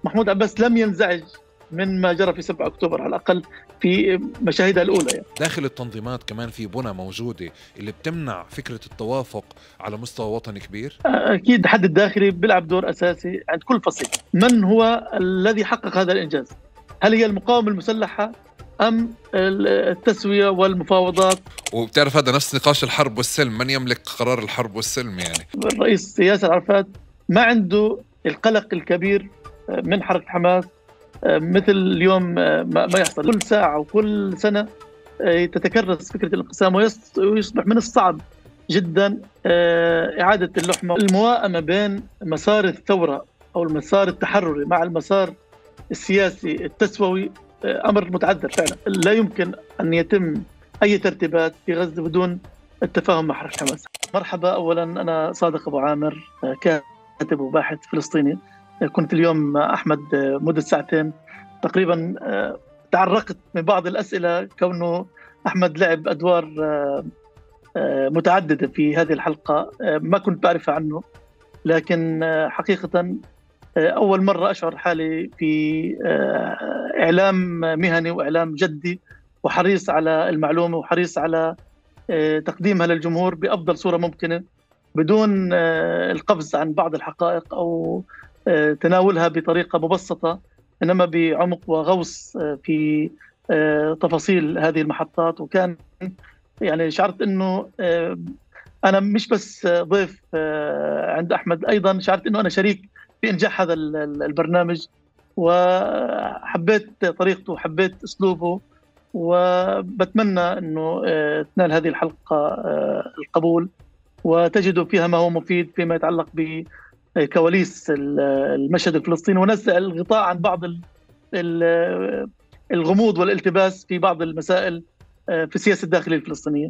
محمود عباس لم ينزعج من ما جرى في 7 أكتوبر على الأقل في مشاهدها الأولى يعني. داخل التنظيمات كمان في بنى موجودة اللي بتمنع فكرة التوافق على مستوى وطني كبير؟ أكيد الحد الداخلي بيلعب دور أساسي عند كل فصيل. من هو الذي حقق هذا الإنجاز؟ هل هي المقاومة المسلحة أم التسوية والمفاوضات؟ وبتعرف هذا نفس نقاش الحرب والسلم، من يملك قرار الحرب والسلم يعني. الرئيس ياسر عرفات ما عنده القلق الكبير من حركة حماس مثل اليوم ما يحصل. كل ساعة وكل سنة تتكرس فكرة الانقسام ويصبح من الصعب جدا إعادة اللحمة. المواءمة بين مسار الثورة أو المسار التحرري مع المسار السياسي التسوي أمر متعذر فعلا. لا يمكن أن يتم أي ترتيبات في غزة بدون التفاهم مع حركة حماس. مرحبا، أولا أنا صادق أبو عامر، كاتب وباحث فلسطيني. كنت اليوم مع أحمد مدة ساعتين تقريبا. تعرقت من بعض الأسئلة كونه أحمد لعب أدوار متعددة في هذه الحلقة ما كنت بعرفها عنه، لكن حقيقة أول مرة أشعر حالي في إعلام مهني وإعلام جدي وحريص على المعلومة وحريص على تقديمها للجمهور بأفضل صورة ممكنة بدون القفز عن بعض الحقائق أو تناولها بطريقة مبسطة، إنما بعمق وغوص في تفاصيل هذه المحطات. وكان يعني شعرت إنه أنا مش بس ضيف عند أحمد، أيضا شعرت إنه أنا شريك في إنجاح هذا البرنامج، وحبيت طريقته وحبيت أسلوبه، وبتمنى أنه تنال هذه الحلقة القبول وتجدوا فيها ما هو مفيد فيما يتعلق بكواليس المشهد الفلسطيني، ونزع الغطاء عن بعض الغموض والالتباس في بعض المسائل في السياسة الداخلية الفلسطينية.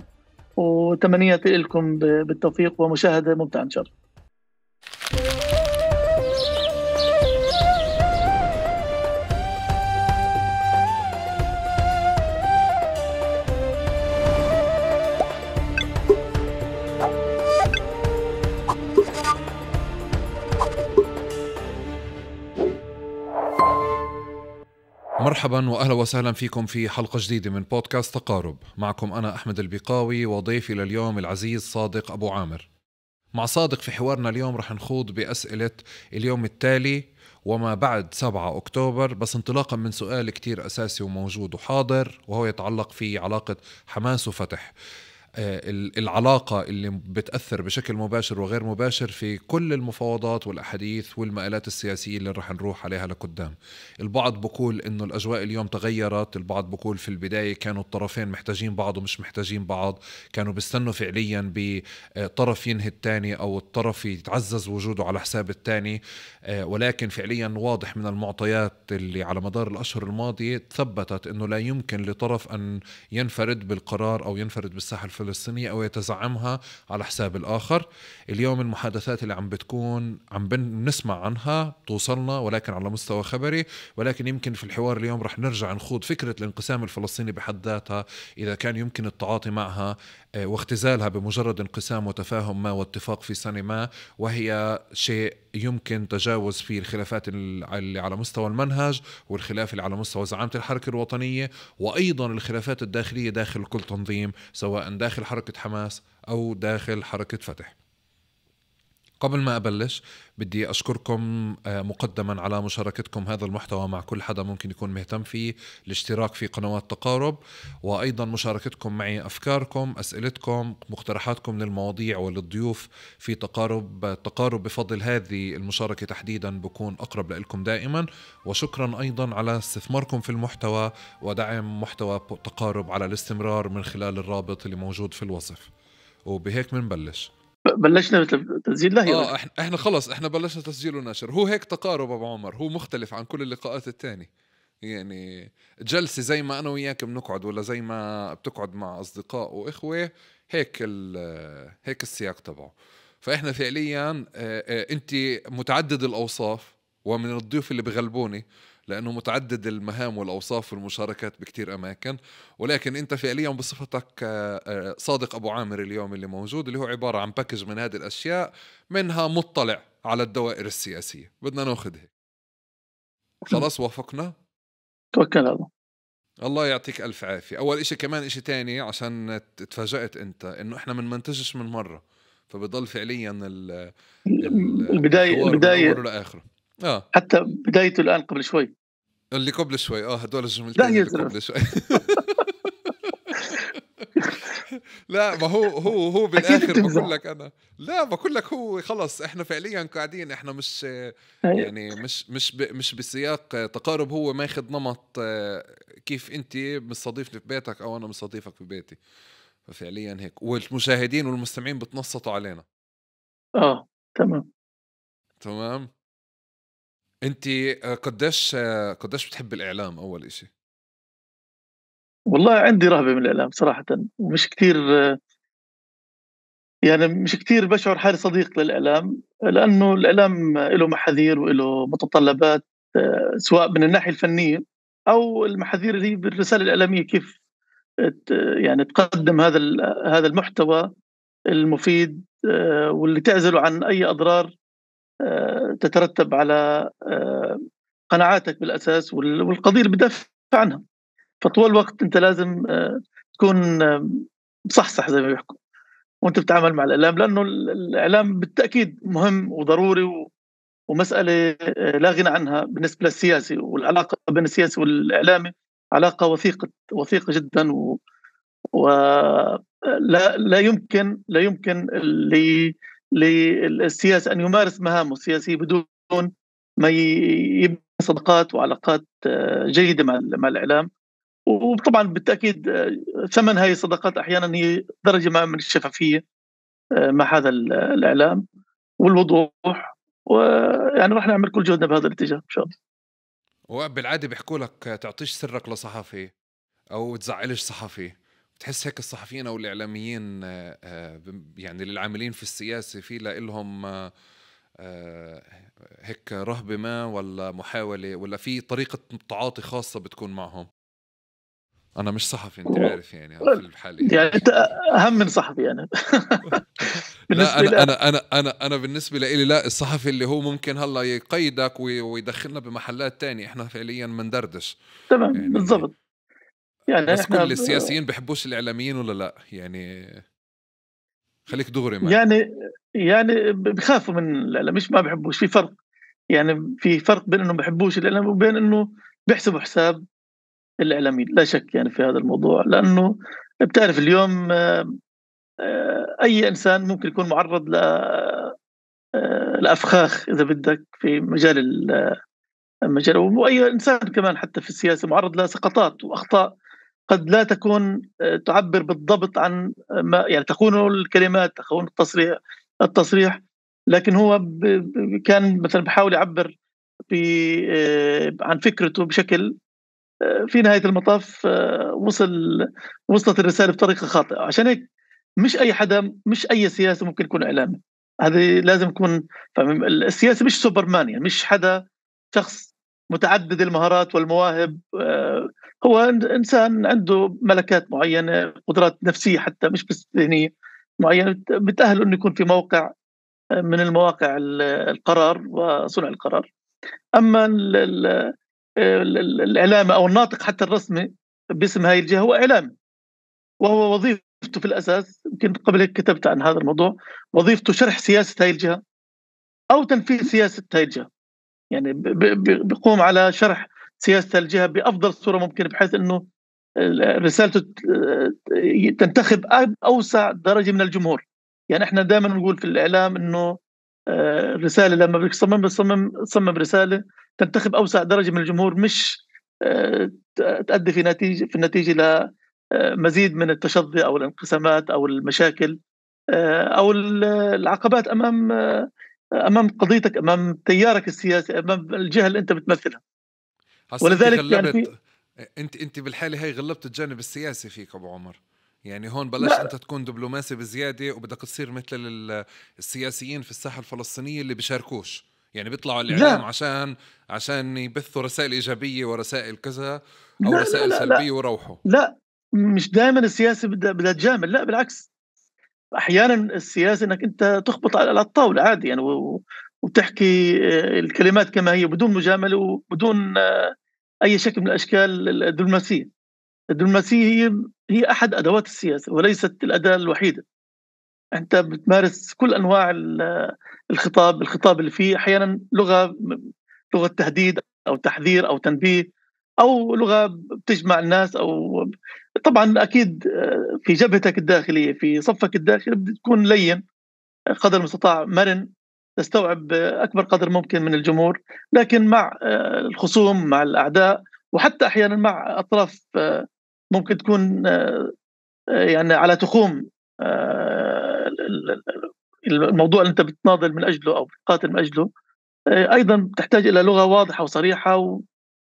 وتمنياتي لكم بالتوفيق ومشاهدة ممتعة إن شاء الله. مرحبا وأهلا وسهلا فيكم في حلقة جديدة من بودكاست تقارب. معكم أنا أحمد البقاوي وضيفي لليوم العزيز صادق أبو عامر. مع صادق في حوارنا اليوم رح نخوض بأسئلة اليوم التالي وما بعد 7 أكتوبر، بس انطلاقا من سؤال كتير أساسي وموجود وحاضر، وهو يتعلق في علاقة حماس وفتح. العلاقة اللي بتأثر بشكل مباشر وغير مباشر في كل المفاوضات والأحاديث والمآلات السياسية اللي رح نروح عليها لقدام. البعض بقول إنه الأجواء اليوم تغيرت، البعض بقول في البداية كانوا الطرفين محتاجين بعض ومش محتاجين بعض، كانوا بيستنوا فعليا بطرف ينهي التاني أو الطرف يتعزز وجوده على حساب التاني. ولكن فعليا واضح من المعطيات اللي على مدار الأشهر الماضية ثبتت إنه لا يمكن لطرف أن ينفرد بالقرار أو ينفرد بالساحة الفلسطينية أو يتزعمها على حساب الآخر. اليوم المحادثات اللي عم بنسمع عنها توصلنا ولكن على مستوى خبري، ولكن يمكن في الحوار اليوم رح نرجع نخوض فكرة الانقسام الفلسطيني بحد ذاتها، إذا كان يمكن التعاطي معها واختزالها بمجرد انقسام وتفاهم ما واتفاق في سنة ما، وهي شيء يمكن تجاوز فيه الخلافات اللي على مستوى المنهج والخلاف اللي على مستوى زعامة الحركة الوطنية، وأيضا الخلافات الداخلية داخل كل تنظيم سواء داخل حركة حماس أو داخل حركة فتح. قبل ما أبلش بدي أشكركم مقدما على مشاركتكم هذا المحتوى مع كل حدا ممكن يكون مهتم فيه، الاشتراك في قنوات تقارب، وأيضا مشاركتكم معي أفكاركم، أسئلتكم، مقترحاتكم للمواضيع وللضيوف في تقارب بفضل هذه المشاركة تحديدا بكون أقرب لكم دائما. وشكرا أيضا على استثماركم في المحتوى ودعم محتوى تقارب على الاستمرار من خلال الرابط اللي موجود في الوصف. وبهيك منبلش. بلشنا تسجيل؟ لا احنا خلص احنا بلشنا تسجيل ونشر. هو هيك تقارب ابو عمر، هو مختلف عن كل اللقاءات التاني. يعني جلسة زي ما انا وياك بنقعد ولا زي ما بتقعد مع اصدقاء واخوة، هيك السياق تبعه. فاحنا فعليا انت متعدد الاوصاف، ومن الضيوف اللي بغلبوني لأنه متعدد المهام والأوصاف والمشاركات بكتير أماكن، ولكن أنت فعليا بصفتك صادق أبو عامر اليوم اللي موجود، اللي هو عبارة عن باكج من هذه الأشياء، منها مطلع على الدوائر السياسية. بدنا ناخذ هيك. خلاص وافقنا. توكل على الله. الله يعطيك ألف عافية. أول إشي كمان إشي تاني عشان تفاجأت أنت إنه إحنا منمنتجش من مرة، فبضل فعليا البداية الحوار من أوله لآخره. حتى بدايته الآن قبل شوي. اللي قبل شوي هدول لا الجملتين يا اللي زلمة. قبل شوي. لا ما هو أكيد بالآخر بقول بتمزح. لك أنا، لا بقول لك هو خلص إحنا فعليا قاعدين، إحنا مش هي. يعني مش بسياق تقارب، هو ماخذ نمط كيف أنت مستضيفني في بيتك أو أنا مستضيفك في بيتي، ففعليا هيك، والمشاهدين والمستمعين بتنصتوا علينا. تمام. تمام. أنت قديش بتحب الإعلام أول إشي؟ والله عندي رهبة من الإعلام صراحةً، ومش كتير، يعني مش كتير باشعُر حالي صديق للإعلام، لأنه الإعلام إله محاذير وإله متطلبات، سواء من الناحية الفنية أو المحاذير اللي هي بالرسالة الإعلامية، كيف يعني تقدّم هذا المحتوى المفيد، واللي تعزله عن أي أضرار تترتب على قناعاتك بالأساس والقضية اللي بتدافع عنها. فطول الوقت أنت لازم تكون مصحصح زي ما بيحكوا وأنت بتتعامل مع الإعلام، لأنه الإعلام بالتأكيد مهم وضروري ومسألة لا غنى عنها بالنسبة للسياسي، والعلاقة بين السياسي والإعلامي علاقة وثيقة جدًا، ولا لا يمكن للسياسي أن يمارس مهامه السياسية بدون ما يبني صداقات وعلاقات جيدة مع الإعلام. وطبعًا بالتأكيد ثمن هاي الصداقات أحيانًا هي درجة ما من الشفافية مع هذا الإعلام والوضوح، ويعني راح نعمل كل جهدنا بهذا الاتجاه إن شاء الله. وبالعادة بيحكوا لك تعطيش سرك لصحفي أو تزعلش صحفي، بتحس هيك الصحفيين أو الإعلاميين يعني للعاملين في السياسة في لإلهم هيك رهبة ما، ولا محاولة، ولا في طريقة تعاطي خاصة بتكون معهم؟ أنا مش صحفي أنت عارف يعني في الحالة هي. يعني أنت أهم من صحفي يعني. لا بالنسبة لي أنا بالنسبة لي لا، الصحفي اللي هو ممكن هلا يقيدك ويدخلنا بمحلات تانية، إحنا فعليا مندردش تمام يعني. بالضبط. يعني بس إحنا كل السياسيين بحبوش الإعلاميين ولا لا يعني؟ خليك دغري معي. يعني بيخافوا من الإعلام، مش ما بيحبوش، في فرق. يعني في فرق بين إنه ما بيحبوش الإعلام وبين إنه بيحسبوا حساب الإعلاميين، لا شك يعني في هذا الموضوع، لأنه بتعرف اليوم أي إنسان ممكن يكون معرّض لأفخاخ إذا بدك في المجال، وأي إنسان كمان حتى في السياسة معرّض لسقطات وأخطاء قد لا تكون تعبّر بالضبط عن ما يعني تخونه الكلمات، تخون التصريح، لكن هو كان مثلًا بيحاول يعبّر عن فكرته بشكل في نهاية المطاف وصلت الرسالة بطريقة خاطئة. عشان هيك مش أي سياسي ممكن يكون إعلامي، هذه لازم يكون فاهم. السياسي مش سوبرمان، يعني مش حدا شخص متعدد المهارات والمواهب، هو إنسان عنده ملكات معينة، قدرات نفسية حتى مش بس ذهنية معينة بتأهله إنه يكون في موقع من المواقع القرار وصنع القرار. أما الإعلامي أو الناطق حتى الرسمي باسم هاي الجهة هو إعلامي، وهو وظيفته في الأساس، يمكن قبل هيك كتبت عن هذا الموضوع، وظيفته شرح سياسة هاي الجهة أو تنفيذ سياسة هاي الجهة. يعني بيقوم على شرح سياسة الجهة بأفضل صورة ممكنة، بحيث إنه رسالته تنتخب أوسع درجة من الجمهور. يعني إحنا دائمًا نقول في الإعلام إنه الرسالة لمّا بدك تصمم رسالة تنتخب أوسع درجة من الجمهور، مش تؤدي في النتيجة إلى مزيد من التشظي أو الانقسامات أو المشاكل، أو العقبات أمام قضيتك، أمام تيارك السياسي، أمام الجهة اللي أنت بتمثلها. هسا انت ولذلك يعني في انت بالحالة هاي غلبت الجانب السياسي فيك ابو عمر. يعني هون بلاش لأ، انت تكون دبلوماسي بزيادة وبدك تصير مثل السياسيين في الساحة الفلسطينية اللي بيشاركوش، يعني بيطلعوا على الإعلام لا، عشان يبثوا رسائل إيجابية ورسائل كذا، أو لا، لا، رسائل لا، لا، سلبية وروحوا. لأ، مش دايمًا السياسة بدها تجامل، لأ بالعكس. أحيانًا السياسة إنك أنت تخبط على الطاولة عادي يعني، وتحكي الكلمات كما هي بدون مجاملة وبدون أي شكل من الأشكال الدبلوماسية. الدبلوماسية هي أحد أدوات السياسة وليست الأداة الوحيدة. أنت بتمارس كل أنواع الخطاب اللي فيه أحيانا لغة تهديد أو تحذير أو تنبيه، أو لغة بتجمع الناس، أو طبعا أكيد في جبهتك الداخلية في صفك الداخلي بتكون لين قدر المستطاع، مرن، تستوعب أكبر قدر ممكن من الجمهور. لكن مع الخصوم، مع الأعداء، وحتى أحيانا مع أطراف ممكن تكون يعني على تخوم الموضوع اللي أنت بتناضل من أجله أو بتقاتل من أجله، أيضا تحتاج إلى لغة واضحة وصريحة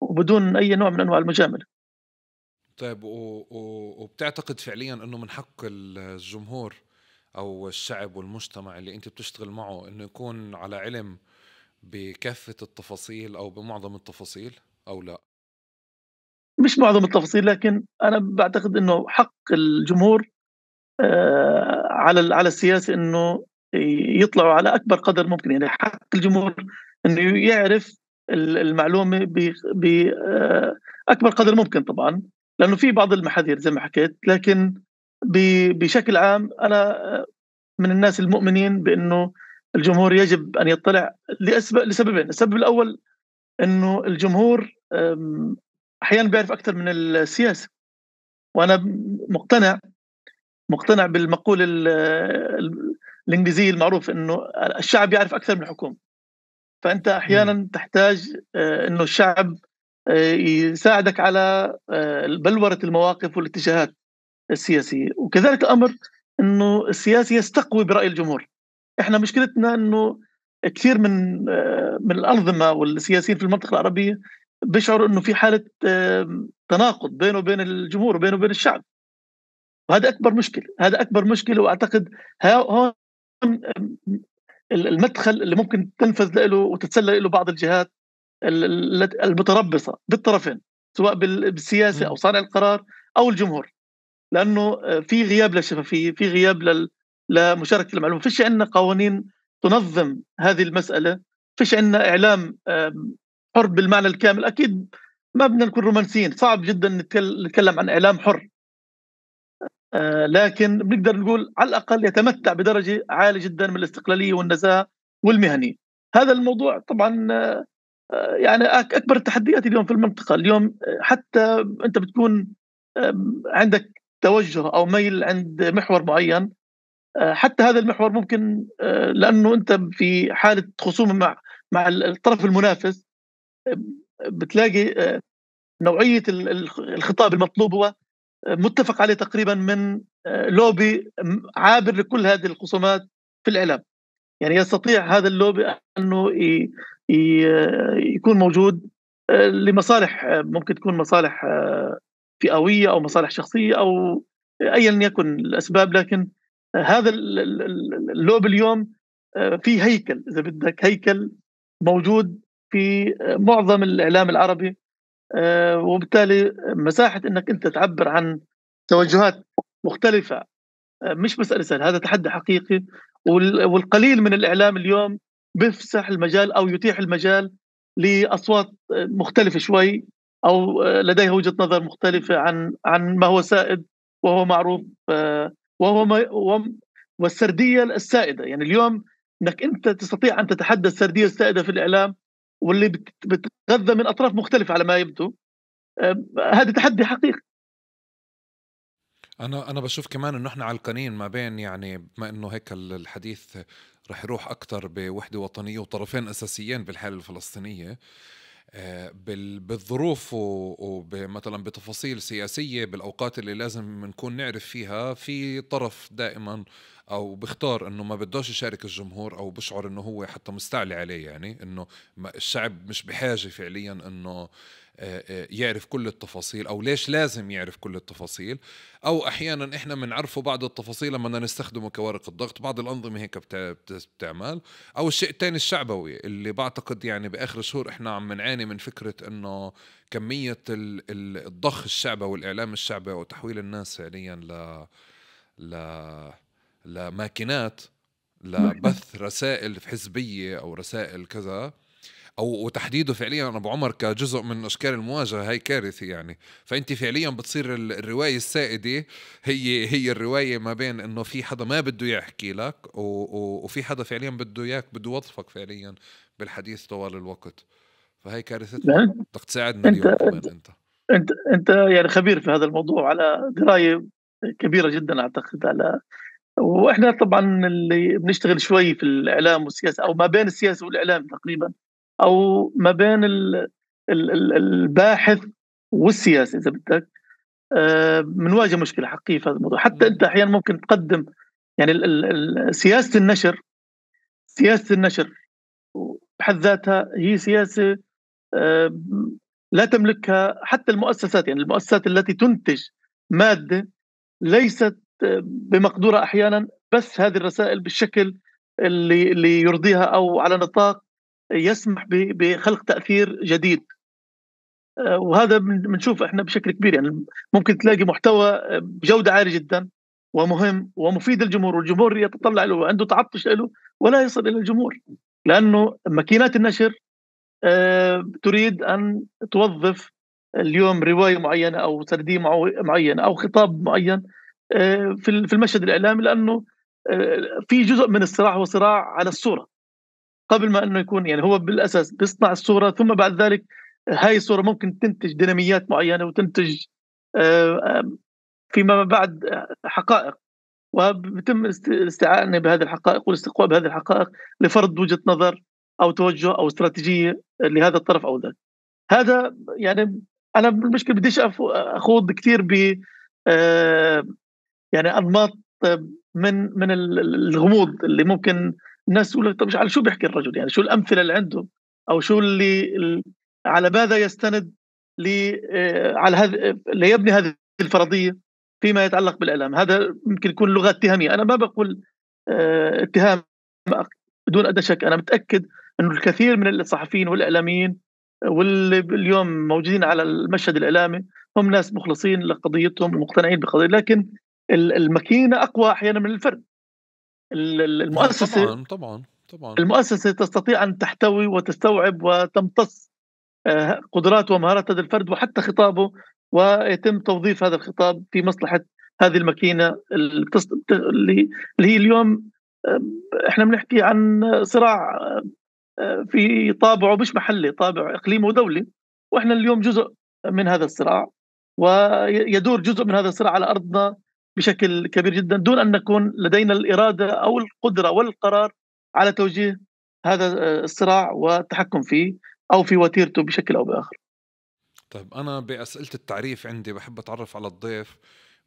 وبدون أي نوع من أنواع المجاملة. طيب وبتعتقد فعليا أنه من حق الجمهور أو الشعب والمجتمع اللي أنت بتشتغل معه أنه يكون على علم بكافة التفاصيل أو بمعظم التفاصيل أو لا؟ مش معظم التفاصيل، لكن أنا بعتقد أنه حق الجمهور على السياسة أنه يطلعوا على أكبر قدر ممكن. يعني حق الجمهور أنه يعرف المعلومة بأكبر قدر ممكن طبعا، لأنه في بعض المحاذير زي ما حكيت. لكن بشكل عام أنا من الناس المؤمنين بأنه الجمهور يجب أن يطلع لسببين. السبب الأول أنه الجمهور أحيانا بيعرف أكثر من السياسة، وأنا مقتنع بالمقولة الإنجليزية المعروف أنه الشعب يعرف أكثر من الحكومة. فأنت أحيانا تحتاج أنه الشعب يساعدك على بلورة المواقف والاتجاهات السياسية، وكذلك الأمر أنه السياسي يستقوي برأي الجمهور. إحنا مشكلتنا أنه كثير من الأنظمة والسياسيين في المنطقة العربية بيشعروا أنه في حالة تناقض بينه وبين الجمهور وبينه وبين الشعب، وهذا أكبر مشكلة. وأعتقد هون المدخل اللي ممكن تنفذ له وتتسلل له بعض الجهات المتربصة بالطرفين، سواء بالسياسة أو صانع القرار أو الجمهور، لأنه في غياب للشفافية، في غياب لمشاركة المعلومة. فيش عندنا قوانين تنظم هذه المسألة، فيش عندنا إعلام حر بالمعنى الكامل. أكيد ما بدنا نكون رومانسيين، صعب جدا نتكلم عن إعلام حر، لكن بنقدر نقول على الأقل يتمتع بدرجة عالية جدا من الاستقلالية والنزاهة والمهنية. هذا الموضوع طبعا يعني أكبر التحديات اليوم في المنطقة. اليوم حتى أنت بتكون عندك توجه أو ميل عند محور معين، حتى هذا المحور ممكن لأنه أنت في حالة خصومة مع الطرف المنافس، بتلاقي نوعية الخطاب المطلوب هو متفق عليه تقريبا من لوبي عابر لكل هذه الخصومات في الإعلام. يعني يستطيع هذا اللوبي أنه يكون موجود لمصالح، ممكن تكون مصالح فئوية أو مصالح شخصية أو أيا يكن الأسباب. لكن هذا اللوبي اليوم في هيكل، إذا بدك هيكل موجود في معظم الإعلام العربي، وبالتالي مساحة أنك أنت تعبر عن توجهات مختلفة مش مسألة سهلة. هذا تحدي حقيقي، والقليل من الإعلام اليوم بيفسح المجال أو يتيح المجال لأصوات مختلفة شوي، أو لديها وجهة نظر مختلفة عن ما هو سائد وهو معروف، والسردية السائدة. يعني اليوم أنك أنت تستطيع أن تتحدى السردية السائدة في الإعلام واللي بتغذى من أطراف مختلفة على ما يبدو، هذا تحدي حقيقي. انا بشوف كمان انه احنا علقانين ما بين، يعني بما انه هيك الحديث رح يروح اكتر بوحدة وطنية وطرفين اساسيين بالحالة الفلسطينية، بالظروف ومثلا بتفاصيل سياسية بالأوقات اللي لازم نكون نعرف فيها، في طرف دائما أو بختار أنه ما بدوش يشارك الجمهور أو بشعر أنه هو حتى مستعلي عليه، يعني أنه الشعب مش بحاجة فعليا أنه يعرف كل التفاصيل، أو ليش لازم يعرف كل التفاصيل. أو أحيانا إحنا منعرفوا بعض التفاصيل لما بدنا نستخدمه كورق الضغط، بعض الأنظمة هيك بتعمل. أو الشيء الثاني الشعبوي اللي بعتقد يعني بآخر الشهور إحنا عم نعاني من فكرة إنه كمية الضخ الشعبي والإعلام الشعبي وتحويل الناس فعليا ل لماكينات لبث رسائل حزبية أو رسائل كذا، أو وتحديده فعليا أبو عمر كجزء من أشكال المواجهة، هاي كارثة يعني. فأنت فعليا بتصير الرواية السائدة هي الرواية ما بين إنه في حدا ما بده يحكي لك وفي حدا فعليا بده إياك، بده يوظفك فعليا بالحديث طوال الوقت. فهي كارثتنا. يعني بدك تساعدنا انت اليوم كمان أنت. انت يعني خبير في هذا الموضوع، على درايه كبيره جدا اعتقد. واحنا طبعا اللي بنشتغل شوي في الاعلام والسياسه، او ما بين السياسه والاعلام تقريبا، او ما بين الباحث والسياسه اذا بدك، بنواجه مشكله حقيقيه في هذا الموضوع. حتى انت احيانا ممكن تقدم يعني سياسه النشر بحد ذاتها هي سياسه آه، لا تملكها حتى المؤسسات. يعني المؤسسات التي تنتج ماده ليست بمقدورة أحيانا بس هذه الرسائل بالشكل اللي يرضيها، أو على نطاق يسمح بخلق تأثير جديد. وهذا بنشوف احنا بشكل كبير. يعني ممكن تلاقي محتوى بجودة عالية جدا ومهم ومفيد للجمهور، والجمهور يتطلع له وعنده تعطش له، ولا يصل إلى الجمهور، لأنه ماكينات النشر تريد أن توظف اليوم رواية معينة أو سردية معينة أو خطاب معين في المشهد الإعلامي، لأنه في جزء من الصراع هو صراع على الصورة قبل ما أنه يكون. يعني هو بالأساس بيصنع الصورة، ثم بعد ذلك هاي الصورة ممكن تنتج ديناميات معينة وتنتج فيما بعد حقائق، وبيتم الاستعانة بهذه الحقائق والاستقواء بهذه الحقائق لفرض وجهة نظر أو توجه أو استراتيجية لهذا الطرف أو ذاك. هذا يعني أنا بالمشكلة بديش أخوض كثير ب يعني أنماط من الغموض اللي ممكن الناس تقول طب على شو بيحكي الرجل، يعني شو الأمثلة اللي عنده، أو شو على ماذا يستند على هذا ليبني هذه الفرضية فيما يتعلق بالإعلام. هذا ممكن يكون لغة اتهامية. أنا ما بقول اتهام بدون أدنى شك. أنا متأكد أنه الكثير من الصحفيين والإعلاميين واللي اليوم موجودين على المشهد الإعلامي هم ناس مخلصين لقضيتهم ومقتنعين بقضية، لكن الماكينة أقوى أحيانا من الفرد. المؤسسة طبعا المؤسسة تستطيع أن تحتوي وتستوعب وتمتص قدرات ومهارات هذا الفرد وحتى خطابه، ويتم توظيف هذا الخطاب في مصلحة هذه الماكينة اللي هي اليوم احنا بنحكي عن صراع في طابعه مش محلي، طابع إقليمي ودولي، واحنا اليوم جزء من هذا الصراع، ويدور جزء من هذا الصراع على أرضنا بشكل كبير جدا، دون أن نكون لدينا الإرادة أو القدرة والقرار على توجيه هذا الصراع والتحكم فيه أو في وتيرته بشكل أو بآخر. طيب أنا بأسئلة التعريف عندي بحب أتعرف على الضيف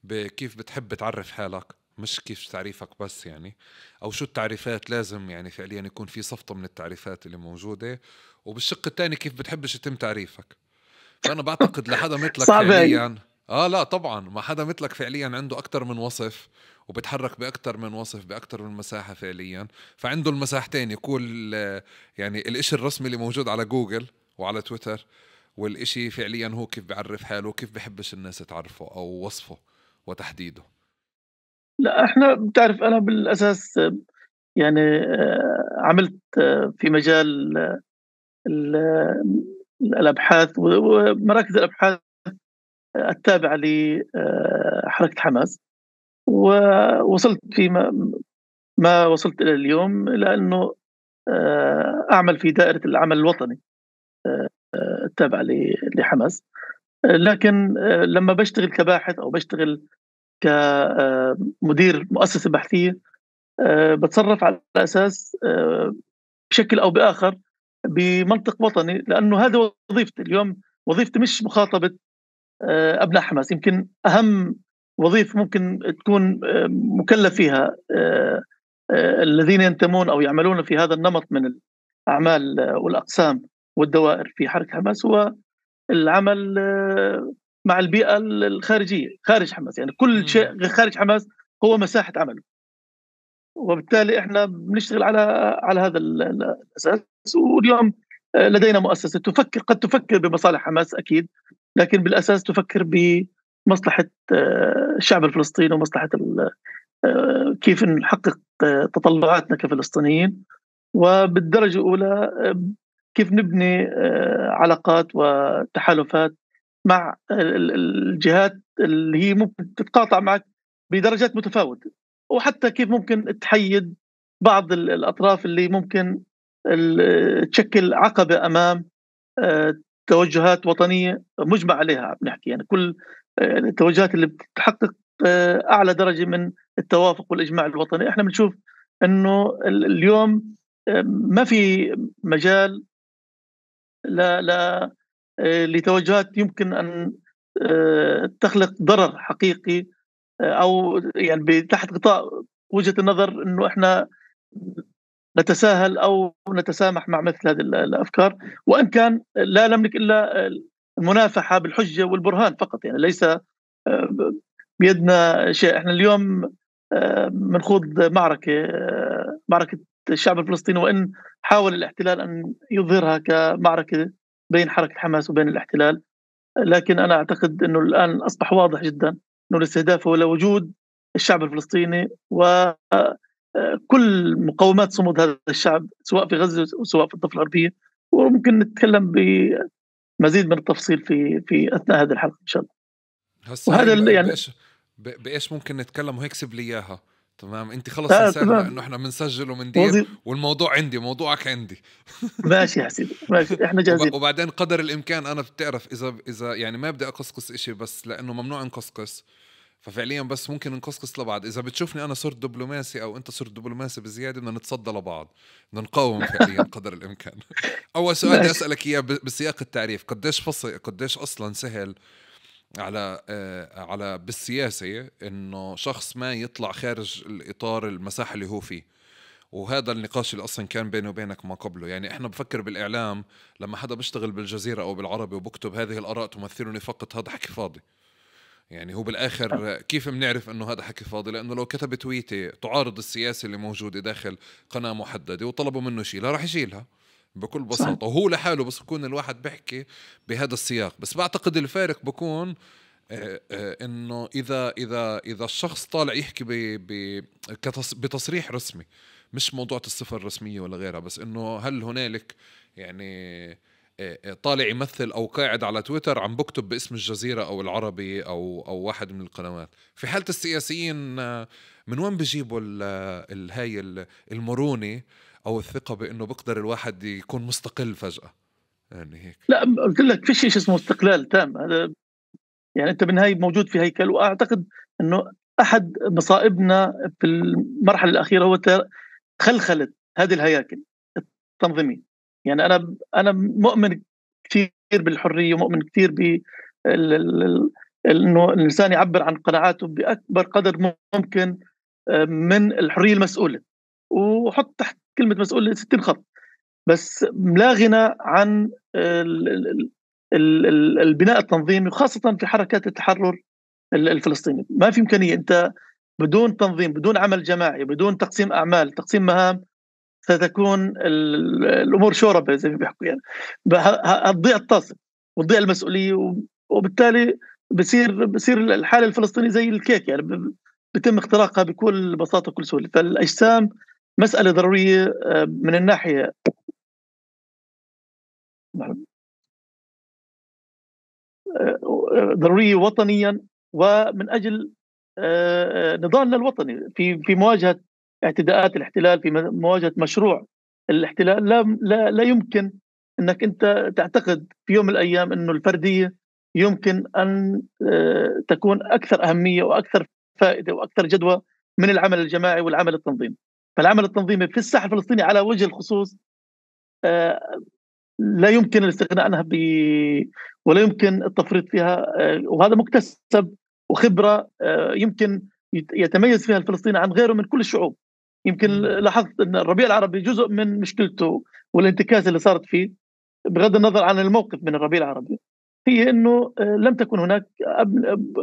بكيف بتحب تعرف حالك، مش كيف تعريفك بس يعني، أو شو التعريفات لازم يعني فعليا يكون في صفطة من التعريفات اللي موجودة، وبالشق الثاني كيف بتحبش يتم تعريفك. فأنا بعتقد لحدا مثلك فعليا لا طبعا ما حدا مثلك فعليا عنده أكتر من وصف وبتحرك بأكتر من وصف بأكتر من مساحة فعليا، فعنده المساحتين يكون يعني الإشي الرسمي اللي موجود على جوجل وعلى تويتر، والإشي فعليا هو كيف بيعرف حاله وكيف بيحبش الناس تعرفه أو وصفه وتحديده. لا احنا بتعرف أنا بالأساس يعني عملت في مجال الأبحاث ومراكز الأبحاث التابعة لحركة حماس، ووصلت ما وصلت إلى اليوم إلى أنه أعمل في دائرة العمل الوطني التابعة لحماس. لكن لما بشتغل كباحث أو بشتغل كمدير مؤسسة بحثية بتصرف على أساس بشكل أو بآخر بمنطق وطني، لأنه هذا وظيفتي اليوم. وظيفتي مش مخاطبة أبناء حماس، يمكن أهم وظيفة ممكن تكون مكلف فيها الذين ينتمون أو يعملون في هذا النمط من الأعمال والأقسام والدوائر في حركة حماس هو العمل مع البيئة الخارجية خارج حماس. يعني كل شيء خارج حماس هو مساحة عمله، وبالتالي احنا بنشتغل على هذا الأساس. واليوم لدينا مؤسسة قد تفكر بمصالح حماس أكيد، لكن بالأساس تفكر بمصلحة الشعب الفلسطيني ومصلحة كيف نحقق تطلعاتنا كفلسطينيين، وبالدرجة الأولى كيف نبني علاقات وتحالفات مع الجهات اللي هي ممكن تتقاطع معك بدرجات متفاوتة، وحتى كيف ممكن تحيد بعض الأطراف اللي ممكن تشكل عقبة أمام توجهات وطنية مجمع عليها. بنحكي يعني كل التوجهات اللي بتحقق أعلى درجة من التوافق والإجماع الوطني. احنا بنشوف أنه اليوم ما في مجال لا لتوجهات يمكن أن تخلق ضرر حقيقي، أو يعني تحت غطاء وجهة النظر أنه إحنا نتساهل أو نتسامح مع مثل هذه الأفكار، وإن كان لا نملك إلا المنافحة بالحجة والبرهان فقط، يعني ليس بيدنا شيء. إحنا اليوم بنخوض معركة الشعب الفلسطيني، وإن حاول الاحتلال أن يظهرها كمعركة بين حركة حماس وبين الاحتلال، لكن أنا أعتقد أنه الآن أصبح واضح جدا أنه الاستهداف هو لوجود الشعب الفلسطيني وكل مقومات صمود هذا الشعب، سواء في غزة وسواء في الضفة الغربية. وممكن نتكلم بمزيد من التفصيل في أثناء هذه الحلقة إن شاء الله. هسا وهذا يعني بإيش ممكن نتكلم وهيك سيب لي إياها. تمام، انت خلص انسانا انه احنا بنسجل ومندير والموضوع عندي، موضوعك عندي. ماشي يا حسين، ماشي، احنا جاهزين. وبعدين قدر الامكان انا بتعرف اذا يعني ما بدي اقصقص اشي، بس لانه ممنوع نقصقص، ففعليا بس ممكن نقصقص لبعض. اذا بتشوفني انا صرت دبلوماسي او انت صرت دبلوماسي بزياده، بدنا نتصدى لبعض، بدنا نقاوم فعليا قدر الامكان. اول سؤال بدي اسالك اياه بسياق التعريف، قديش اصلا سهل على بالسياسة إنه شخص ما يطلع خارج الإطار المساحة اللي هو فيه؟ وهذا النقاش اللي أصلا كان بيني وبينك ما قبله. يعني إحنا بفكر بالإعلام لما حدا بيشتغل بالجزيرة أو بالعربي وبكتب هذه الآراء تمثلني فقط، هذا حكي فاضي. يعني هو بالآخر كيف بنعرف إنه هذا حكي فاضي؟ لأنه لو كتب تويتة تعارض السياسة اللي موجودة داخل قناة محددة وطلبوا منه يشيلها، راح يشيلها بكل بساطة، وهو لحاله. بس يكون الواحد بيحكي بهذا السياق. بس بعتقد الفارق بكون انه اذا الشخص طالع يحكي بتصريح رسمي، مش موضوع الصفة الرسمية ولا غيرها، بس انه هل هنالك يعني طالع يمثل او قاعد على تويتر عم بكتب باسم الجزيرة او العربي او واحد من القنوات. في حالة السياسيين من وين بيجيبوا هاي المرونة او الثقة بانه بقدر الواحد يكون مستقل فجأة؟ يعني هيك. لا، قلت لك في شيء اسمه استقلال تام. هذا يعني انت بالنهايه موجود في هيكل، واعتقد انه احد مصائبنا في المرحله الاخيره هو خلخله هذه الهياكل التنظيميه. يعني انا مؤمن كثير بالحريه، ومؤمن كثير ب انه الانسان يعبر عن قناعاته باكبر قدر ممكن من الحريه المسؤوله، وحط تحت كلمه مسؤوله 60 خط. بس لا غنى عن البناء التنظيمي، وخاصة في حركات التحرر الفلسطيني. ما في إمكانية أنت بدون تنظيم، بدون عمل جماعي، بدون تقسيم أعمال، تقسيم مهام، ستكون الأمور شوربة زي ما بيحكوا. يعني هتضيع الطاسة وتضيع المسؤولية، وبالتالي بصير الحالة الفلسطينية زي الكيك، يعني بيتم اختراقها بكل بساطة وكل سهولة. فالأجسام مسألة ضرورية من الناحية ضرورية وطنيا، ومن أجل نضالنا الوطني في مواجهة اعتداءات الاحتلال، في مواجهة مشروع الاحتلال. لا يمكن أنك أنت تعتقد في يوم من الأيام أنه الفردية يمكن أن تكون أكثر أهمية وأكثر فائدة وأكثر جدوى من العمل الجماعي والعمل التنظيمي. فالعمل التنظيمي في الساحة الفلسطينية على وجه الخصوص لا يمكن الاستغناء عنها ولا يمكن التفريط فيها، وهذا مكتسب وخبرة يمكن يتميز فيها الفلسطيني عن غيره من كل الشعوب. يمكن لاحظت أن الربيع العربي جزء من مشكلته والانتكاسة اللي صارت فيه، بغض النظر عن الموقف من الربيع العربي، هي أنه لم تكن هناك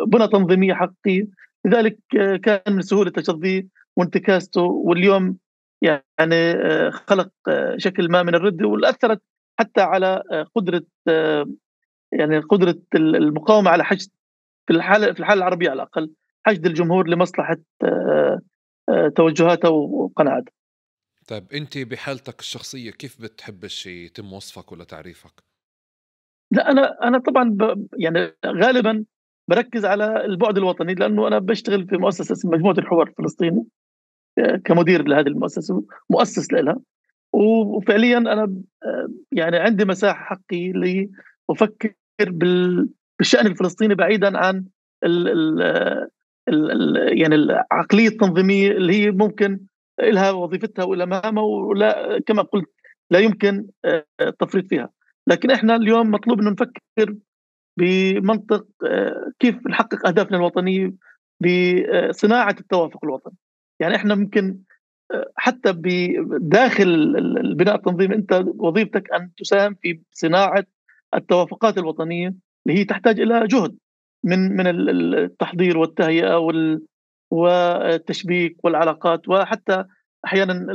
بنى تنظيمية حقيقية. لذلك كان من سهولة تشظيه وانتكاسته، واليوم يعني خلق شكل ما من الردة، والأثرت حتى على قدرة يعني قدرة المقاومة على حشد في الحالة العربية على الأقل حشد الجمهور لمصلحة توجهاته وقناعاته. طيب أنت بحالتك الشخصية كيف بتحب الشيء يتم وصفك ولا تعريفك؟ لا، أنا طبعا يعني غالبا بركز على البعد الوطني، لأنه أنا بشتغل في مؤسسة اسمها مجموعة الحوار الفلسطيني كمدير لهذه المؤسسة، مؤسس لها. وفعليا أنا يعني عندي مساحة حقي لأفكر بالشأن الفلسطيني بعيدا عن ال ال يعني العقلية التنظيمية اللي هي ممكن لها وظيفتها ولا مهامها، ولا كما قلت لا يمكن التفريط فيها. لكن احنا اليوم مطلوب انه نفكر بمنطق كيف نحقق اهدافنا الوطنيه بصناعه التوافق الوطني. يعني احنا ممكن حتى بداخل البناء التنظيمي انت وظيفتك ان تساهم في صناعه التوافقات الوطنيه اللي هي تحتاج الى جهد من التحضير والتهيئه والتشبيك والعلاقات، وحتى احيانا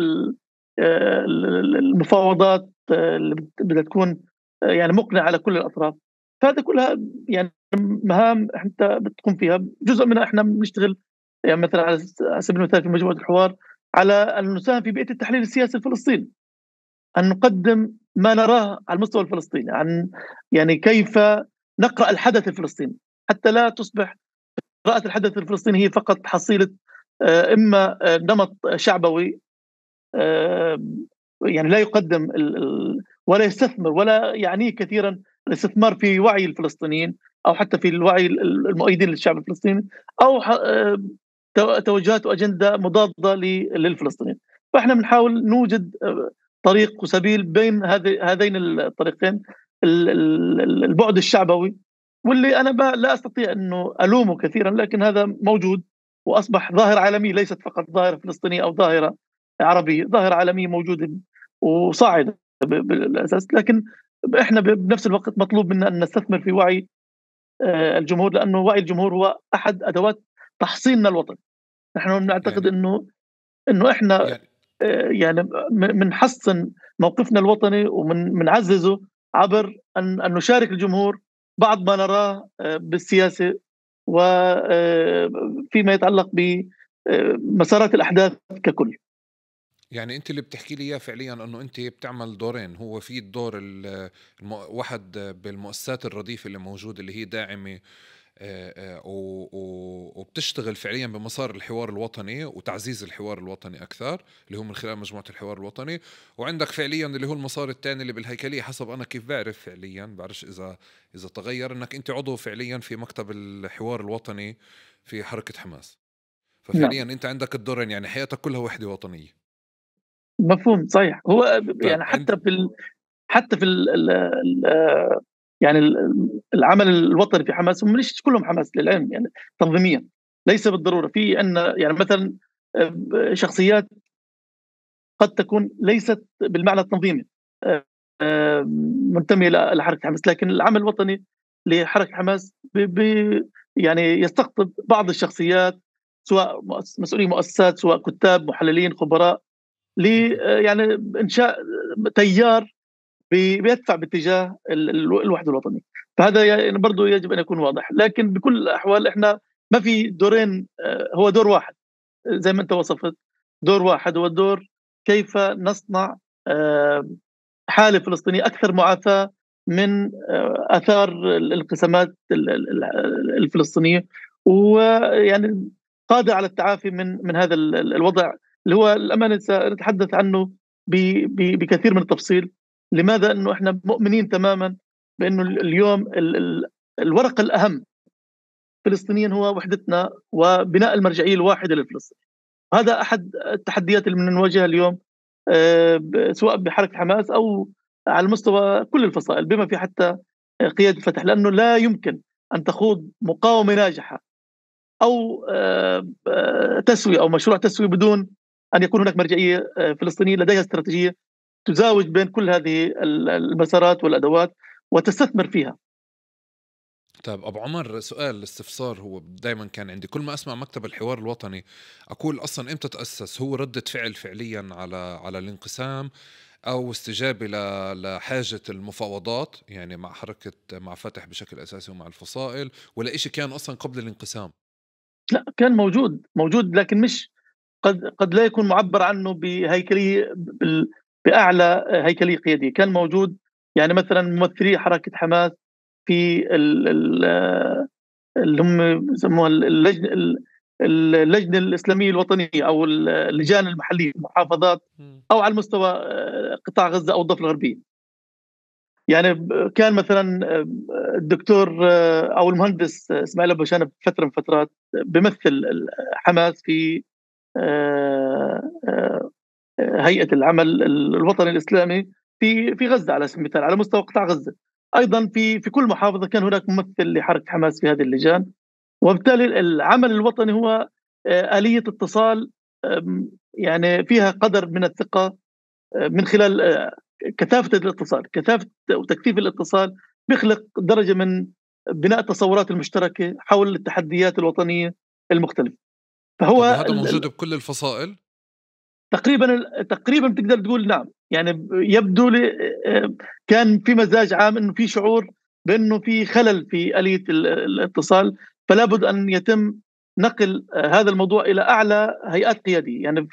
المفاوضات اللي بدها تكون يعني مقنعه على كل الاطراف. فهذه كلها يعني مهام انت بتقوم فيها. جزء منها احنا بنشتغل يعني مثلا على سبيل المثال في مجموعه الحوار على أن نساهم في بيئة التحليل السياسي الفلسطيني، أن نقدم ما نراه على المستوى الفلسطيني، عن يعني كيف نقرأ الحدث الفلسطيني، حتى لا تصبح قراءة الحدث الفلسطيني هي فقط حصيلة إما نمط شعبوي يعني لا يقدم ولا يستثمر ولا يعنيه كثيرا الاستثمار في وعي الفلسطينيين، أو حتى في الوعي المؤيدين للشعب الفلسطيني، أو توجهات واجنده مضاده للفلسطينيين. فاحنا بنحاول نوجد طريق وسبيل بين هذين الطريقين، البعد الشعبوي واللي انا لا استطيع انه الومه كثيرا، لكن هذا موجود واصبح ظاهره عالميه، ليست فقط ظاهره فلسطينيه او ظاهره عربيه، ظاهره عالميه موجوده وصاعده بالاساس. لكن احنا بنفس الوقت مطلوب منا ان نستثمر في وعي الجمهور، لانه وعي الجمهور هو احد ادوات تحصيننا الوطني. نحن نعتقد يعني انه احنا يعني يعني بنحسن موقفنا الوطني ومنعززه عبر ان نشارك الجمهور بعض ما نراه بالسياسه وفيما يتعلق بمسارات الاحداث ككل. يعني أنت اللي بتحكي لي إياه فعليا أنه أنت بتعمل دورين، هو في الدور واحد بالمؤسسات الرديفة اللي موجودة اللي هي داعمة وبتشتغل فعليا بمسار الحوار الوطني وتعزيز الحوار الوطني أكثر، اللي هو من خلال مجموعة الحوار الوطني. وعندك فعليا اللي هو المسار الثاني اللي بالهيكلية، حسب أنا كيف بعرف فعليا، بعرفش إذا تغير، أنك أنت عضو فعليا في مكتب الحوار الوطني في حركة حماس. نعم، ففعليا أنت عندك الدورين، يعني حياتك كلها وحدة وطنية. مفهوم صحيح. هو طيب يعني أنت حتى في يعني العمل الوطني في حماس هم مش كلهم حماس للعلم، يعني تنظيميا ليس بالضروره. في عندنا يعني مثلا شخصيات قد تكون ليست بالمعنى التنظيمي منتمية لحركة حماس، لكن العمل الوطني لحركة حماس يعني يستقطب بعض الشخصيات، سواء مسؤولي مؤسسات، سواء كتاب، محللين، خبراء، ل يعني إنشاء تيار بيدفع باتجاه الوحدة الوطنية. فهذا يعني برضه يجب أن يكون واضح. لكن بكل الأحوال إحنا ما في دورين، هو دور واحد زي ما أنت وصفت. دور واحد هو الدور كيف نصنع آآ حالة فلسطينية أكثر معافاة من آثار الانقسامات الفلسطينية، ويعني قادرة على التعافي من هذا الوضع اللي هو الأمانة سنتحدث عنه بكثير من التفصيل. لماذا؟ إنه إحنا مؤمنين تمامًا بإنه اليوم الورقة الأهم فلسطينيًا هو وحدتنا وبناء المرجعية الواحدة للفلسطين. هذا أحد التحديات اللي بنواجهها اليوم سواء بحركة حماس أو على مستوى كل الفصائل بما في حتى قيادة فتح، لأنه لا يمكن أن تخوض مقاومة ناجحة أو تسوية أو مشروع تسوية بدون أن يكون هناك مرجعية فلسطينية لديها استراتيجية تزاوج بين كل هذه المسارات والأدوات وتستثمر فيها. طيب أبو عمر، سؤال استفسار هو دايما كان عندي كل ما أسمع مكتب الحوار الوطني أقول أصلا إمتى تأسس؟ هو ردة فعل فعليا على الانقسام، أو استجابة لحاجة المفاوضات يعني مع حركة مع فتح بشكل أساسي ومع الفصائل، ولا إشي كان أصلا قبل الانقسام؟ لا، كان موجود لكن مش قد لا يكون معبر عنه بهيكلية بأعلى هيكلية قيادية. كان موجود يعني مثلا ممثلي حركة حماس في اللي هم يسموها اللجنة الإسلامية الوطنية أو اللجان المحلية المحافظات، أو على المستوى قطاع غزة أو الضفة الغربية. يعني كان مثلا الدكتور أو المهندس إسماعيل أبو شانب فترة من فترات بيمثل حماس في هيئة العمل الوطني الإسلامي في غزة على سبيل المثال، على مستوى قطاع غزة. أيضا في كل محافظة كان هناك ممثل لحركة حماس في هذه اللجان. وبالتالي العمل الوطني هو آلية اتصال يعني فيها قدر من الثقة من خلال كثافة الاتصال، كثافة وتكثيف الاتصال بيخلق درجة من بناء التصورات المشتركة حول التحديات الوطنية المختلفة. طب فهو هذا موجود بكل الفصائل؟ تقريبا بتقدر تقول نعم. يعني يبدو لي كان في مزاج عام انه في شعور بانه في خلل في آلية الاتصال، فلا بد ان يتم نقل هذا الموضوع الى اعلى هيئات قياديه. يعني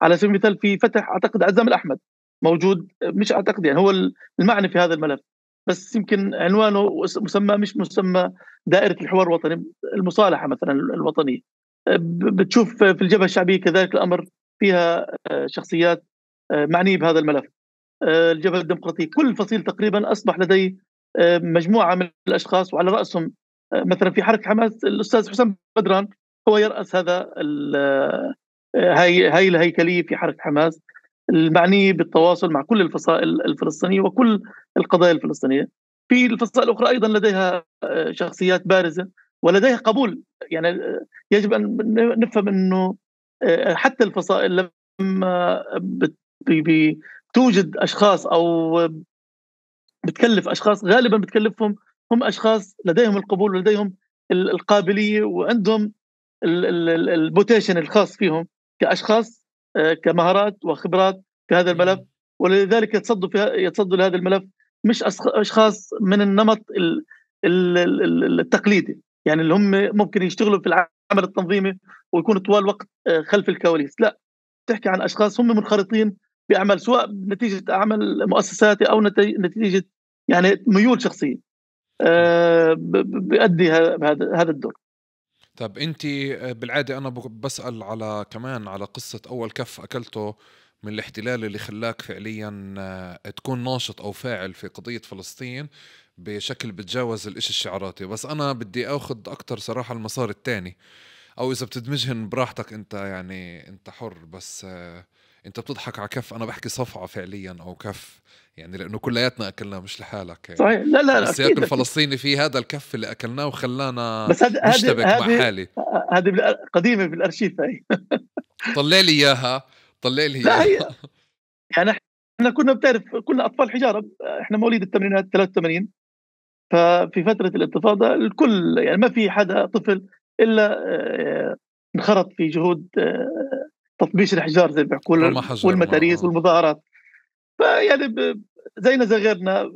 على سبيل المثال في فتح اعتقد عزام الاحمد موجود، مش اعتقد يعني هو المعني في هذا الملف، بس يمكن عنوانه مسمى مش مسمى دائره الحوار الوطني، المصالحه مثلا الوطنيه. بتشوف في الجبهه الشعبيه كذلك الامر، فيها شخصيات معنيه بهذا الملف. الجبهه الديمقراطيه، كل فصيل تقريبا اصبح لديه مجموعه من الاشخاص، وعلى راسهم مثلا في حركه حماس الاستاذ حسام بدران هو يراس هذا هاي الهيكليه في حركه حماس المعنيه بالتواصل مع كل الفصائل الفلسطينيه وكل القضايا الفلسطينيه. في الفصائل الاخرى ايضا لديها شخصيات بارزه ولديها قبول. يعني يجب ان نفهم انه حتى الفصائل لما توجد اشخاص او بتكلف اشخاص، غالبا بتكلفهم هم اشخاص لديهم القبول ولديهم القابليه وعندهم البوتيشن الخاص فيهم كاشخاص، كمهارات وخبرات في هذا الملف. ولذلك يتصدوا لهذا الملف مش اشخاص من النمط التقليدي، يعني اللي هم ممكن يشتغلوا في العمل التنظيمي ويكونوا طوال الوقت خلف الكواليس. لا، تحكي عن اشخاص هم منخرطين باعمال، سواء نتيجه عمل مؤسساتي او نتيجه يعني ميول شخصيه بيؤدي هذا الدور. طب انت بالعاده انا بسال على كمان على قصه اول كف اكلته من الاحتلال اللي خلاك فعليا تكون ناشط او فاعل في قضيه فلسطين بشكل بتجاوز الاشي الشعاراتي. بس انا بدي اخذ اكتر صراحه المسار الثاني، او اذا بتدمجهن براحتك انت، يعني انت حر. بس انت بتضحك على كف، انا بحكي صفعة فعليا او كف، يعني لانه كلياتنا اكلناه مش لحالك يعني. صحيح، لا لا فالسياق اكيد اكيد. الفلسطيني في هذا الكف اللي اكلناه وخلانا بس نشتبك مع حالي. هذه قديمه في الارشيف هي. طلع لي اياها، طلع لي لا، اياها. هي يعني احنا كنا بتعرف كنا اطفال حجاره، احنا مواليد الثمانينات 83. ففي فتره الانتفاضه الكل يعني ما في حدا طفل الا انخرط في جهود تطبيش الحجار زي ما بيحكوا، رمى حجر ما والمتاريس والمظاهرات. فيعني زينا زي غيرنا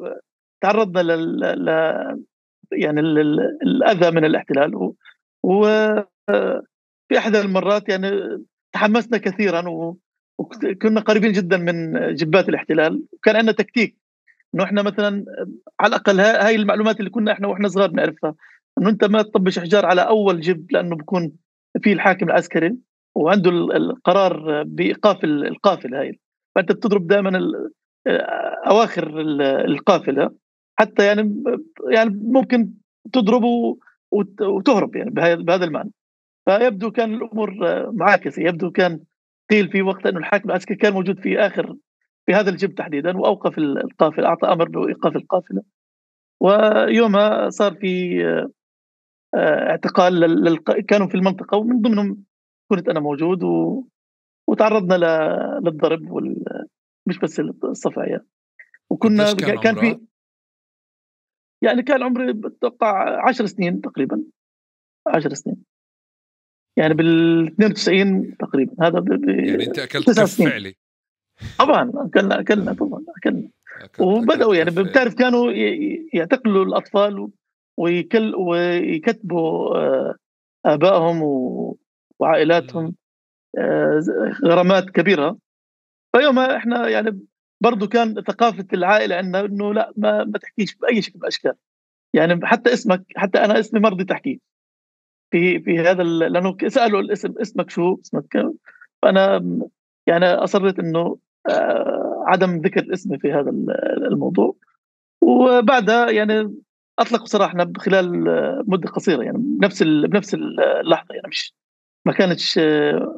تعرضنا يعني الاذى من الاحتلال. وفي احدى المرات يعني تحمسنا كثيرا وكنا قريبين جدا من جبات الاحتلال. وكان عندنا تكتيك انه احنا مثلا على الاقل هاي المعلومات اللي كنا احنا واحنا صغار نعرفها، انه انت ما تطبش احجار على اول جب لانه بكون في الحاكم العسكري وعنده القرار بايقاف القافله هاي. فانت بتضرب دائما اواخر القافله، حتى يعني ممكن تضرب وتهرب يعني بهذا المعنى. فيبدو كان الامور معاكسه. يبدو كان قيل في وقت انه الحاكم العسكري كان موجود في اخر في هذا الجب تحديدا واوقف القافله، اعطى امر بايقاف القافله. ويومها صار في اعتقال كانوا في المنطقه ومن ضمنهم كنت انا موجود وتعرضنا للضرب مش بس الصفع يعني. وكنا قديش كان كان عمرك؟ في يعني كان عمري بتوقع 10 سنين تقريبا، 10 سنين يعني بال 92 تقريبا. هذا يعني انت اكلت 9 كف سنين. فعلي؟ طبعا اكلنا طبعا اكلنا. اكلت وبداوا يعني كف فعلي. بتعرف كانوا يعتقلوا الاطفال ويكتبوا آبائهم وعائلاتهم غرامات كبيرة. فيومها إحنا يعني برضو كان ثقافة العائلة عندنا إنه لا ما تحكيش بأي شكل من الأشكال، يعني حتى اسمك، حتى أنا اسمي ما رضيت أحكيه في هذا لأنه سألوا الاسم، اسمك شو؟ اسمك كذا. فأنا يعني أصرّيت إنه عدم ذكر اسمي في هذا الموضوع. وبعدها يعني أطلقوا سراحنا خلال مدة قصيرة، يعني بنفس اللحظة، يعني مش ما كانتش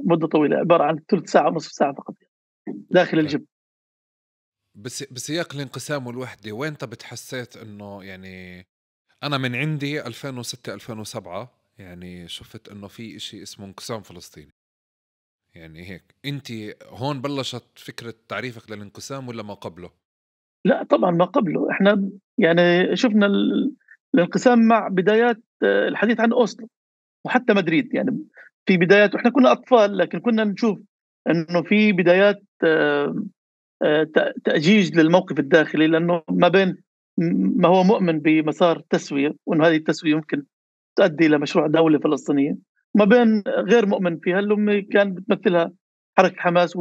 مدة طويلة، عبارة عن ثلث ساعة ونصف ساعة فقط يعني داخل طيب، الجبل. بسياق الانقسام والوحدة وين أنت بتحسيت إنه يعني أنا من عندي 2006 2007 يعني شفت إنه في إشي اسمه انقسام فلسطيني، يعني هيك أنت هون بلشت فكرة تعريفك للانقسام ولا ما قبله؟ لأ طبعًا ما قبله، إحنا يعني شُفنا الانقسام مع بدايات الحديث عن أوسلو وحتى مدريد، يعني في بدايات وإحنا كنا أطفال، لكن كنا نشوف إنه في بدايات تأجيج للموقف الداخلي، لأنه ما بين ما هو مؤمن بمسار تسوية، وإنه هذه التسوية يمكن تؤدي إلى مشروع دولة فلسطينية، وما بين غير مؤمن فيها اللي هم كان بتمثلها حركة حماس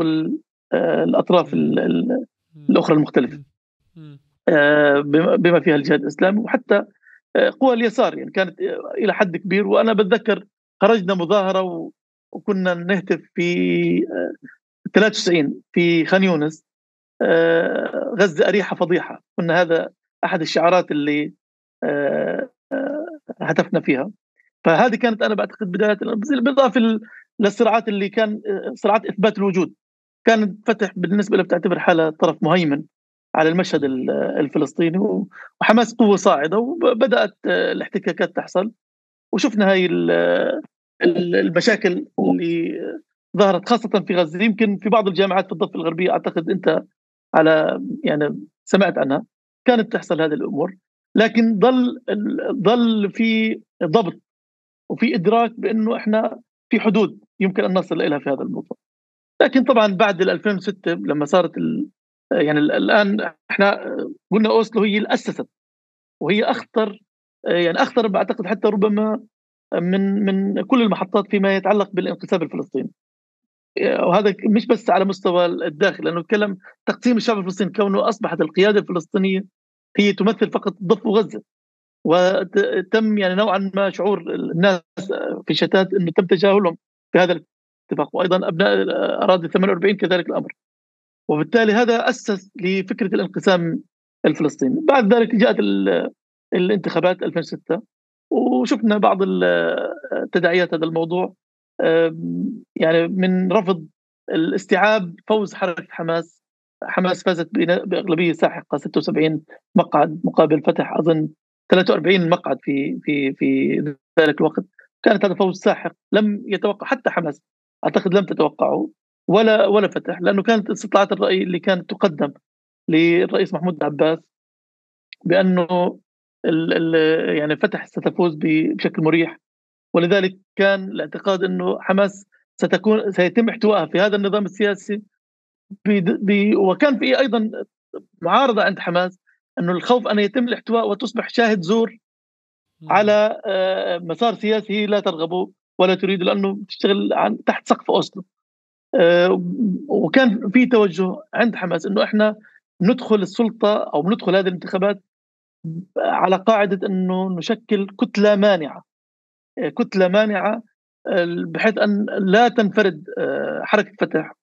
الأطراف إمم، إمم، الأخرى المختلفة، إمم، إمم، بما فيها الجهاد الإسلامي وحتى قوى اليسار، يعني كانت إلى حد كبير. وأنا باتذكر خرجنا مظاهرة وكنا نهتف في 93 في خان يونس، غزة أريحة فضيحة، كنا هذا أحد الشعارات اللي هتفنا فيها. فهذه كانت أنا باعتقد بداية، بالإضافة للصراعات اللي كان صراعات إثبات الوجود. كان فتح بالنسبة له بتعتبر حالها طرف مهيمن على المشهد إمم، الفلسطيني، وحماس قوة صاعدة، وبدأت الاحتكاكات تحصل. وشفنا هاي المشاكل اللي ظهرت خاصة في غزة. يمكن في بعض الجامعات في الضفة الغربية أعتقد أنت على يعني سمعت عنها، كانت تحصل هذه الأمور، لكن ظل في ضبط وفي إدراك بأنه إحنا في حدود يمكن أن نصل إليها في هذا الموضوع. لكن طبعًا بعد 2006 لمّا صارت يعني الآن إحنا قلنا أوسلو هي اللي أسست، وهي أخطر، يعني أخطر باعتقد حتى ربما من كل المحطات فيما يتعلق بالانقسام الفلسطيني. وهذا مش بس على مستوى الداخل، لأنه نتكلم تقسيم الشعب الفلسطيني كونه أصبحت القيادة الفلسطينية هي تمثل فقط الضفة وغزة، وتم يعني نوعًا ما شعور الناس في شتات إنه تم تجاهلهم في هذا الاتفاق، وأيضًا أبناء أراضي 48 كذلك الأمر. وبالتالي هذا أسس لفكرة الانقسام الفلسطيني. بعد ذلك جاءت الانتخابات 2006، وشفنا بعض تداعيات هذا الموضوع، يعني من رفض الاستيعاب فوز حركة حماس. حماس فازت بأغلبية ساحقة 76 مقعد مقابل فتح أظن 43 مقعد في ذلك الوقت. كانت هذا فوز ساحق لم يتوقع حتى حماس، أعتقد لم تتوقعه ولا فتح، لأنه كانت استطلاعات الرأي اللي كانت تقدم للرئيس محمود عباس بأنه ال ال يعني فتح ستفوز بشكل مريح. ولذلك كان الاعتقاد أنه حماس سيتم احتوائها في هذا النظام السياسي. وكان في أيضا معارضة عند حماس أنه الخوف أن يتم الاحتواء وتصبح شاهد زور إمم، على مسار سياسي لا ترغبه ولا تريده، لأنه تشتغل تحت سقف أوسلو. وكان في توجه عند حماس إنه إحنا ندخل السلطة أو ندخل هذه الانتخابات على قاعدة إنه نشكل كتلة مانعة، كتلة مانعة، بحيث أن لا تنفرد حركة فتح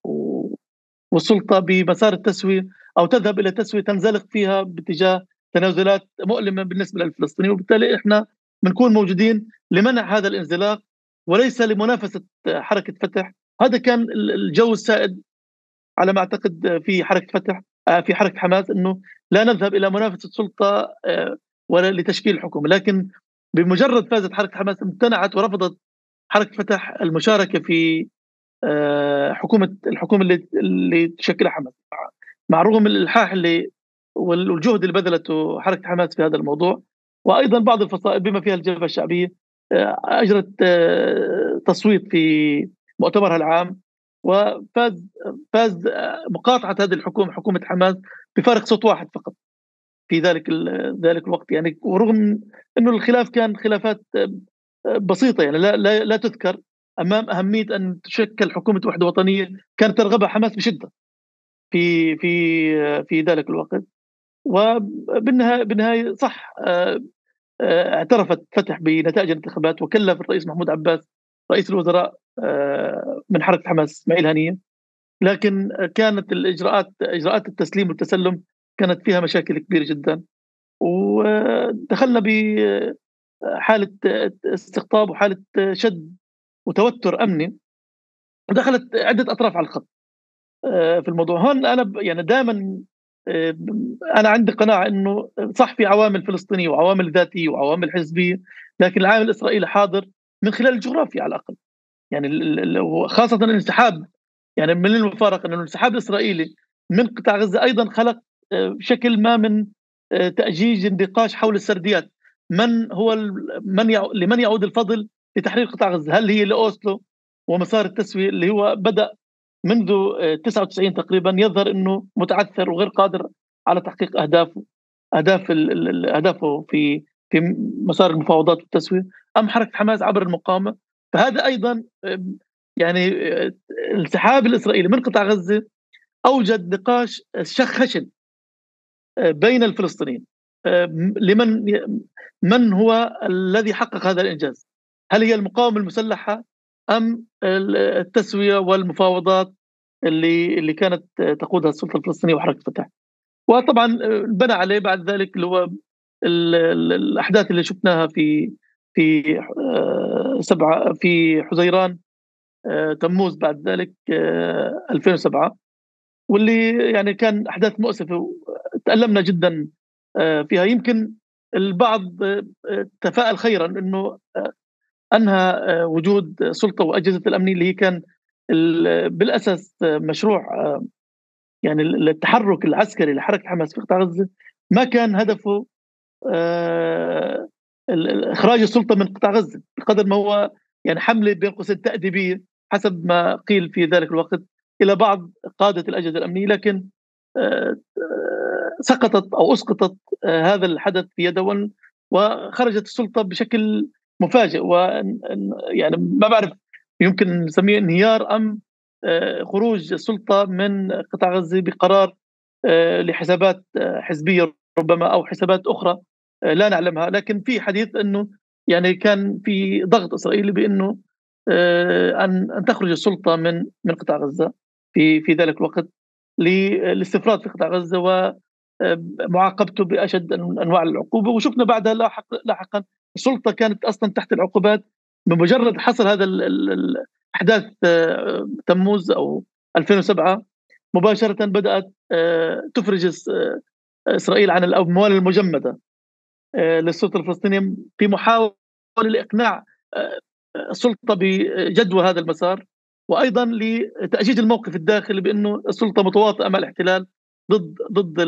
والسلطة بمسار التسوية، أو تذهب إلى تسوية تنزلق فيها باتجاه تنازلات مؤلمة بالنسبة للفلسطينيين. وبالتالي إحنا بنكون موجودين لمنع هذا الانزلاق وليس لمنافسة حركة فتح. هذا كان الجو السائد على ما أعتقد في حركة فتح، في حركة حماس، إنه لا نذهب إلى منافسة سلطة ولا لتشكيل حكومة. لكن بمجرد فازت حركة حماس امتنعت ورفضت حركة فتح المشاركة في الحكومة اللي تشكلها حماس، مع رغم الإلحاح والجهد اللي بذلته حركة حماس في هذا الموضوع. وأيضًا بعض الفصائل بما فيها الجبهة الشعبية أجرت تصويت في مؤتمرها العام، فاز مقاطعة هذه الحكومة، حكومة حماس، بفارق صوت واحد فقط في ذلك الوقت. يعني ورغم إنه الخلاف كان خلافات بسيطة يعني لا تذكر أمام أهمية أن تشكل حكومة وحدة وطنية كانت ترغبها حماس بشدة في ذلك الوقت. بالنهاية صح، اعترفت فتح بنتائج الانتخابات وكلف الرئيس محمود عباس رئيس الوزراء من حركة حماس إسماعيل هنية، لكن كانت إجراءات التسليم والتسلم كانت فيها مشاكل كبيرة جدا، ودخلنا بحالة استقطاب وحالة شد وتوتر أمني، ودخلت عدة أطراف على الخط في الموضوع. هون أنا يعني دائما أنا عندي قناعة إنه صح في عوامل فلسطينية وعوامل ذاتية وعوامل حزبية، لكن العامل الإسرائيلي حاضر من خلال الجغرافيا على الأقل. يعني خاصة الانسحاب، يعني من المفارقة أن الانسحاب الإسرائيلي من قطاع غزة أيضا خلق شكل ما من تأجيج النقاش حول السرديات. لمن يعود الفضل لتحرير قطاع غزة؟ هل هي لأوسلو ومسار التسوية اللي هو بدأ منذ 99 تقريبا يظهر أنه متعثر وغير قادر على تحقيق أهدافه في مسار المفاوضات والتسوية، أم حركة حماس عبر المقاومة؟ فهذا أيضا يعني الانسحاب الإسرائيلي من قطاع غزة أوجد نقاش خشن بين الفلسطينيين. من هو الذي حقق هذا الإنجاز؟ هل هي المقاومة المسلحة أم التسوية والمفاوضات اللي كانت تقودها السلطة الفلسطينية وحركة فتح؟ وطبعا بنى عليه بعد ذلك اللي هو الأحداث اللي شفناها في حزيران تموز بعد ذلك 2007، واللي يعني كان أحداث مؤسفة وتألمنا جدا فيها. يمكن البعض تفاءل خيرا أنه أنهى وجود سلطة وأجهزة الأمنية اللي هي كان بالأساس مشروع يعني التحرك العسكري لحركة حماس في قطاع غزة ما كان هدفه إخراج السلطة من قطاع غزة، بقدر ما هو يعني حملة بين قوسين تأديبية حسب ما قيل في ذلك الوقت إلى بعض قادة الأجهزة الأمنية. لكن سقطت أو أسقطت هذا الحدث في يده، وخرجت السلطة بشكل مفاجئ، يعني ما بعرف يمكن نسميه انهيار أم خروج السلطة من قطاع غزة بقرار لحسابات حزبية ربما أو حسابات أخرى لا نعلمها. لكن في حديث أنه يعني كان في ضغط إسرائيلي بأنه أن تخرج السلطة من قطاع غزة في ذلك الوقت للاستفراد في قطاع غزة ومعاقبته بأشد أنواع العقوبة. وشفنا بعدها لاحقا السلطة كانت أصلا تحت العقوبات بمجرد حصل هذا الأحداث تموز أو 2007 مباشرة بدأت تفرج إسرائيل عن الأموال المجمدة للسلطة الفلسطينية في محاولة لإقناع السلطة بجدوى هذا المسار، وأيضا لتأجيج الموقف الداخلي بأنه السلطة متواطئة مع الاحتلال ضد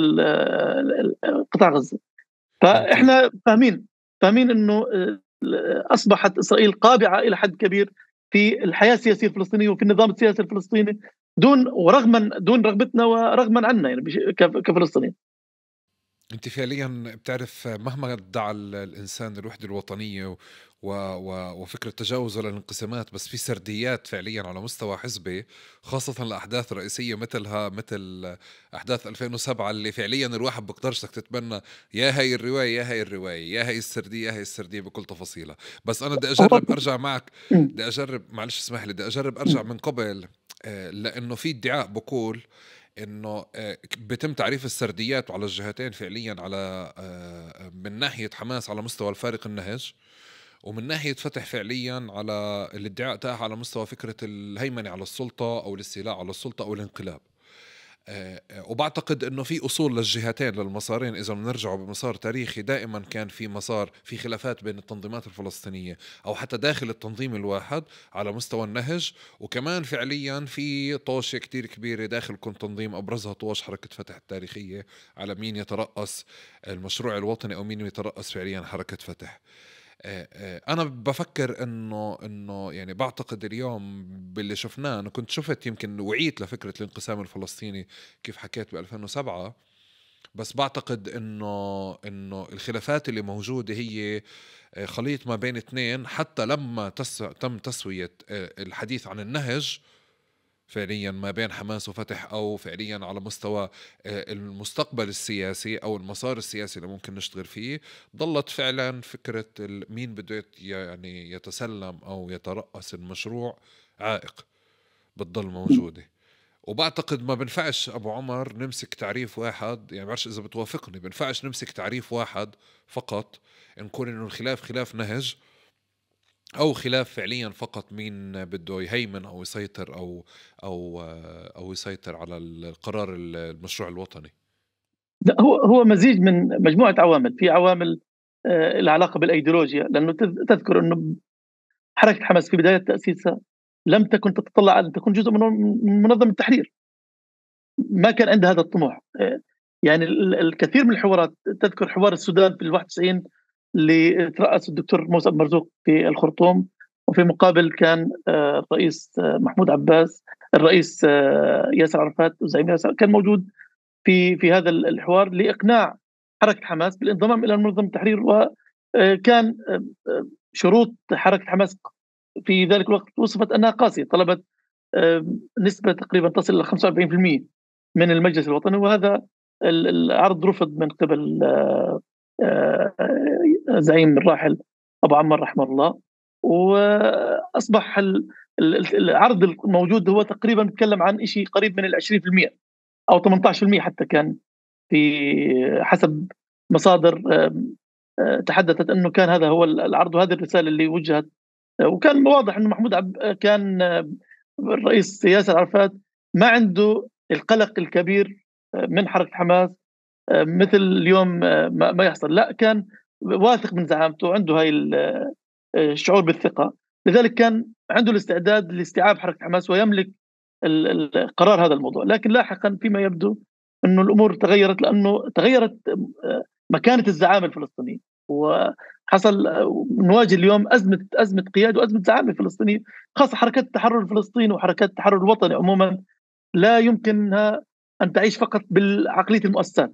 قطاع غزة. فإحنا فاهمين أنه أصبحت إسرائيل قابعة إلى حد كبير في الحياة السياسية الفلسطينية وفي النظام السياسي الفلسطيني دون رغبتنا ورغما عنا يعني كفلسطينيين. انت فعليا بتعرف مهما ادعى الانسان الوحده الوطنيه وفكره تجاوزه للانقسامات، بس في سرديات فعليا على مستوى حزبي، خاصه الاحداث الرئيسيه مثل احداث 2007 اللي فعليا الواحد بقدرش تتبنى يا هاي الروايه يا هاي الروايه يا هاي السرديه يا هاي السرديه بكل تفاصيلها. بس انا بدي اجرب ارجع معك، بدي اجرب، معلش اسمح لي، بدي اجرب ارجع من قبل، لانه في ادعاء بقول انه بيتم تعريف السرديات على الجهتين فعليا، على من ناحية حماس على مستوى الفارق النهج، ومن ناحية فتح فعليا على الادعاء تاعها على مستوى فكرة الهيمنة على السلطة أو الاستيلاء على السلطة أو الانقلاب. وبعتقد انه في اصول للجهتين للمسارين. اذا بنرجعوا بمسار تاريخي دائما كان في مسار في خلافات بين التنظيمات الفلسطينية او حتى داخل التنظيم الواحد على مستوى النهج، وكمان فعليا في طوشة كتير كبيرة داخل كل تنظيم، ابرزها طوش حركة فتح التاريخية على مين يترأس المشروع الوطني او مين يترأس فعليا حركة فتح. أنا بفكر إنه يعني بعتقد اليوم باللي شفناه، أنا كنت شفت يمكن وعيت لفكرة الانقسام الفلسطيني كيف حكيت ب2007، بس بعتقد إنه الخلافات اللي موجودة هي خليط ما بين اثنين، حتى لما تم تسوية الحديث عن النهج فعليا ما بين حماس وفتح، أو فعليا على مستوى المستقبل السياسي أو المسار السياسي اللي ممكن نشتغل فيه، ضلت فعلا فكرة مين بده يعني يتسلم أو يترأس المشروع عائق بتضل موجودة. وبعتقد ما بنفعش أبو عمر نمسك تعريف واحد، يعني بعرفش إذا بتوافقني، بنفعش نمسك تعريف واحد فقط نكون إنه الخلاف خلاف نهج، أو خلاف فعليا فقط مين بده يهيمن أو يسيطر أو يسيطر على القرار المشروع الوطني. لا، هو مزيج من مجموعة عوامل. في عوامل العلاقة بالأيديولوجيا، لأنه تذكر أنه حركة حماس في بداية تأسيسها لم تكن تتطلع أن تكون جزء من منظمة التحرير، ما كان عندها هذا الطموح. يعني الكثير من الحوارات، تذكر حوار السودان في 91 اللي ترأس الدكتور موسى مرزوق في الخرطوم، وفي مقابل كان الرئيس محمود عباس، الرئيس ياسر عرفات وزعيم ياسر كان موجود في هذا الحوار لإقناع حركة حماس بالانضمام إلى منظمة التحرير. وكان شروط حركة حماس في ذلك الوقت وصفت أنها قاسية، طلبت نسبة تقريبا تصل إلى 45% من المجلس الوطني، وهذا العرض رفض من قبل زعيم الراحل أبو عمر رحمه الله. وأصبح العرض الموجود هو تقريبا نتكلم عن شيء قريب من 20% أو 18% حتى، كان في حسب مصادر تحدثت أنه كان هذا هو العرض وهذه الرسالة اللي وجهت. وكان واضح أنه كان الرئيس ياسر عرفات ما عنده القلق الكبير من حركة حماس مثل اليوم ما يحصل، لا، كان واثق من زعامته، عنده هاي الشعور بالثقة، لذلك كان عنده الاستعداد لاستيعاب حركة حماس ويملك قرار هذا الموضوع. لكن لاحقا فيما يبدو أنه الأمور تغيرت، لأنه تغيرت مكانة الزعامة الفلسطينية، وحصل نواجه اليوم أزمة قيادة وأزمة زعامة فلسطينية، خاصة حركات التحرر الفلسطيني وحركات التحرر الوطني عموما لا يمكنها أن تعيش فقط بالعقلية المؤسسات.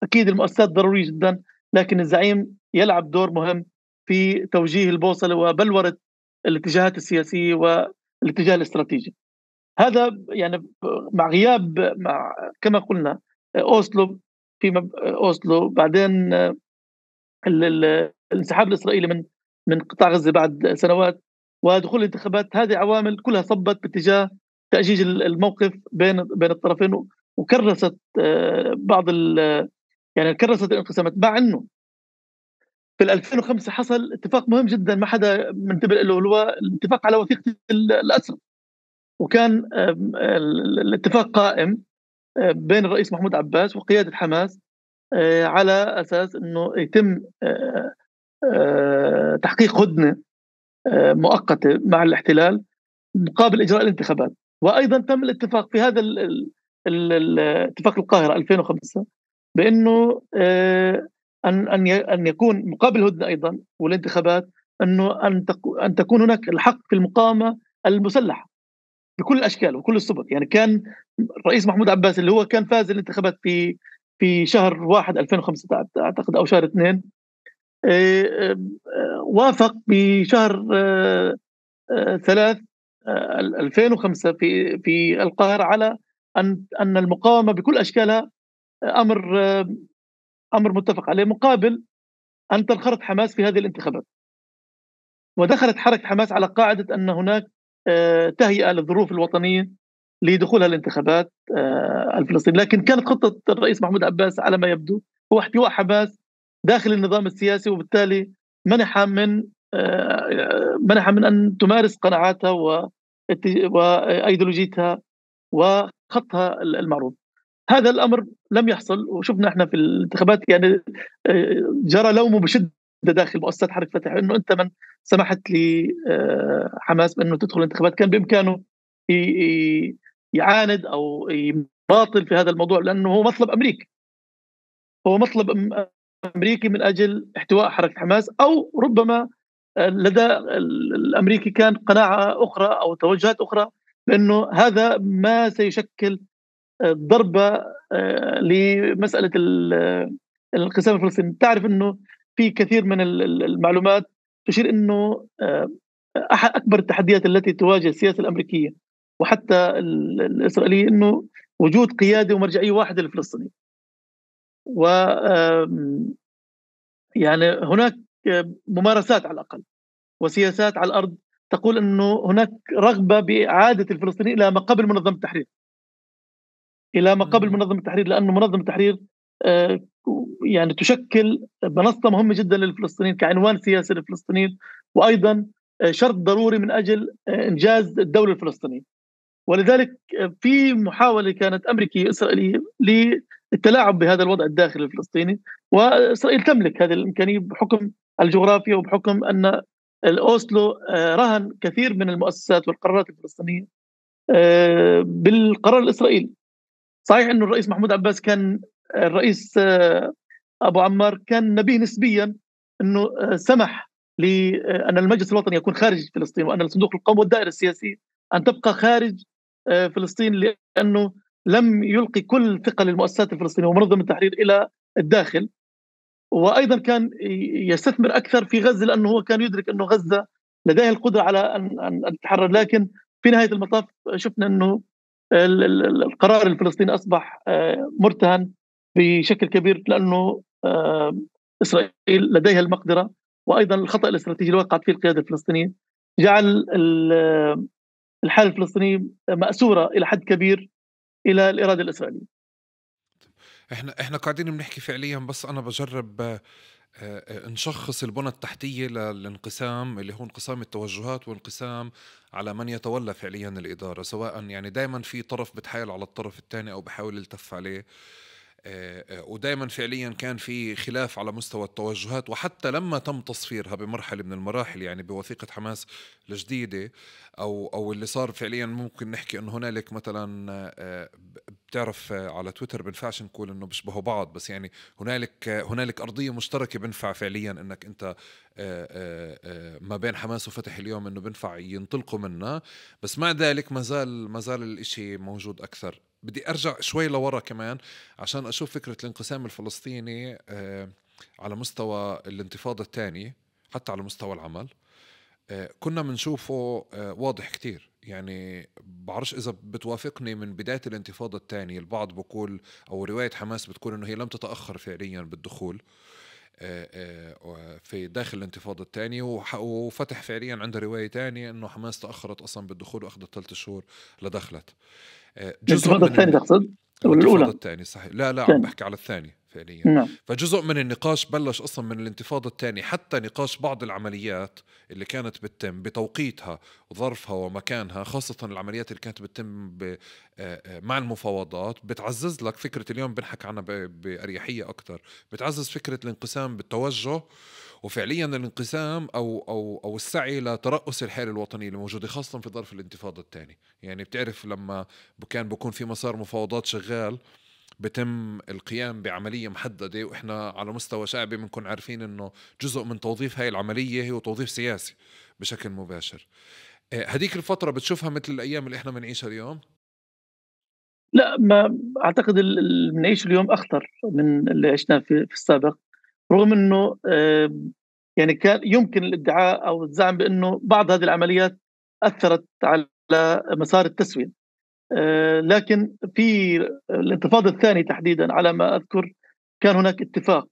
أكيد المؤسسات ضرورية جدا، لكن الزعيم يلعب دور مهم في توجيه البوصلة وبلورة الاتجاهات السياسية والاتجاه الاستراتيجي. هذا يعني مع غياب كما قلنا أوسلو، أوسلو بعدين الانسحاب الإسرائيلي من قطاع غزة بعد سنوات ودخول الانتخابات، هذه عوامل كلها صبت باتجاه تأجيج الموقف بين الطرفين، وكرست يعني كرست الانقسامات. مع انه في 2005 حصل اتفاق مهم جدا ما حدا منتبه له، هو الاتفاق على وثيقة الأسرى، وكان الاتفاق قائم بين الرئيس محمود عباس وقيادة حماس على أساس أنه يتم تحقيق هدنة مؤقتة مع الاحتلال مقابل إجراء الانتخابات. وأيضا تم الاتفاق في هذا الاتفاق القاهرة 2005 بأنه أن يكون مقابل هدنة أيضا والانتخابات أنه أن تكون هناك الحق في المقاومة المسلحة بكل الأشكال وكل الصور. يعني كان الرئيس محمود عباس اللي هو كان فاز الانتخابات في شهر 1 2005 أعتقد أو شهر 2، وافق بشهر 3 2005 في القاهرة على أن المقاومة بكل أشكالها أمر متفق عليه مقابل أن تنخرط حماس في هذه الانتخابات. ودخلت حركة حماس على قاعدة أن هناك تهيئة للظروف الوطنية لدخولها الانتخابات الفلسطينية. لكن كانت خطة الرئيس محمود عباس على ما يبدو هو احتواء حماس داخل النظام السياسي، وبالتالي منح من أن تمارس قناعاتها وأيديولوجيتها وخطها المعروف. هذا الأمر لم يحصل، وشفنا احنا في الانتخابات يعني جرى لومه بشدة داخل مؤسسات حركة فتح انه انت من سمحت لحماس بانه تدخل الانتخابات. كان بامكانه يعاند او يباطل في هذا الموضوع، لانه هو مطلب امريكي، هو مطلب امريكي من اجل احتواء حركة حماس، او ربما لدى الامريكي كان قناعة اخرى او توجهات اخرى بانه هذا ما سيشكل ضربة لمسألة الانقسام الفلسطيني. تعرف أنه في كثير من المعلومات تشير أنه أحد أكبر التحديات التي تواجه السياسة الأمريكية وحتى الإسرائيلية أنه وجود قيادة ومرجعية واحدة للفلسطينيين. و يعني هناك ممارسات على الأقل وسياسات على الأرض تقول أنه هناك رغبة بإعادة الفلسطينيين إلى ما قبل منظمة التحرير، لأنه منظمة التحرير يعني تشكل منصة مهمة جدا للفلسطينيين كعنوان سياسي للفلسطينيين، وأيضا شرط ضروري من أجل إنجاز الدولة الفلسطينية. ولذلك في محاولة كانت أمريكية إسرائيلية للتلاعب بهذا الوضع الداخلي الفلسطيني، وإسرائيل تملك هذه الإمكانية بحكم الجغرافيا وبحكم أن الأوسلو رهن كثير من المؤسسات والقرارات الفلسطينية بالقرار الإسرائيلي. صحيح أنه الرئيس محمود عباس كان الرئيس أبو عمار كان نبيه نسبيا، أنه سمح لأن المجلس الوطني يكون خارج فلسطين وأن الصندوق القومي والدائرة السياسية أن تبقى خارج فلسطين، لأنه لم يلقي كل ثقة للمؤسسات الفلسطينية ومنظمة التحرير إلى الداخل. وأيضا كان يستثمر أكثر في غزة لأنه هو كان يدرك أنه غزة لديها القدرة على أن تتحرر. لكن في نهاية المطاف شفنا أنه القرار الفلسطيني أصبح مرتهن بشكل كبير، لأنه إسرائيل لديها المقدرة، وأيضا الخطأ الاستراتيجي اللي وقعت فيه القيادة الفلسطينية جعل الحالة الفلسطينية مأسورة إلى حد كبير إلى الإرادة الإسرائيلية. احنا قاعدين بنحكي فعليا، بس انا بجرب نشخص البنى التحتية للانقسام اللي هو انقسام التوجهات وانقسام على من يتولى فعليا الإدارة، سواء يعني دايما في طرف بتحايل على الطرف الثاني أو بحاول يلتف عليه، ودايما فعليا كان في خلاف على مستوى التوجهات. وحتى لما تم تصفيرها بمرحلة من المراحل، يعني بوثيقة حماس الجديدة أو اللي صار فعليا، ممكن نحكي أنه هنالك مثلا بتعرف على تويتر بنفعش نقول أنه بيشبهوا بعض، بس يعني هنالك أرضية مشتركة بنفع فعليا أنك أنت ما بين حماس وفتح اليوم أنه بنفع ينطلقوا منها. بس مع ذلك ما زال الإشي موجود أكثر. بدي أرجع شوي لورا كمان عشان أشوف فكرة الانقسام الفلسطيني على مستوى الانتفاضة الثانية، حتى على مستوى العمل كنا منشوفه واضح كتير. يعني بعرفش إذا بتوافقني، من بداية الانتفاضة الثانية البعض بقول، أو رواية حماس بتقول إنه هي لم تتأخر فعليا بالدخول في داخل الانتفاضة الثانية، وفتح فعليا عنده رواية تانية إنه حماس تأخرت أصلا بالدخول وأخذت 3 شهور لدخلت. الانتفاضة الثانية تقصد؟ الانتفاضة الثانية صحيح. لا عم بحكي على الثانية فعليا. نعم. فجزء من النقاش بلش أصلا من الانتفاضة الثانية، حتى نقاش بعض العمليات اللي كانت بتتم بتوقيتها وظرفها ومكانها، خاصة العمليات اللي كانت بتتم مع المفاوضات، بتعزز لك فكرة اليوم بنحكي عنها بأريحية أكتر، بتعزز فكرة الانقسام بالتوجه، وفعليا الانقسام أو السعي لترأس الحالة الوطنية اللي موجودة خاصة في ظرف الانتفاضة الثانية. يعني بتعرف لما كان بيكون في مسار مفاوضات شغال، بتم القيام بعملية محددة، وإحنا على مستوى شعبي بنكون عارفين إنه جزء من توظيف هاي العملية هو توظيف سياسي بشكل مباشر. هديك الفترة بتشوفها مثل الأيام اللي إحنا بنعيشها اليوم؟ لا، ما أعتقد اللي بنعيشه اليوم أخطر من اللي عشناه في السابق، رغم أنه يعني كان يمكن الادعاء أو الزعم بأنه بعض هذه العمليات أثرت على مسار التسوية، لكن في الانتفاضة الثانية تحديدا على ما أذكر كان هناك اتفاق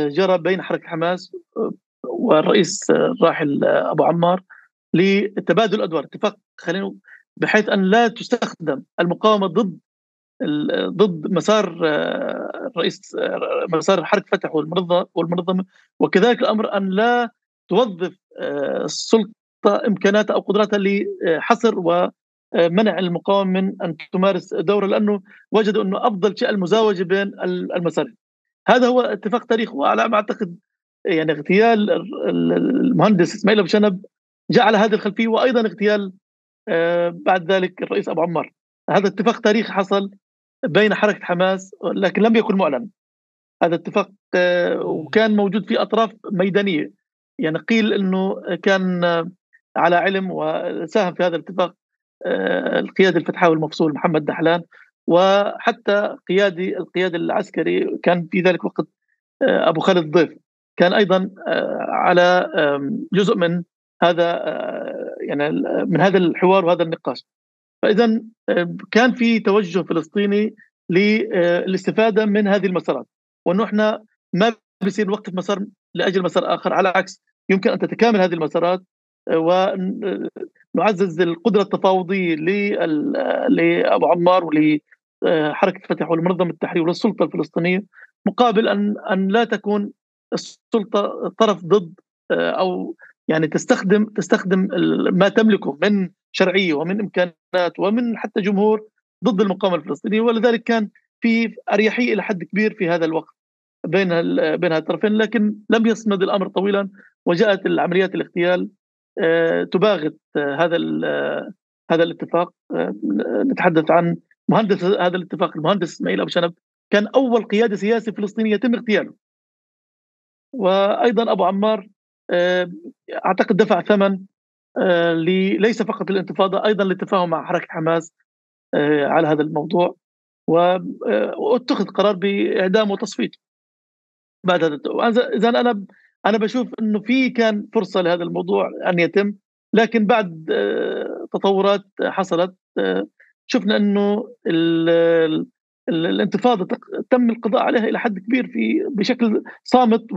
جرى بين حركة حماس والرئيس الراحل أبو عمار لتبادل الأدوار، اتفاق بحيث أن لا تستخدم المقاومة ضد مسار الرئيس، مسار حركة فتح والمنظمة، وكذلك الأمر أن لا توظف السلطة إمكاناتها أو قدراتها لحصر ومنع المقاومة من أن تمارس دورها، لأنه وجدوا أنه أفضل شيء المزاوجة بين المسارين. هذا هو اتفاق تاريخي، وعلى ما أعتقد يعني اغتيال المهندس إسماعيل أبو شنب جاء على هذه الخلفية، وأيضا اغتيال بعد ذلك الرئيس أبو عمار. هذا اتفاق تاريخي حصل بين حركة حماس لكن لم يكن معلن. هذا اتفاق وكان موجود في أطراف ميدانية، يعني قيل أنه كان على علم وساهم في هذا الاتفاق القيادي الفتحاوي المفصول محمد دحلان، وحتى القيادي العسكري كان في ذلك الوقت أبو خالد ضيف. كان أيضا على جزء من هذا يعني من هذا الحوار وهذا النقاش. فإذا كان في توجه فلسطيني للاستفادة من هذه المسارات، وأنه إحنا ما بيصير نوقف مسار لأجل مسار آخر، على العكس يمكن أن تتكامل هذه المسارات ونعزز القدرة التفاوضية لأبو عمار ولحركة فتح والمنظمة التحرير وللسلطة الفلسطينية، مقابل أن لا تكون السلطة طرف ضد أو يعني تستخدم ما تملكه من شرعية ومن إمكانات ومن حتى جمهور ضد المقاومة الفلسطينية. ولذلك كان في أريحية إلى حد كبير في هذا الوقت بين الطرفين، لكن لم يصمد الأمر طويلا، وجاءت العمليات الاغتيال تباغت هذا الاتفاق. نتحدث عن مهندس هذا الاتفاق، المهندس إسماعيل أبو شنب، كان أول قيادة سياسي فلسطيني يتم اغتياله. وأيضا أبو عمار أعتقد دفع ثمن ليس فقط للانتفاضة، أيضا للتفاهم مع حركة حماس على هذا الموضوع، واتخذ قرار بإعدامه وتصفيته بعد هذا. إذا أنا بشوف أنه في كان فرصة لهذا الموضوع أن يتم، لكن بعد تطورات حصلت شفنا أنه الانتفاضة تم القضاء عليها إلى حد كبير بشكل صامت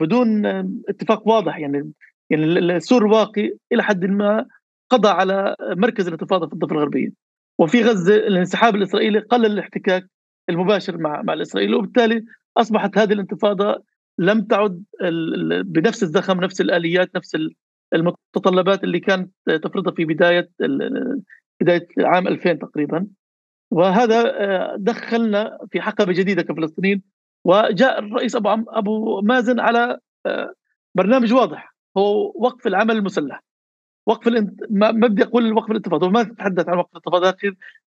بدون اتفاق واضح. يعني السور الواقي إلى حد ما قضى على مركز الانتفاضة في الضفة الغربية، وفي غزة الانسحاب الإسرائيلي قلل الاحتكاك المباشر مع الإسرائيلي، وبالتالي أصبحت هذه الانتفاضة لم تعد بنفس الزخم، نفس الآليات، نفس المتطلبات اللي كانت تفرضها في بداية عام 2000 تقريبا. وهذا دخلنا في حقبة جديدة كفلسطينيين. وجاء الرئيس أبو مازن على برنامج واضح، هو وقف العمل المسلح، ما بدي أقول وقف الانتفاضة، وما تتحدث عن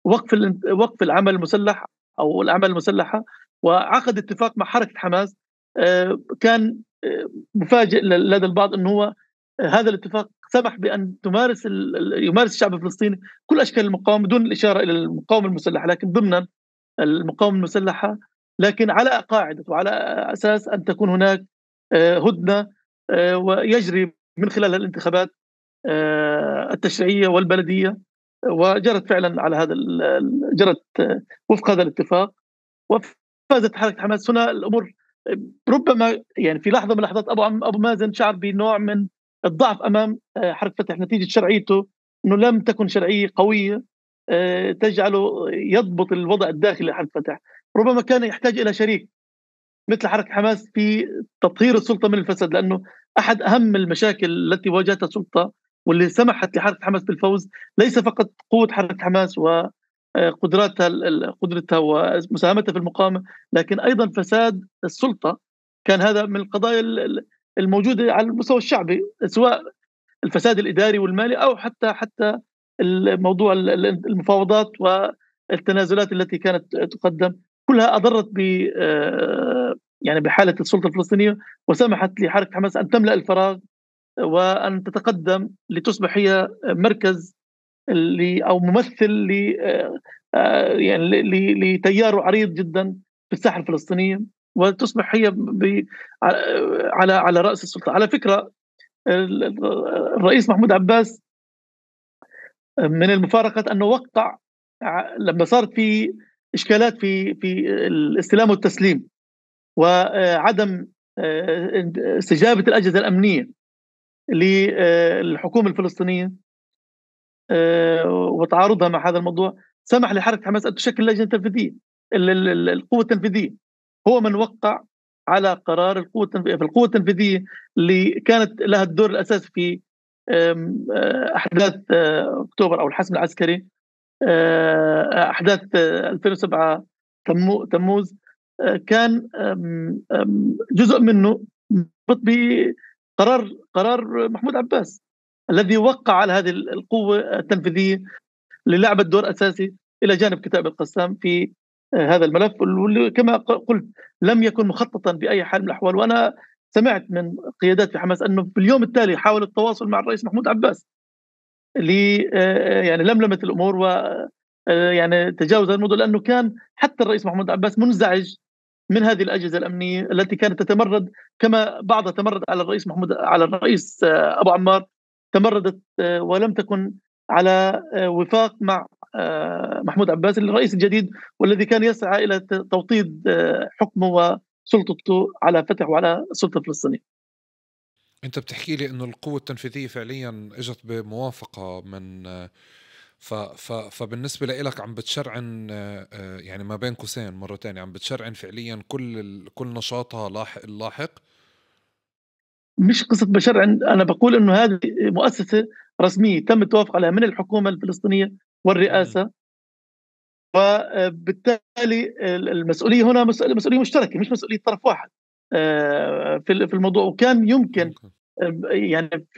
وقف الانتفاضة، وقف العمل المسلح أو الأعمال المسلحة. وعقد اتفاق مع حركة حماس كان مفاجئ لدى البعض أنه هو هذا الاتفاق سمح بأن يمارس الشعب الفلسطيني كل أشكال المقاومة دون الإشارة إلى المقاومة المسلحة، لكن ضمن المقاومة المسلحة، لكن على قاعدة وعلى أساس أن تكون هناك هدنة ويجري من خلال الانتخابات التشريعية والبلدية. وجرت فعلا على هذا جرت وفق هذا الاتفاق، وفازت حركة حماس. هنا الأمور ربما يعني في لحظة من اللحظات أبو مازن شعر بنوع من الضعف أمام حركة فتح نتيجة شرعيته، أنه لم تكن شرعية قوية تجعله يضبط الوضع الداخلي لحركة فتح. ربما كان يحتاج إلى شريك مثل حركة حماس في تطهير السلطة من الفساد، لأنه أحد أهم المشاكل التي واجهتها السلطة واللي سمحت لحركة حماس بالفوز ليس فقط قوة حركة حماس قدرتها ومساهمتها في المقاومة، لكن أيضا فساد السلطة. كان هذا من القضايا الموجودة على المستوى الشعبي، سواء الفساد الإداري والمالي أو حتى الموضوع المفاوضات والتنازلات التي كانت تقدم، كلها أضرت يعني بحالة السلطة الفلسطينية، وسمحت لحركة حماس أن تملأ الفراغ وأن تتقدم لتصبح هي مركز أو ممثل يعني لتيار عريض جدا في الساحة الفلسطينية، وتصبح هي على رأس السلطة. على فكرة الرئيس محمود عباس من المفارقات أنه وقع لما صارت في إشكالات في الاستلام والتسليم وعدم استجابة الأجهزة الأمنية للحكومة الفلسطينية وتعارضها مع هذا الموضوع، سمح لحركة حماس أن تشكل لجنة تنفيذية، القوة التنفيذية. هو من وقع على قرار القوة التنفيذية اللي كانت لها الدور الأساسي في أحداث أكتوبر أو الحسم العسكري، أحداث 2007 تموز. كان جزء منه بقرار محمود عباس الذي وقع على هذه القوة التنفيذية للعب الدور أساسي إلى جانب كتائب القسام في هذا الملف، واللي كما قلت لم يكن مخططا بأي حال من الأحوال. وأنا سمعت من قيادات في حماس أنه في اليوم التالي حاول التواصل مع الرئيس محمود عباس يعني لملمة الأمور و يعني تجاوز الموضوع، لأنه كان حتى الرئيس محمود عباس منزعج من هذه الأجهزة الأمنية التي كانت تتمرد، كما بعضها تمرد على الرئيس أبو عمار، تمردت ولم تكن على وفاق مع محمود عباس الرئيس الجديد، والذي كان يسعى إلى توطيد حكمه وسلطته على فتح وعلى السلطة الفلسطينية. انت بتحكي لي انه القوة التنفيذية فعليا اجت بموافقة من فبالنسبة لإلك عم بتشرعن يعني ما بين قوسين مرة تانية عم بتشرعن فعليا كل نشاطها اللاحق. مش قصة بشرع، أنا بقول إنه هذه مؤسسة رسمية تم التوافق عليها من الحكومة الفلسطينية والرئاسة، وبالتالي المسؤولية هنا مسؤولية مشتركة، مش مسؤولية طرف واحد في الموضوع. وكان يمكن يعني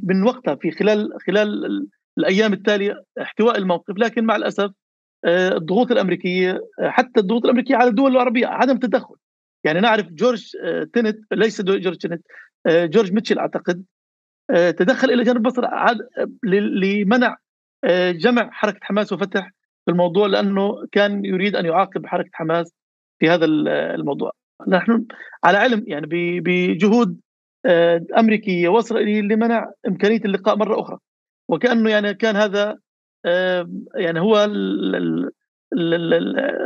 من وقتها في خلال الأيام التالية احتواء الموقف، لكن مع الأسف الضغوط الأمريكية، حتى الضغوط الأمريكية على الدول العربية عدم تدخل. يعني نعرف جورج تينت، ليس جورج تينت، جورج ميتشل أعتقد، تدخل إلى جانب مصر لمنع جمع حركة حماس وفتح في الموضوع، لأنه كان يريد أن يعاقب حركة حماس في هذا الموضوع. نحن على علم يعني بجهود أمريكية وإسرائيلية لمنع إمكانية اللقاء مرة أخرى، وكأنه يعني كان هذا يعني هو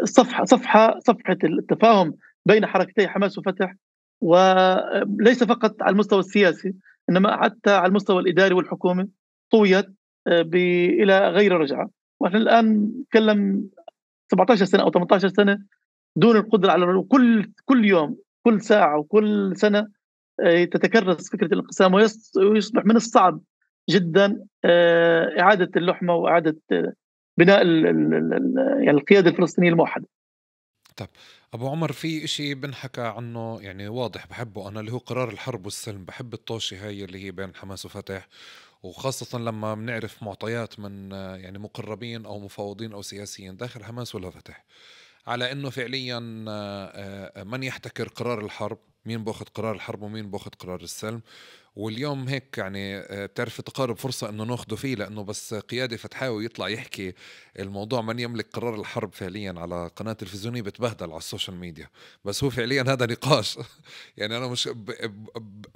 صفحة التفاهم بين حركتي حماس وفتح، وليس فقط على المستوى السياسي إنما حتى على المستوى الإداري والحكومي طويت إلى غير رجعة. ونحن الآن نتكلم 17 سنة أو 18 سنة دون القدرة على كل يوم، كل ساعة وكل سنة تتكرس فكرة الانقسام، ويصبح من الصعب جدا إعادة اللحمة وإعادة بناء يعني القيادة الفلسطينية الموحدة. طب أبو عمر، في إشي بنحكى عنه يعني واضح بحبه أنا، اللي هو قرار الحرب والسلم. بحب الطوشة هاي اللي هي بين حماس وفتح، وخاصة لما بنعرف معطيات من يعني مقربين أو مفاوضين أو سياسيين داخل حماس ولا فتح، على انه فعليا من يحتكر قرار الحرب، مين باخذ قرار الحرب ومين باخذ قرار السلم. واليوم هيك يعني بتعرف تقارب فرصة انه ناخده فيه، لانه بس قيادي فتحاوي يطلع يحكي الموضوع من يملك قرار الحرب فعليا على قناة تلفزيونية بتبهدل على السوشيال ميديا. بس هو فعليا هذا نقاش يعني انا مش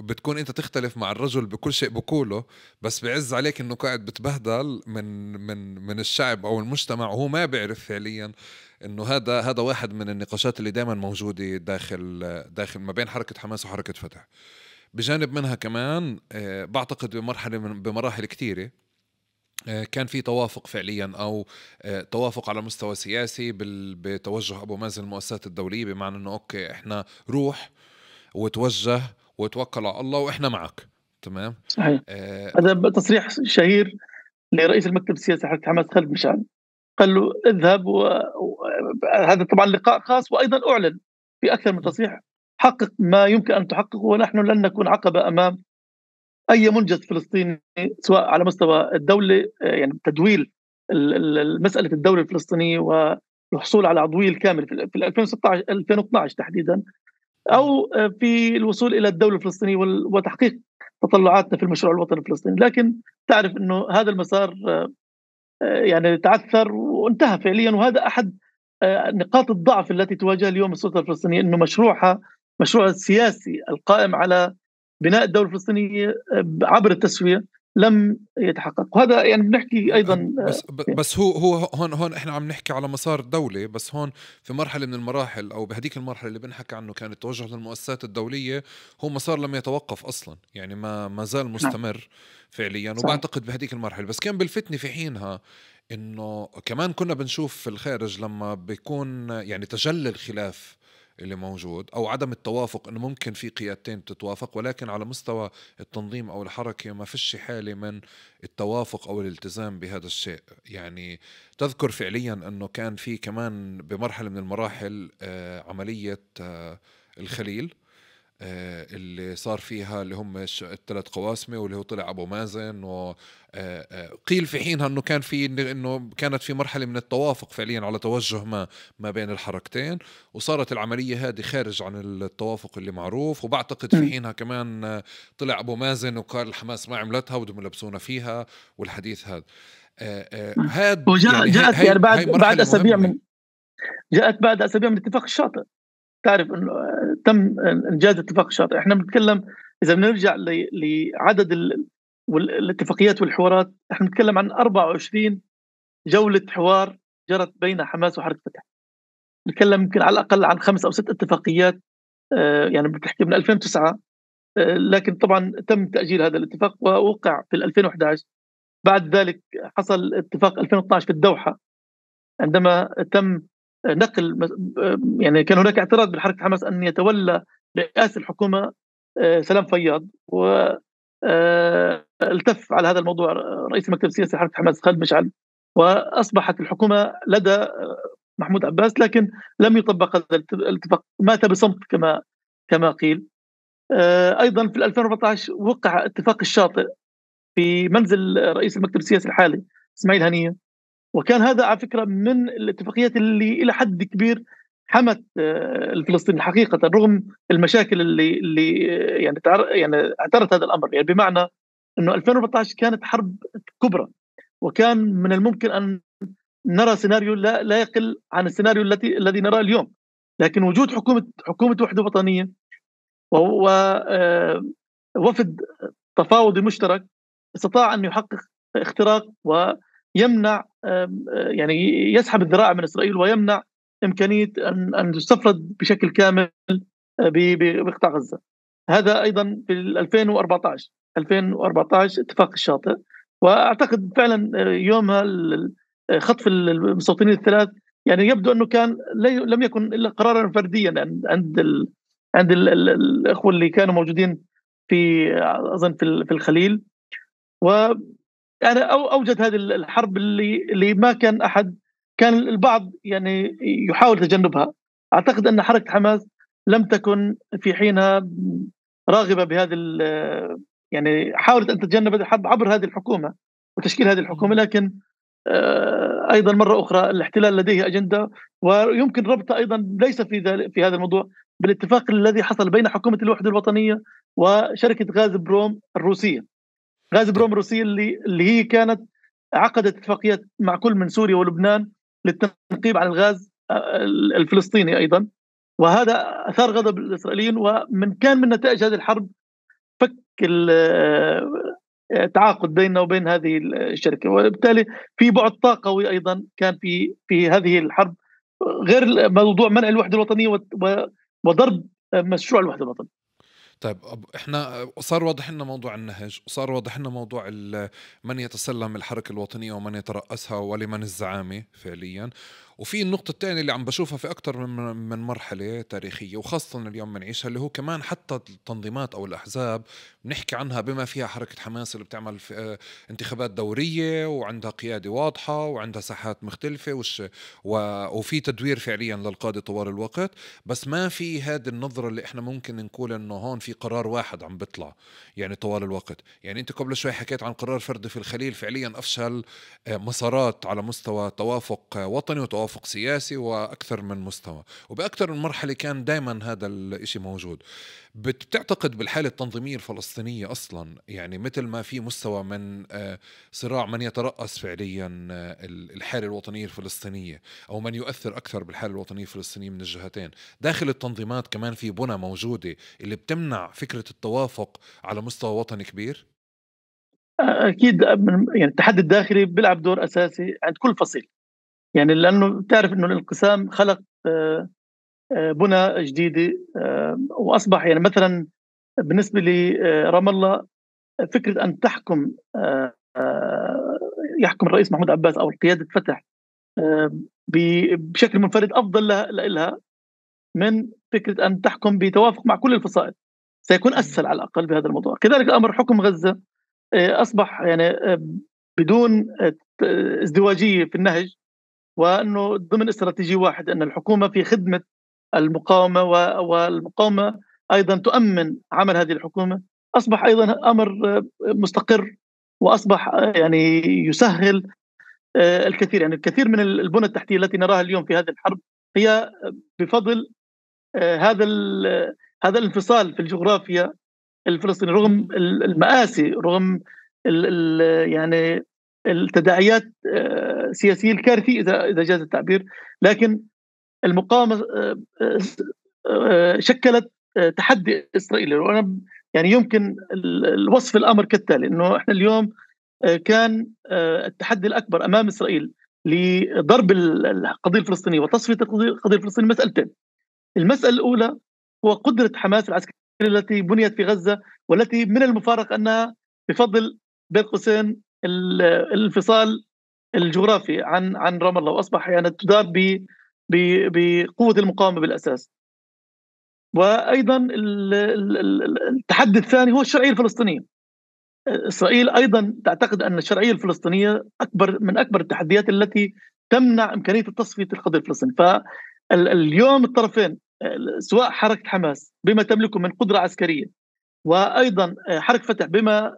بتكون انت تختلف مع الرجل بكل شيء بقوله، بس بعز عليك انه قاعد بتبهدل من الشعب او المجتمع، وهو ما بيعرف فعليا انه هذا واحد من النقاشات اللي دائما موجوده داخل ما بين حركه حماس وحركه فتح. بجانب منها كمان بعتقد بمراحل كثيره كان في توافق فعليا او توافق على مستوى سياسي بتوجه ابو مازن المؤسسات الدوليه، بمعنى انه اوكي احنا روح وتوجه وتوكل على الله واحنا معك. تمام. صحيح. هذا تصريح شهير لرئيس المكتب السياسي حركة حماس خالد مشعل، قال له اذهب هذا طبعا لقاء خاص، وأيضا أعلن في أكثر من تصريح حقق ما يمكن أن تحققه، ونحن لن نكون عقبة أمام أي منجز فلسطيني سواء على مستوى الدولة، يعني تدويل مسألة الدولة الفلسطينية والحصول على عضوية الكامل في 2016 2012 تحديدا، أو في الوصول إلى الدولة الفلسطينية وتحقيق تطلعاتنا في المشروع الوطني الفلسطيني. لكن تعرف أنه هذا المسار يعني تعثر وانتهى فعليا، وهذا أحد نقاط الضعف التي تواجه اليوم السلطة الفلسطينية، أنه مشروع السياسي القائم على بناء الدولة الفلسطينية عبر التسوية لم يتحقق. وهذا يعني بنحكي أيضا بس هو هون احنا عم نحكي على مسار دولة، بس هون في مرحلة من المراحل او بهديك المرحلة اللي بنحكي عنه كان التوجه للمؤسسات الدولية، هو مسار لم يتوقف اصلا، يعني ما زال مستمر فعليا. وبعتقد بهديك المرحلة بس كان بالفتنة في حينها انه كمان كنا بنشوف في الخارج لما بيكون يعني تجلي الخلاف اللي موجود او عدم التوافق، انه ممكن في قيادتين تتوافق، ولكن على مستوى التنظيم او الحركة ما فيش حالة من التوافق او الالتزام بهذا الشيء. يعني تذكر فعليا انه كان في كمان بمرحلة من المراحل عملية الخليل اللي صار فيها اللي هم الثلاث قواسمة، واللي هو طلع أبو مازن، وقيل في حينها أنه إنه كانت في مرحلة من التوافق فعليا على توجه ما بين الحركتين، وصارت العملية هذه خارج عن التوافق اللي معروف. وبعتقد في حينها كمان طلع أبو مازن وقال الحماس ما عملتها ودهم يلبسونا فيها، والحديث هذا جاءت يعني بعد أسابيع جاءت بعد أسابيع من اتفاق الشاطئ. تعرف أنه تم إنجاز اتفاق الشاطئ. إحنا بنتكلم إذا بنرجع لعدد الاتفاقيات والحوارات، إحنا بنتكلم عن 24 جولة حوار جرت بين حماس وحركة فتح. نتكلم يمكن على الأقل عن 5 أو 6 اتفاقيات، يعني بتحكي من 2009، لكن طبعا تم تأجيل هذا الاتفاق ووقع في 2011. بعد ذلك حصل اتفاق 2012 في الدوحة، عندما تم نقل، يعني كان هناك اعتراض من حركة حماس أن يتولى رئاسة الحكومة سلام فياض، و التف على هذا الموضوع رئيس المكتب السياسي لحركة حماس خالد مشعل، وأصبحت الحكومة لدى محمود عباس، لكن لم يطبق هذا الاتفاق، مات بصمت كما قيل. أيضا في 2014 وقع اتفاق الشاطئ في منزل رئيس المكتب السياسي الحالي إسماعيل هنية، وكان هذا على فكرة من الاتفاقيات اللي إلى حد كبير حمت الفلسطينيين حقيقة، رغم المشاكل اللي يعني اعترت هذا الأمر. يعني بمعنى أنه 2014 كانت حرب كبرى، وكان من الممكن أن نرى سيناريو لا يقل عن السيناريو الذي نراه اليوم، لكن وجود حكومة وحدة وطنية ووفد تفاوضي مشترك استطاع أن يحقق اختراق ويمنع، يعني يسحب الذراع من إسرائيل ويمنع إمكانية أن تستفرد بشكل كامل بقطاع غزة. هذا أيضا في 2014 اتفاق الشاطئ. وأعتقد فعلا يومها خطف المستوطنين الثلاث يعني يبدو أنه كان لم يكن إلا قرارا فرديا عند الإخوة اللي كانوا موجودين في أظن في الخليل، و يعني أوجد هذه الحرب اللي ما كان أحد، كان البعض يعني يحاول تجنبها. أعتقد أن حركة حماس لم تكن في حينها راغبة بهذه، يعني حاولت أن تتجنب هذه الحرب عبر هذه الحكومة وتشكيل هذه الحكومة، لكن أيضا مرة أخرى الاحتلال لديه أجندة، ويمكن ربطها أيضا ليس في هذا الموضوع بالاتفاق الذي حصل بين حكومة الوحدة الوطنية وشركة غاز بروم الروسية. غاز بروم الروسية اللي هي كانت عقدت اتفاقيات مع كل من سوريا ولبنان للتنقيب عن الغاز الفلسطيني أيضا، وهذا أثار غضب الإسرائيليين، كان من نتائج هذه الحرب فك التعاقد بيننا وبين هذه الشركة، وبالتالي في بعد طاقوي أيضا كان في هذه الحرب، غير موضوع منع الوحدة الوطنية وضرب مشروع الوحدة الوطنية. طيب احنا صار واضح لنا موضوع النهج، وصار واضح لنا موضوع من يتسلم الحركة الوطنية ومن يترأسها ولمن الزعامة فعليا. وفي النقطة الثانية اللي عم بشوفها في أكتر من مرحلة تاريخية، وخاصة اليوم بنعيشها، اللي هو كمان حتى التنظيمات أو الأحزاب بنحكي عنها بما فيها حركة حماس اللي بتعمل في انتخابات دورية وعندها قيادة واضحة وعندها ساحات مختلفة وفي تدوير فعليا للقادة طوال الوقت، بس ما في هذه النظرة اللي احنا ممكن نقول انه هون في قرار واحد عم بيطلع يعني طوال الوقت. يعني انت قبل شوي حكيت عن قرار فردي في الخليل، فعليا افشل مسارات على مستوى توافق وطني وتوافق سياسي واكثر من مستوى، وباكثر من مرحلة كان دائما هذا الاشي موجود. بتعتقد بالحالة التنظيمية الفلسطينية أصلا، يعني مثل ما في مستوى من صراع من يترأس فعليا الحالة الوطنية الفلسطينية أو من يؤثر أكثر بالحالة الوطنية الفلسطينية من الجهتين، داخل التنظيمات كمان في بنى موجودة اللي بتمنع فكرة التوافق على مستوى وطني كبير؟ أكيد، يعني التحدي الداخلي بيلعب دور أساسي عند كل فصيل، يعني لأنه تعرف أنه الانقسام خلق بنى جديدة، وأصبح يعني مثلا بالنسبة لرام الله فكرة أن يحكم الرئيس محمود عباس أو قيادة فتح بشكل منفرد أفضل لها من فكرة أن تحكم بتوافق مع كل الفصائل، سيكون أسهل على الأقل بهذا الموضوع. كذلك أمر حكم غزة أصبح يعني بدون ازدواجية في النهج، وأنه ضمن استراتيجية واحد، أن الحكومة في خدمة المقاومة والمقاومة أيضا تؤمن عمل هذه الحكومة. أصبح أيضا أمر مستقر، وأصبح يعني يسهل الكثير. يعني الكثير من البنى التحتية التي نراها اليوم في هذه الحرب هي بفضل هذا الانفصال في الجغرافيا الفلسطيني، رغم المآسي، رغم يعني التداعيات السياسية الكارثية إذا جاز التعبير، لكن المقاومة شكلت تحدي إسرائيلي. وأنا يعني يمكن الوصف الأمر كالتالي، إنه إحنا اليوم كان التحدي الأكبر أمام إسرائيل لضرب القضية الفلسطينية وتصفية القضية الفلسطينية مسألتين. المسألة الأولى هو قدرة حماس العسكرية التي بنيت في غزة، والتي من المفارق أنها بفضل بين قوسين الانفصال الجغرافي عن رام الله، وأصبح يعني تدار بقوة المقاومة بالأساس. وأيضا التحدي الثاني هو الشرعية الفلسطينية. إسرائيل أيضا تعتقد أن الشرعية الفلسطينية من أكبر التحديات التي تمنع إمكانية تصفية القضية الفلسطينية. فاليوم الطرفين سواء حركة حماس بما تملكه من قدرة عسكرية، وأيضا حركة فتح بما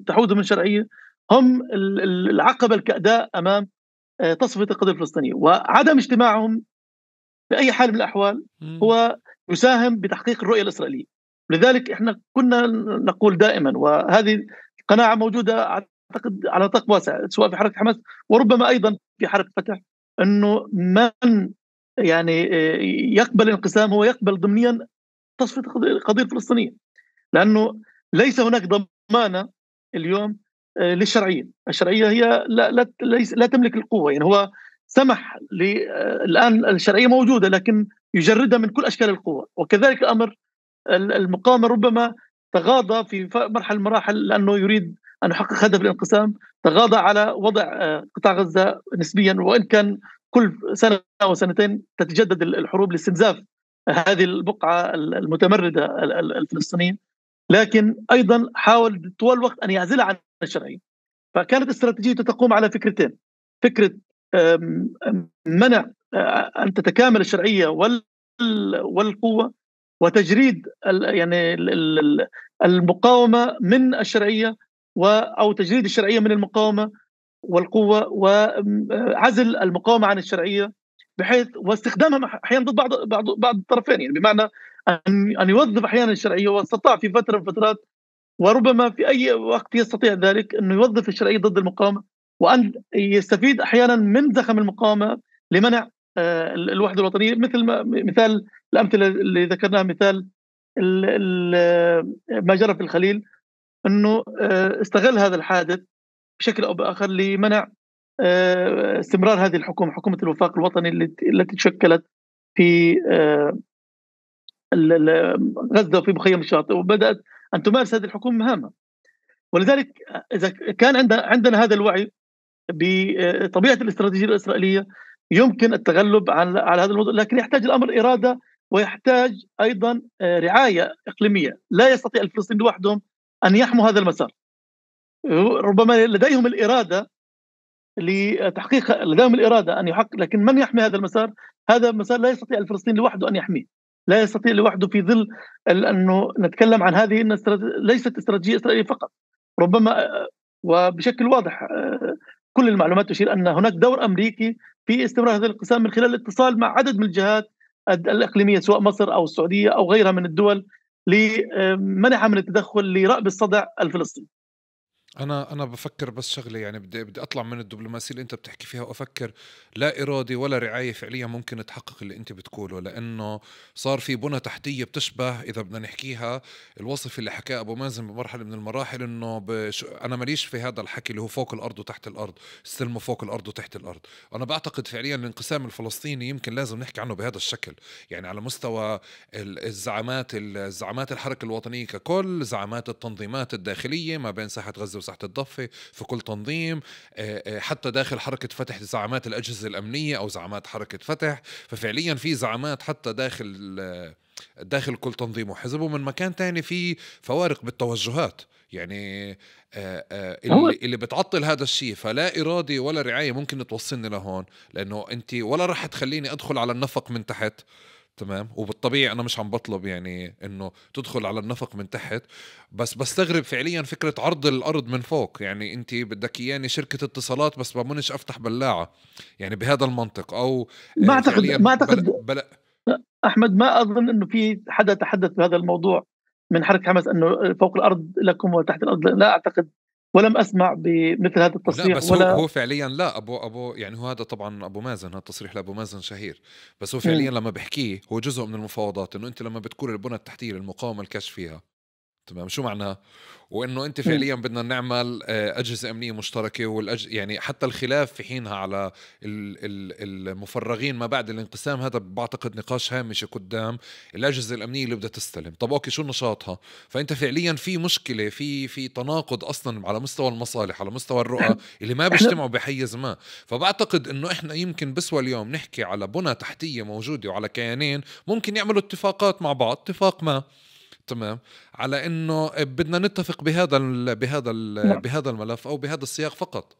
تحوز من شرعية، هم العقبة الكأداء أمام تصفية القضية الفلسطينية. وعدم اجتماعهم بأي حال من الأحوال هو يساهم بتحقيق الرؤية الإسرائيلية. لذلك احنا كنا نقول دائما، وهذه قناعة موجودة أعتقد على نطاق واسع سواء في حركة حماس وربما أيضا في حركة فتح، أنه من يعني يقبل الانقسام هو يقبل ضمنيا تصفية القضية الفلسطينية، لأنه ليس هناك ضمانة اليوم للشرعية. الشرعية هي لا تملك القوة. يعني هو سمح الآن الشرعية موجودة لكن يجردها من كل أشكال القوة. وكذلك الأمر المقاومة ربما تغاضى في مرحلة من المراحل لأنه يريد أن يحقق هدف الانقسام، تغاضى على وضع قطاع غزة نسبيا، وإن كان كل سنة أو سنتين تتجدد الحروب لاستنزاف هذه البقعة المتمردة الفلسطينية، لكن أيضا حاول طوال الوقت أن يعزلها عن الشرعية. فكانت استراتيجيته تقوم على فكرتين: فكرة منع أن تتكامل الشرعية والقوة، وتجريد يعني المقاومة من الشرعية، أو تجريد الشرعية من المقاومة والقوة، وعزل المقاومة عن الشرعية، بحيث واستخدامها أحيانا ضد بعض الطرفين. يعني بمعنى أن يوظف أحيانا الشرعية، واستطاع في فترة من الفترات وربما في أي وقت يستطيع ذلك أنه يوظف الشرعية ضد المقاومة، وأن يستفيد أحيانا من زخم المقاومة لمنع الوحدة الوطنية. مثال الأمثلة اللي ذكرناها، مثال ما جرى في الخليل، أنه استغل هذا الحادث بشكل أو بآخر لمنع استمرار هذه الحكومة، حكومة الوفاق الوطني التي تشكلت في غزة وفي مخيم الشاطئ، وبدأت أن تمارس هذه الحكومة مهامها. ولذلك إذا كان عندنا هذا الوعي بطبيعة الاستراتيجية الإسرائيلية يمكن التغلب على هذا الموضوع، لكن يحتاج الأمر إرادة، ويحتاج أيضا رعاية إقليمية. لا يستطيع الفلسطينيين لوحدهم أن يحموا هذا المسار. ربما لديهم الإرادة أن يحقق، لكن من يحمي هذا المسار؟ هذا المسار لا يستطيع الفلسطيني لوحده أن يحميه، لا يستطيع لوحده في ظل أنه نتكلم عن هذه ليست استراتيجية إسرائيلية فقط. ربما وبشكل واضح كل المعلومات تشير أن هناك دور أمريكي في استمرار هذا الانقسام من خلال الاتصال مع عدد من الجهات الإقليمية سواء مصر أو السعودية أو غيرها من الدول لمنعها من التدخل لرأب الصدع الفلسطيني. انا بفكر بس شغله، يعني بدي اطلع من الدبلوماسيه اللي انت بتحكي فيها وافكر لا ارادي ولا رعايه فعليا ممكن تحقق اللي انت بتقوله، لانه صار في بنى تحتيه بتشبه، اذا بدنا نحكيها الوصف اللي حكاه ابو مازن بمرحله من المراحل، انه انا ماليش في هذا الحكي اللي هو فوق الارض وتحت الارض، استلموا فوق الارض وتحت الارض. انا بعتقد فعليا الانقسام الفلسطيني يمكن لازم نحكي عنه بهذا الشكل، يعني على مستوى الزعامات الحركه الوطنيه ككل، زعامات التنظيمات الداخليه ما بين ساحه غزه وساحة الضفة في كل تنظيم، حتى داخل حركة فتح زعامات الأجهزة الأمنية أو زعامات حركة فتح. ففعليا في زعامات حتى داخل كل تنظيم وحزب، ومن مكان تاني في فوارق بالتوجهات، يعني اللي بتعطل هذا الشيء. فلا إرادي ولا رعاية ممكن توصلني لهون، لأنه أنت ولا رح تخليني أدخل على النفق من تحت، تمام؟ وبالطبيعي أنا مش عم بطلب يعني إنه تدخل على النفق من تحت، بس بستغرب فعليا فكرة عرض الأرض من فوق. يعني أنت بدك إياني شركة اتصالات بس بمنش أفتح بلاعة، يعني بهذا المنطق، أو ما أعتقد أحمد، ما أظن أنه في حدا تحدث بهذا الموضوع من حركة حماس أنه فوق الأرض لكم وتحت الأرض. لا أعتقد ولم أسمع بمثل هذا لا التصريح بس هو ولا. هو فعليا، لا ابو يعني هو هذا طبعا ابو مازن، هذا التصريح لابو مازن شهير، بس هو فعليا مم. لما بحكيه هو جزء من المفاوضات، انه انت لما بتكون البنى التحتيه للمقاومه الكشف فيها، تمام، شو معناها؟ وانه انت مم. فعليا بدنا نعمل اجهزه امنيه مشتركه، يعني حتى الخلاف في حينها على المفرغين ما بعد الانقسام، هذا بعتقد نقاش هامشي قدام الاجهزه الامنيه اللي بدها تستلم. طب اوكي، شو نشاطها؟ فانت فعليا في مشكله، في تناقض اصلا على مستوى المصالح، على مستوى الرؤى اللي ما احنا بيجتمعوا بحيز ما. فبعتقد انه احنا يمكن بسوى اليوم نحكي على بنى تحتيه موجوده وعلى كيانين ممكن يعملوا اتفاقات مع بعض، اتفاق ما، تمام، على انه بدنا نتفق نعم. بهذا الملف او بهذا السياق فقط.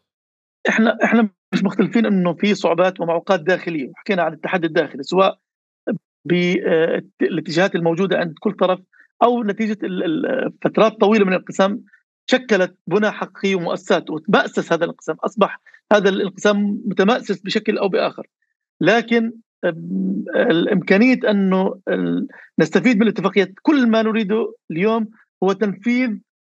احنا مش مختلفين انه في صعوبات ومعوقات داخليه، حكينا عن التحدي الداخلي سواء بالاتجاهات الموجوده عند كل طرف، او نتيجه فترات طويله من الانقسام شكلت بنى حقيقيه ومؤسسات وتمأسس هذا الانقسام، اصبح هذا الانقسام متمأسس بشكل او باخر. لكن الامكانيه انه نستفيد من الاتفاقيات، كل ما نريده اليوم هو تنفيذ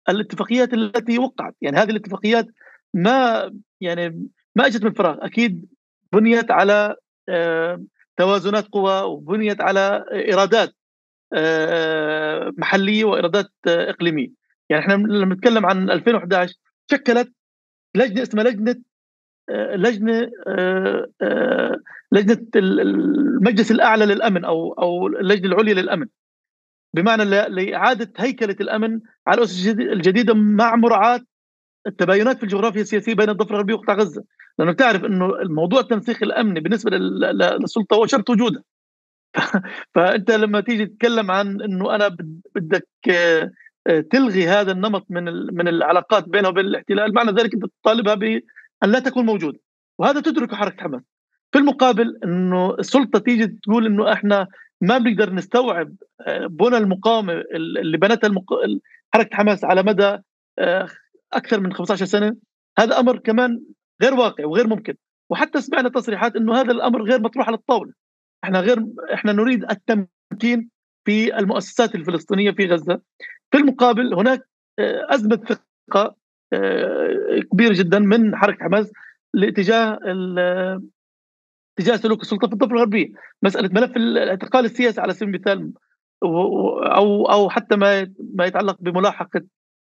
الاتفاقيات التي وقعت. يعني هذه الاتفاقيات ما يعني ما اجت من فراغ، اكيد بنيت على توازنات قوى، وبنيت على ايرادات محليه وايرادات اقليميه. يعني احنا لما نتكلم عن 2011 شكلت لجنه اسمها لجنه لجنه المجلس الاعلى للامن او اللجنه العليا للامن، بمعنى لاعاده هيكله الامن على الاسس الجديده مع مراعاه التباينات في الجغرافيا السياسيه بين الضفه الغربيه وقطاع غزه، لانه بتعرف انه الموضوع التنسيق الامني بالنسبه للسلطه هو شرط وجودها. فانت لما تيجي تتكلم عن انه انا بدك تلغي هذا النمط من العلاقات بينه وبين الاحتلال، معنى ذلك انت تطالبها بان لا تكون موجوده، وهذا تدركه حركه حماس. في المقابل انه السلطه تيجي تقول انه احنا ما بنقدر نستوعب بنى المقاومه اللي بنتها حركه حماس على مدى اكثر من 15 سنه، هذا امر كمان غير واقع وغير ممكن. وحتى سمعنا تصريحات انه هذا الامر غير مطروح على الطاوله. احنا نريد التمكين في المؤسسات الفلسطينيه في غزه. في المقابل هناك ازمه ثقه كبيره جدا من حركه حماس لاتجاه سلوك السلطه في الضفه الغربيه. مساله ملف الاعتقال السياسي على سبيل المثال، او حتى ما يتعلق بملاحقه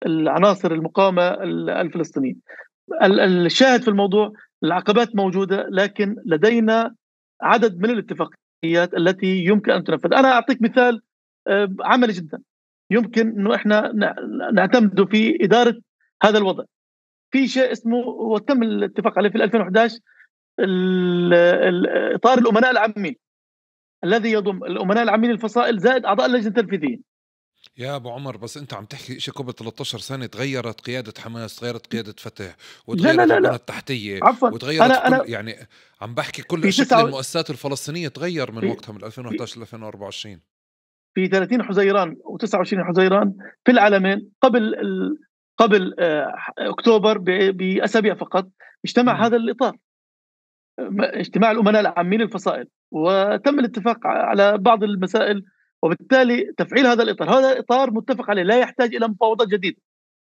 العناصر المقاومه الفلسطينيه. الشاهد في الموضوع العقبات موجوده، لكن لدينا عدد من الاتفاقيات التي يمكن ان تنفذ. انا اعطيك مثال عملي جدا يمكن انه احنا نعتمده في اداره هذا الوضع. في شيء اسمه وتم الاتفاق عليه في 2011 اطار الامناء العامين، الذي يضم الامناء العامين الفصائل زائد اعضاء اللجنه التنفيذيه. يا ابو عمر، بس انت عم تحكي شيء قبل 13 سنه، تغيرت قياده حماس، تغيرت قياده فتح، لا لا وتغيرت لا البنى لا، التحتيه، عفوا. وتغيرت كل، انا يعني عم بحكي كل في شكل تسعة المؤسسات الفلسطينيه تغير من في وقتها، من 2011 ل 2024. في 30 حزيران و29 حزيران في العالمين قبل اكتوبر باسابيع فقط اجتمع امم هذا الاطار، اجتماع الامناء العامين للفصائل، وتم الاتفاق على بعض المسائل. وبالتالي تفعيل هذا الاطار، هذا اطار متفق عليه لا يحتاج الى مفاوضات جديده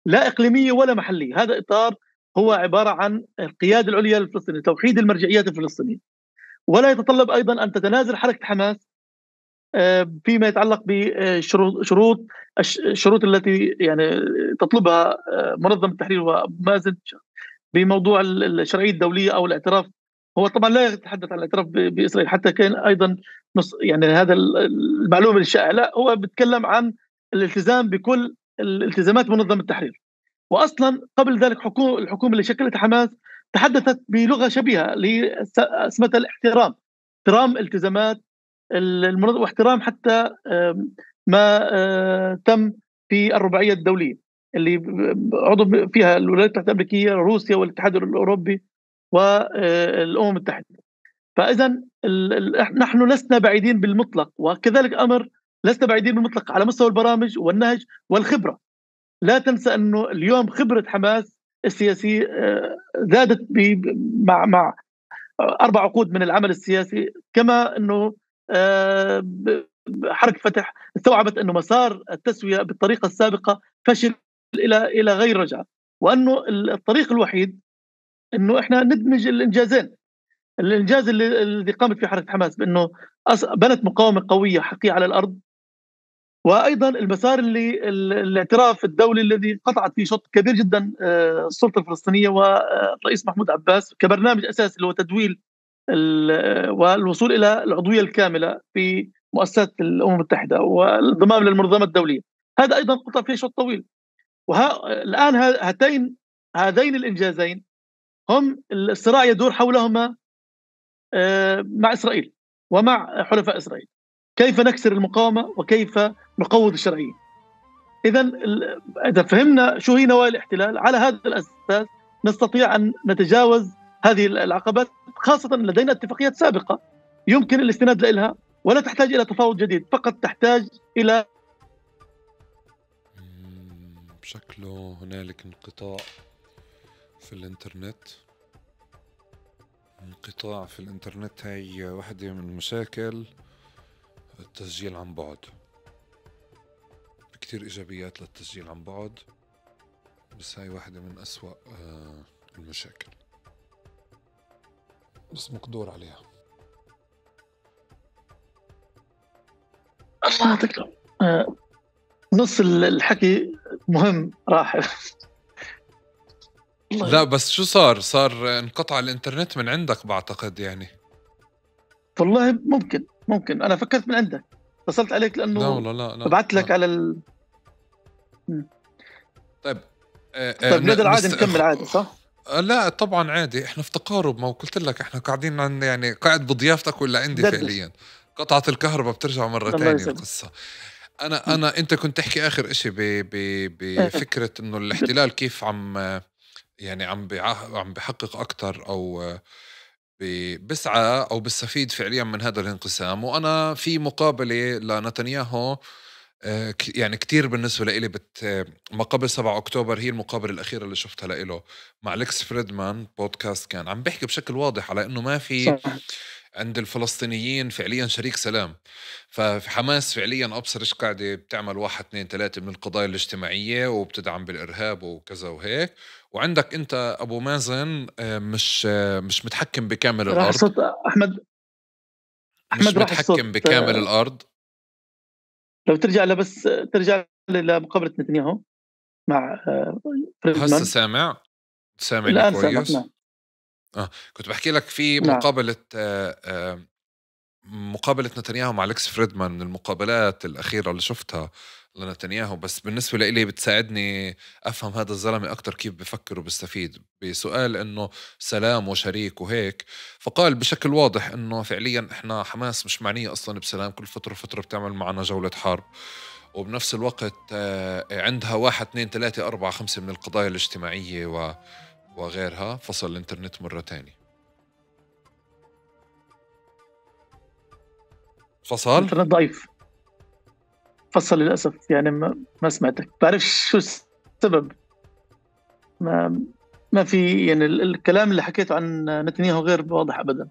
لا اقليميه ولا محليه. هذا اطار هو عباره عن القياده العليا للفلسطينيين، توحيد المرجعيات الفلسطينيه، ولا يتطلب ايضا ان تتنازل حركه حماس فيما يتعلق بشروط الشروط التي يعني تطلبها منظمه التحرير ومازن بموضوع الشرعيه الدوليه او الاعتراف. هو طبعا لا يتحدث عن الاعتراف باسرائيل، حتى كان ايضا يعني هذا المعلومه الشائعه، لا هو بيتكلم عن الالتزام بكل الالتزامات منظمه التحرير. واصلا قبل ذلك الحكومه اللي شكلتها حماس تحدثت بلغه شبيهه اسمها الاحترام، احترام التزامات المنظمه واحترام حتى ما تم في الرباعيه الدوليه اللي عضو فيها الولايات المتحده الامريكيه، روسيا، والاتحاد الاوروبي والامم المتحده. فاذا نحن لسنا بعيدين بالمطلق، وكذلك امر لسنا بعيدين بالمطلق على مستوى البرامج والنهج والخبره. لا تنسى انه اليوم خبره حماس السياسيه زادت مع 4 عقود من العمل السياسي، كما انه حركه فتح استوعبت انه مسار التسويه بالطريقه السابقه فشل الى غير رجعه. وأنه الطريق الوحيد أنه إحنا ندمج الإنجازين. الإنجاز الذي قامت فيه حركة حماس بأنه بنت مقاومة قوية حقيقية على الأرض، وأيضا المسار اللي الاعتراف الدولي الذي قطعت فيه شوط كبير جدا السلطة الفلسطينية والرئيس محمود عباس كبرنامج أساسي اللي هو تدويل والوصول إلى العضوية الكاملة في مؤسسات الأمم المتحدة والانضمام للمنظمة الدولية. هذا أيضا قطع فيه شوط طويل. الآن هذين الإنجازين هم الصراع يدور حولهما مع إسرائيل ومع حلفاء إسرائيل، كيف نكسر المقاومة وكيف نقوض الشرعية. إذا فهمنا شو هي نوايا الاحتلال، على هذا الأساس نستطيع أن نتجاوز هذه العقبات، خاصة لدينا اتفاقيات سابقة يمكن الاستناد لها ولا تحتاج إلى تفاوض جديد، فقط تحتاج إلى شكله هنالك انقطاع في الإنترنت. انقطاع في الإنترنت هي واحدة من مشاكل التسجيل عن بعد. كتير إيجابيات للتسجيل عن بعد، بس هاي واحدة من أسوأ المشاكل، بس مقدور عليها. الله يعطيك نص الحكي مهم راح. لا بس شو صار انقطع الإنترنت من عندك بعتقد يعني. والله ممكن أنا فكرت من عندك، اتصلت عليك لأنه لا والله لا بعت لك على طيب نقدر عادي نكمل عادي صح؟ لا طبعا عادي، احنا في تقارب، ما قلت لك احنا قاعدين عن يعني قاعد بضيافتك ولا عندي دردش. فعليا قطعت الكهرباء بترجع مرة تانية القصة. انت كنت تحكي اخر اشي بفكرة انه الاحتلال كيف عم بيحقق اكتر او بسعى او بيستفيد فعليا من هذا الانقسام. وانا في مقابلة لنتنياهو يعني كتير بالنسبة لإلي ما قبل 7 أكتوبر هي المقابلة الأخيرة اللي شفتها لإله مع أليكس فريدمان بودكاست، كان عم بيحكي بشكل واضح على إنه ما في صح. عند الفلسطينيين فعليا شريك سلام. ففي حماس فعليا أبصر إيش قاعدة بتعمل 1 2 3 من القضايا الاجتماعية وبتدعم بالإرهاب وكذا وهيك، وعندك أنت أبو مازن مش متحكم بكامل راح الأرض. صوت أحمد مش راح متحكم الصوت بكامل الأرض. لو ترجع لمقابلة نتنياهو مع فريدمان. هسه سامعني الآن كويس. سامعك. نعم. كنت بحكي لك في نعم. مقابلة نتنياهو مع أليكس فريدمان من المقابلات الأخيرة اللي شفتها لنتنياهو، بس بالنسبة لي بتساعدني أفهم هذا الزلمة أكتر كيف بفكر وبستفيد. بسؤال إنه سلام وشريك وهيك، فقال بشكل واضح إنه فعليا إحنا حماس مش معنية أصلا بسلام، كل فترة بتعمل معنا جولة حرب، وبنفس الوقت عندها 1 2 3 4 5 من القضايا الاجتماعية وغيرها. فصل الانترنت مرة تاني. فصل الانترنت ضعيف، فصل للأسف يعني ما سمعتك، بعرف شو السبب. ما في يعني الكلام اللي حكيته عن نتنياهو غير واضح أبدا.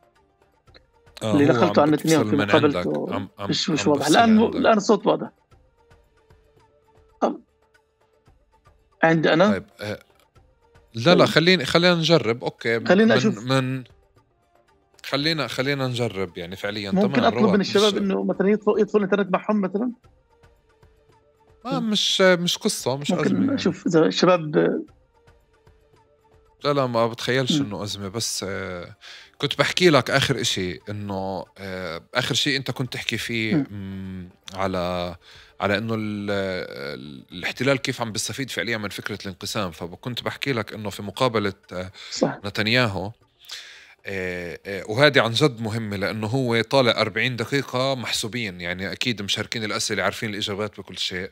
اللي نقلته عن نتنياهو في مقابلته مش واضح. الآن الصوت واضح عندي أنا. طيب لا خلينا نجرب. اوكي خلينا اشوف خلينا نجرب يعني فعليا. ممكن اطلب من الشباب انه مثلا يطفوا الانترنت معهم مثلا. مش قصة، مش ممكن أزمة اشوف يعني. اذا الشباب لا ما بتخيلش انه أزمة، بس كنت بحكي لك اخر اشي انه اخر شيء انت كنت تحكي فيه على انه الاحتلال كيف عم بيستفيد فعليا من فكرة الانقسام. فكنت بحكي لك انه في مقابلة نتنياهو، وهذه عن جد مهمة لانه هو طالع 40 دقيقة محسوبين، يعني اكيد مشاركين الاسئلة، عارفين الاجابات بكل شيء.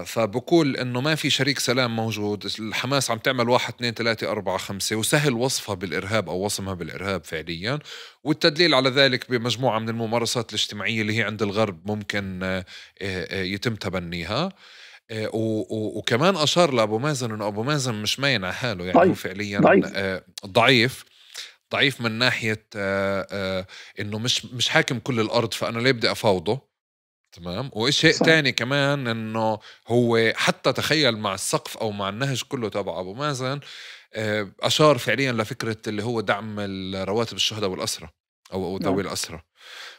فبقول انه ما في شريك سلام موجود، الحماس عم تعمل 1 2 3 4 5، وسهل وصفها بالارهاب او وصمها بالارهاب فعليا. والتدليل على ذلك بمجموعة من الممارسات الاجتماعية اللي هي عند الغرب ممكن يتم تبنيها. وكمان اشار لابو مازن انه ابو مازن مش ماين على حاله، يعني هو فعليا ضعيف من ناحية انه مش حاكم كل الارض، فانا ليه بدي افاوضه؟ تمام. وشيء صحيح. تاني كمان انه هو حتى تخيل مع السقف او مع النهج كله تبع ابو مازن، اشار فعليا لفكره اللي هو دعم رواتب الشهداء والاسرى او ذوي نعم. الاسرى.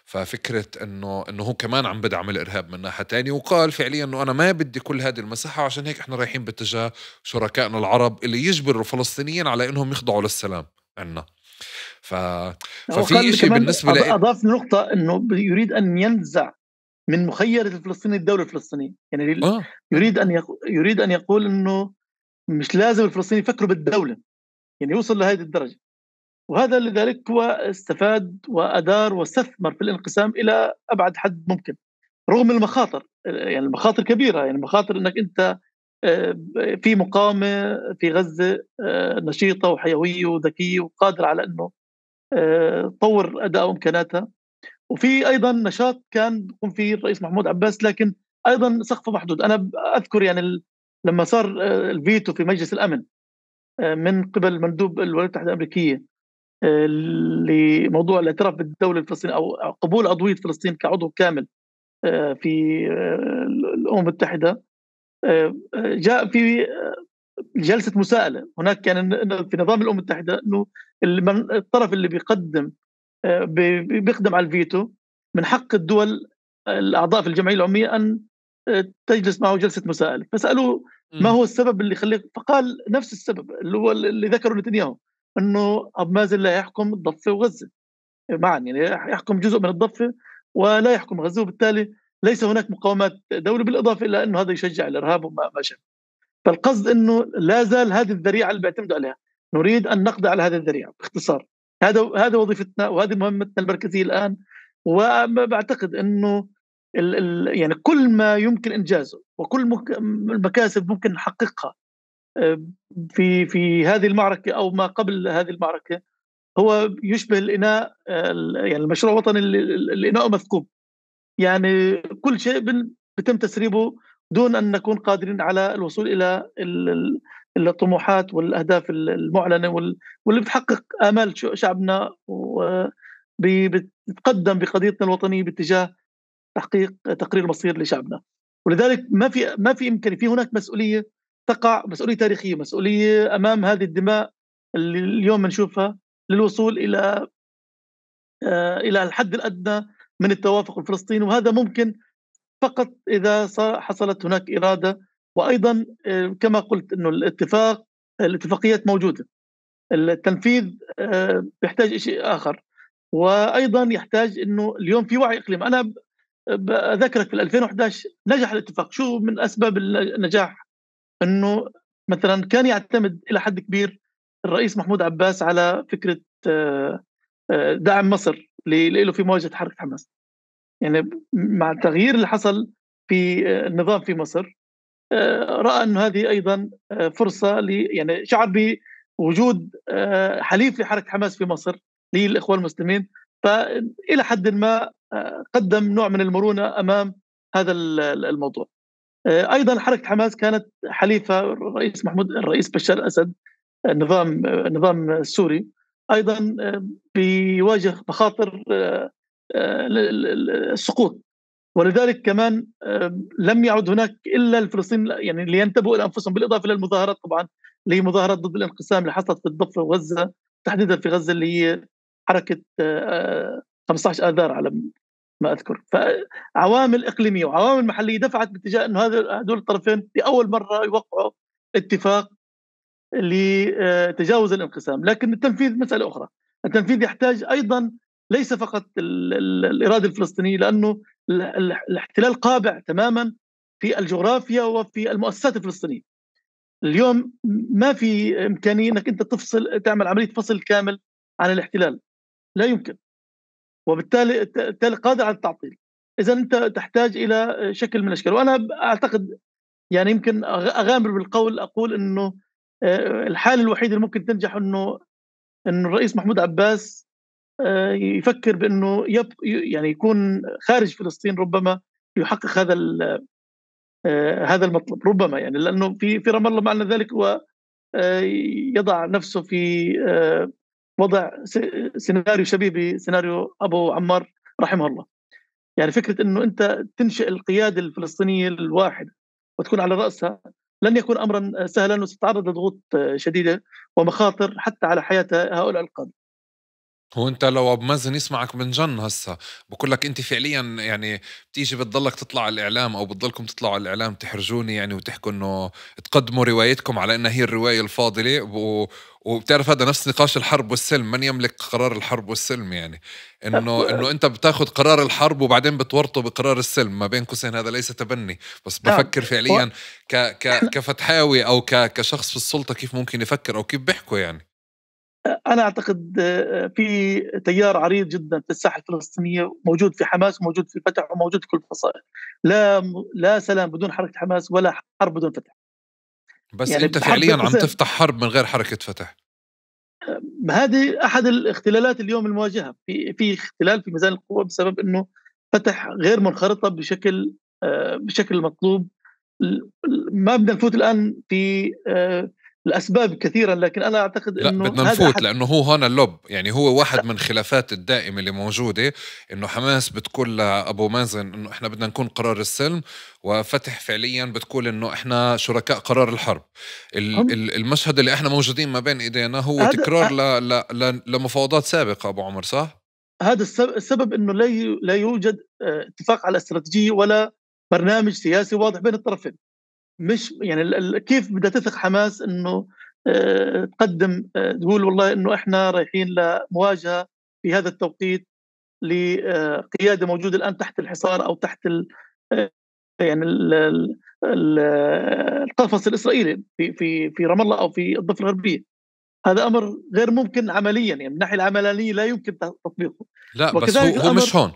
ففكره انه هو كمان عم بدعم الارهاب من ناحيه تانية، وقال فعليا انه انا ما بدي كل هذه المساحه، عشان هيك احنا رايحين باتجاه شركائنا العرب اللي يجبروا الفلسطينيين على انهم يخضعوا للسلام عنا. ف... ففي وقال إشي كمان بالنسبه لي. أضاف نقطة أنه يريد أن ينزع من مخيلة الفلسطيني الدولة الفلسطينية، يعني اه اه يريد أن يقول أنه مش لازم الفلسطينيين يفكروا بالدولة، يعني يوصل لهذه الدرجة. وهذا لذلك هو استفاد وأدار واستثمر في الانقسام إلى أبعد حد ممكن، رغم المخاطر. يعني المخاطر كبيرة، يعني مخاطر أنك أنت في مقاومة في غزة نشيطة وحيوية وذكية وقادرة على أنه تطور أداء وإمكاناتها، وفي أيضا نشاط كان يقوم فيه الرئيس محمود عباس، لكن أيضا سقفه محدود. أنا أذكر يعني لما صار الفيتو في مجلس الأمن من قبل مندوب الولايات المتحدة الأمريكية لموضوع الاعتراف بالدولة الفلسطينية أو قبول عضوية فلسطين كعضو كامل في الأمم المتحدة، جاء في جلسة مساءلة. هناك كان في نظام الأمم المتحدة أنه الطرف اللي بيقدم على الفيتو من حق الدول الأعضاء في الجمعية العمومية أن تجلس معه جلسة مساءلة. فسألوه ما مم. هو السبب اللي يخليك، فقال نفس السبب اللي هو اللي ذكره نتنياهو، أنه أبو مازن لا يحكم الضفة وغزة معا، يعني يحكم جزء من الضفة ولا يحكم غزة، وبالتالي ليس هناك مقاومات دولة، بالإضافة إلى أنه هذا يشجع الإرهاب وما شابه. فالقصد أنه لا زال هذه الذريعة اللي بيعتمدوا عليها، نريد أن نقضي على هذه الذريعة باختصار. هذا وظيفتنا وهذه مهمتنا المركزية الآن. وبعتقد أنه يعني كل ما يمكن إنجازه وكل المكاسب ممكن نحققها في هذه المعركة أو ما قبل هذه المعركة هو يشبه الإناء، يعني المشروع الوطني اللي إناؤه مثقوب. يعني كل شيء بيتم تسريبه دون أن نكون قادرين على الوصول إلى الطموحات والأهداف المعلنة واللي بتحقق آمال شعبنا، وبتقدم بقضيتنا الوطنية باتجاه تحقيق تقرير مصير لشعبنا. ولذلك ما في إمكانية، في هناك مسؤولية تقع، مسؤولية تاريخية، مسؤولية أمام هذه الدماء اللي اليوم بنشوفها، للوصول إلى الحد الأدنى من التوافق الفلسطيني. وهذا ممكن فقط إذا حصلت هناك إرادة، وأيضا كما قلت أنه الاتفاقيات موجودة، التنفيذ بيحتاج شيء آخر، وأيضا يحتاج أنه اليوم في وعي إقليمي. أنا بذكرك في 2011 نجح الاتفاق. شو من أسباب النجاح؟ أنه مثلا كان يعتمد إلى حد كبير الرئيس محمود عباس على فكرة دعم مصر له في مواجهة حركة حماس. يعني مع التغيير اللي حصل في النظام في مصر، رأى أن هذه أيضا فرصة يعني شعر بوجود حليف لحركة حماس في مصر للإخوان المسلمين، فإلى حد ما قدم نوع من المرونة أمام هذا الموضوع. أيضا حركة حماس كانت حليفة الرئيس بشار الأسد، النظام السوري، أيضا بيواجه مخاطر السقوط. ولذلك كمان لم يعد هناك إلا الفلسطينيين يعني لينتبهوا إلى أنفسهم، بالإضافة إلى المظاهرات طبعا اللي هي مظاهرات ضد الانقسام اللي حصلت في الضفة وغزة، تحديدا في غزة، اللي هي حركة 15 آذار على ما أذكر. فعوامل إقليمية وعوامل محلية دفعت باتجاه أنه هذول الطرفين لأول مرة يوقعوا اتفاق لتجاوز الانقسام. لكن التنفيذ مسألة أخرى. التنفيذ يحتاج أيضا ليس فقط الإرادة الفلسطينية، لأنه الاحتلال قابع تماما في الجغرافيا وفي المؤسسات الفلسطينية. اليوم ما في إمكانية أنك أنت تعمل عملية فصل كامل عن الاحتلال، لا يمكن، وبالتالي قادر على التعطيل. إذا أنت تحتاج إلى شكل من الأشكال. وأنا أعتقد يعني يمكن أغامر بالقول أقول أنه الحالة الوحيدة اللي ممكن تنجح أنه الرئيس محمود عباس يفكر بأنه يعني يكون خارج فلسطين، ربما يحقق هذا المطلب، ربما يعني لأنه في رام الله معنى ذلك هو يضع نفسه في وضع سيناريو شبيه بسيناريو أبو عمار رحمه الله. يعني فكرة إنه أنت تنشئ القيادة الفلسطينية الواحدة وتكون على رأسها لن يكون أمرا سهلا، وستتعرض لضغوط شديدة ومخاطر حتى على حياة هؤلاء القادة. هو انت لو ابو مازن يسمعك بنجن هسا بقول لك انت فعليا يعني بتيجي بتضلك تطلع على الاعلام او بتضلكم تطلعوا على الاعلام تحرجوني يعني وتحكوا انه تقدموا روايتكم على انها هي الروايه الفاضله وبتعرف هذا نفس نقاش الحرب والسلم، من يملك قرار الحرب والسلم يعني انه انت بتاخذ قرار الحرب وبعدين بتورطه بقرار السلم، ما بين قوسين هذا ليس تبني، بس نعم. بفكر فعليا كفتحاوي او كشخص في السلطه كيف ممكن يفكر او كيف بيحكوا يعني. أنا أعتقد في تيار عريض جدا في الساحة الفلسطينية، موجود في حماس وموجود في فتح وموجود في كل الفصائل. لا سلام بدون حركة حماس، ولا حرب بدون فتح. بس يعني انت بحرب فعليا بين عم قوسين، تفتح حرب من غير حركة فتح. هذه أحد الاختلالات اليوم المواجهة، في اختلال في ميزان القوى بسبب إنه فتح غير منخرطة بشكل مطلوب. ما بدنا نفوت الآن في الأسباب كثيرا، لكن أنا أعتقد لا إنه بدنا هذا نفوت أحد. لأنه هو هون اللب، يعني هو واحد من الخلافات الدائمة اللي موجودة، إنه حماس بتقول لأبو مازن إنه إحنا بدنا نكون قرار السلم، وفتح فعليا بتقول إنه إحنا شركاء قرار الحرب. هم المشهد اللي إحنا موجودين ما بين إيدينا هو هذا تكرار لمفاوضات سابقة أبو عمر، صح؟ هذا السبب انه لا يوجد اتفاق على استراتيجيه ولا برنامج سياسي واضح بين الطرفين. مش يعني كيف بدها تثق حماس انه تقدم تقول والله انه احنا رايحين لمواجهه في هذا التوقيت لقياده موجوده الان تحت الحصار او تحت آه، يعني القفص الاسرائيلي في رام الله او في الضفه الغربيه. هذا امر غير ممكن عمليا، يعني من الناحيه العمليه لا يمكن تطبيقه. لا بس وكذلك هو الامر. مش هون.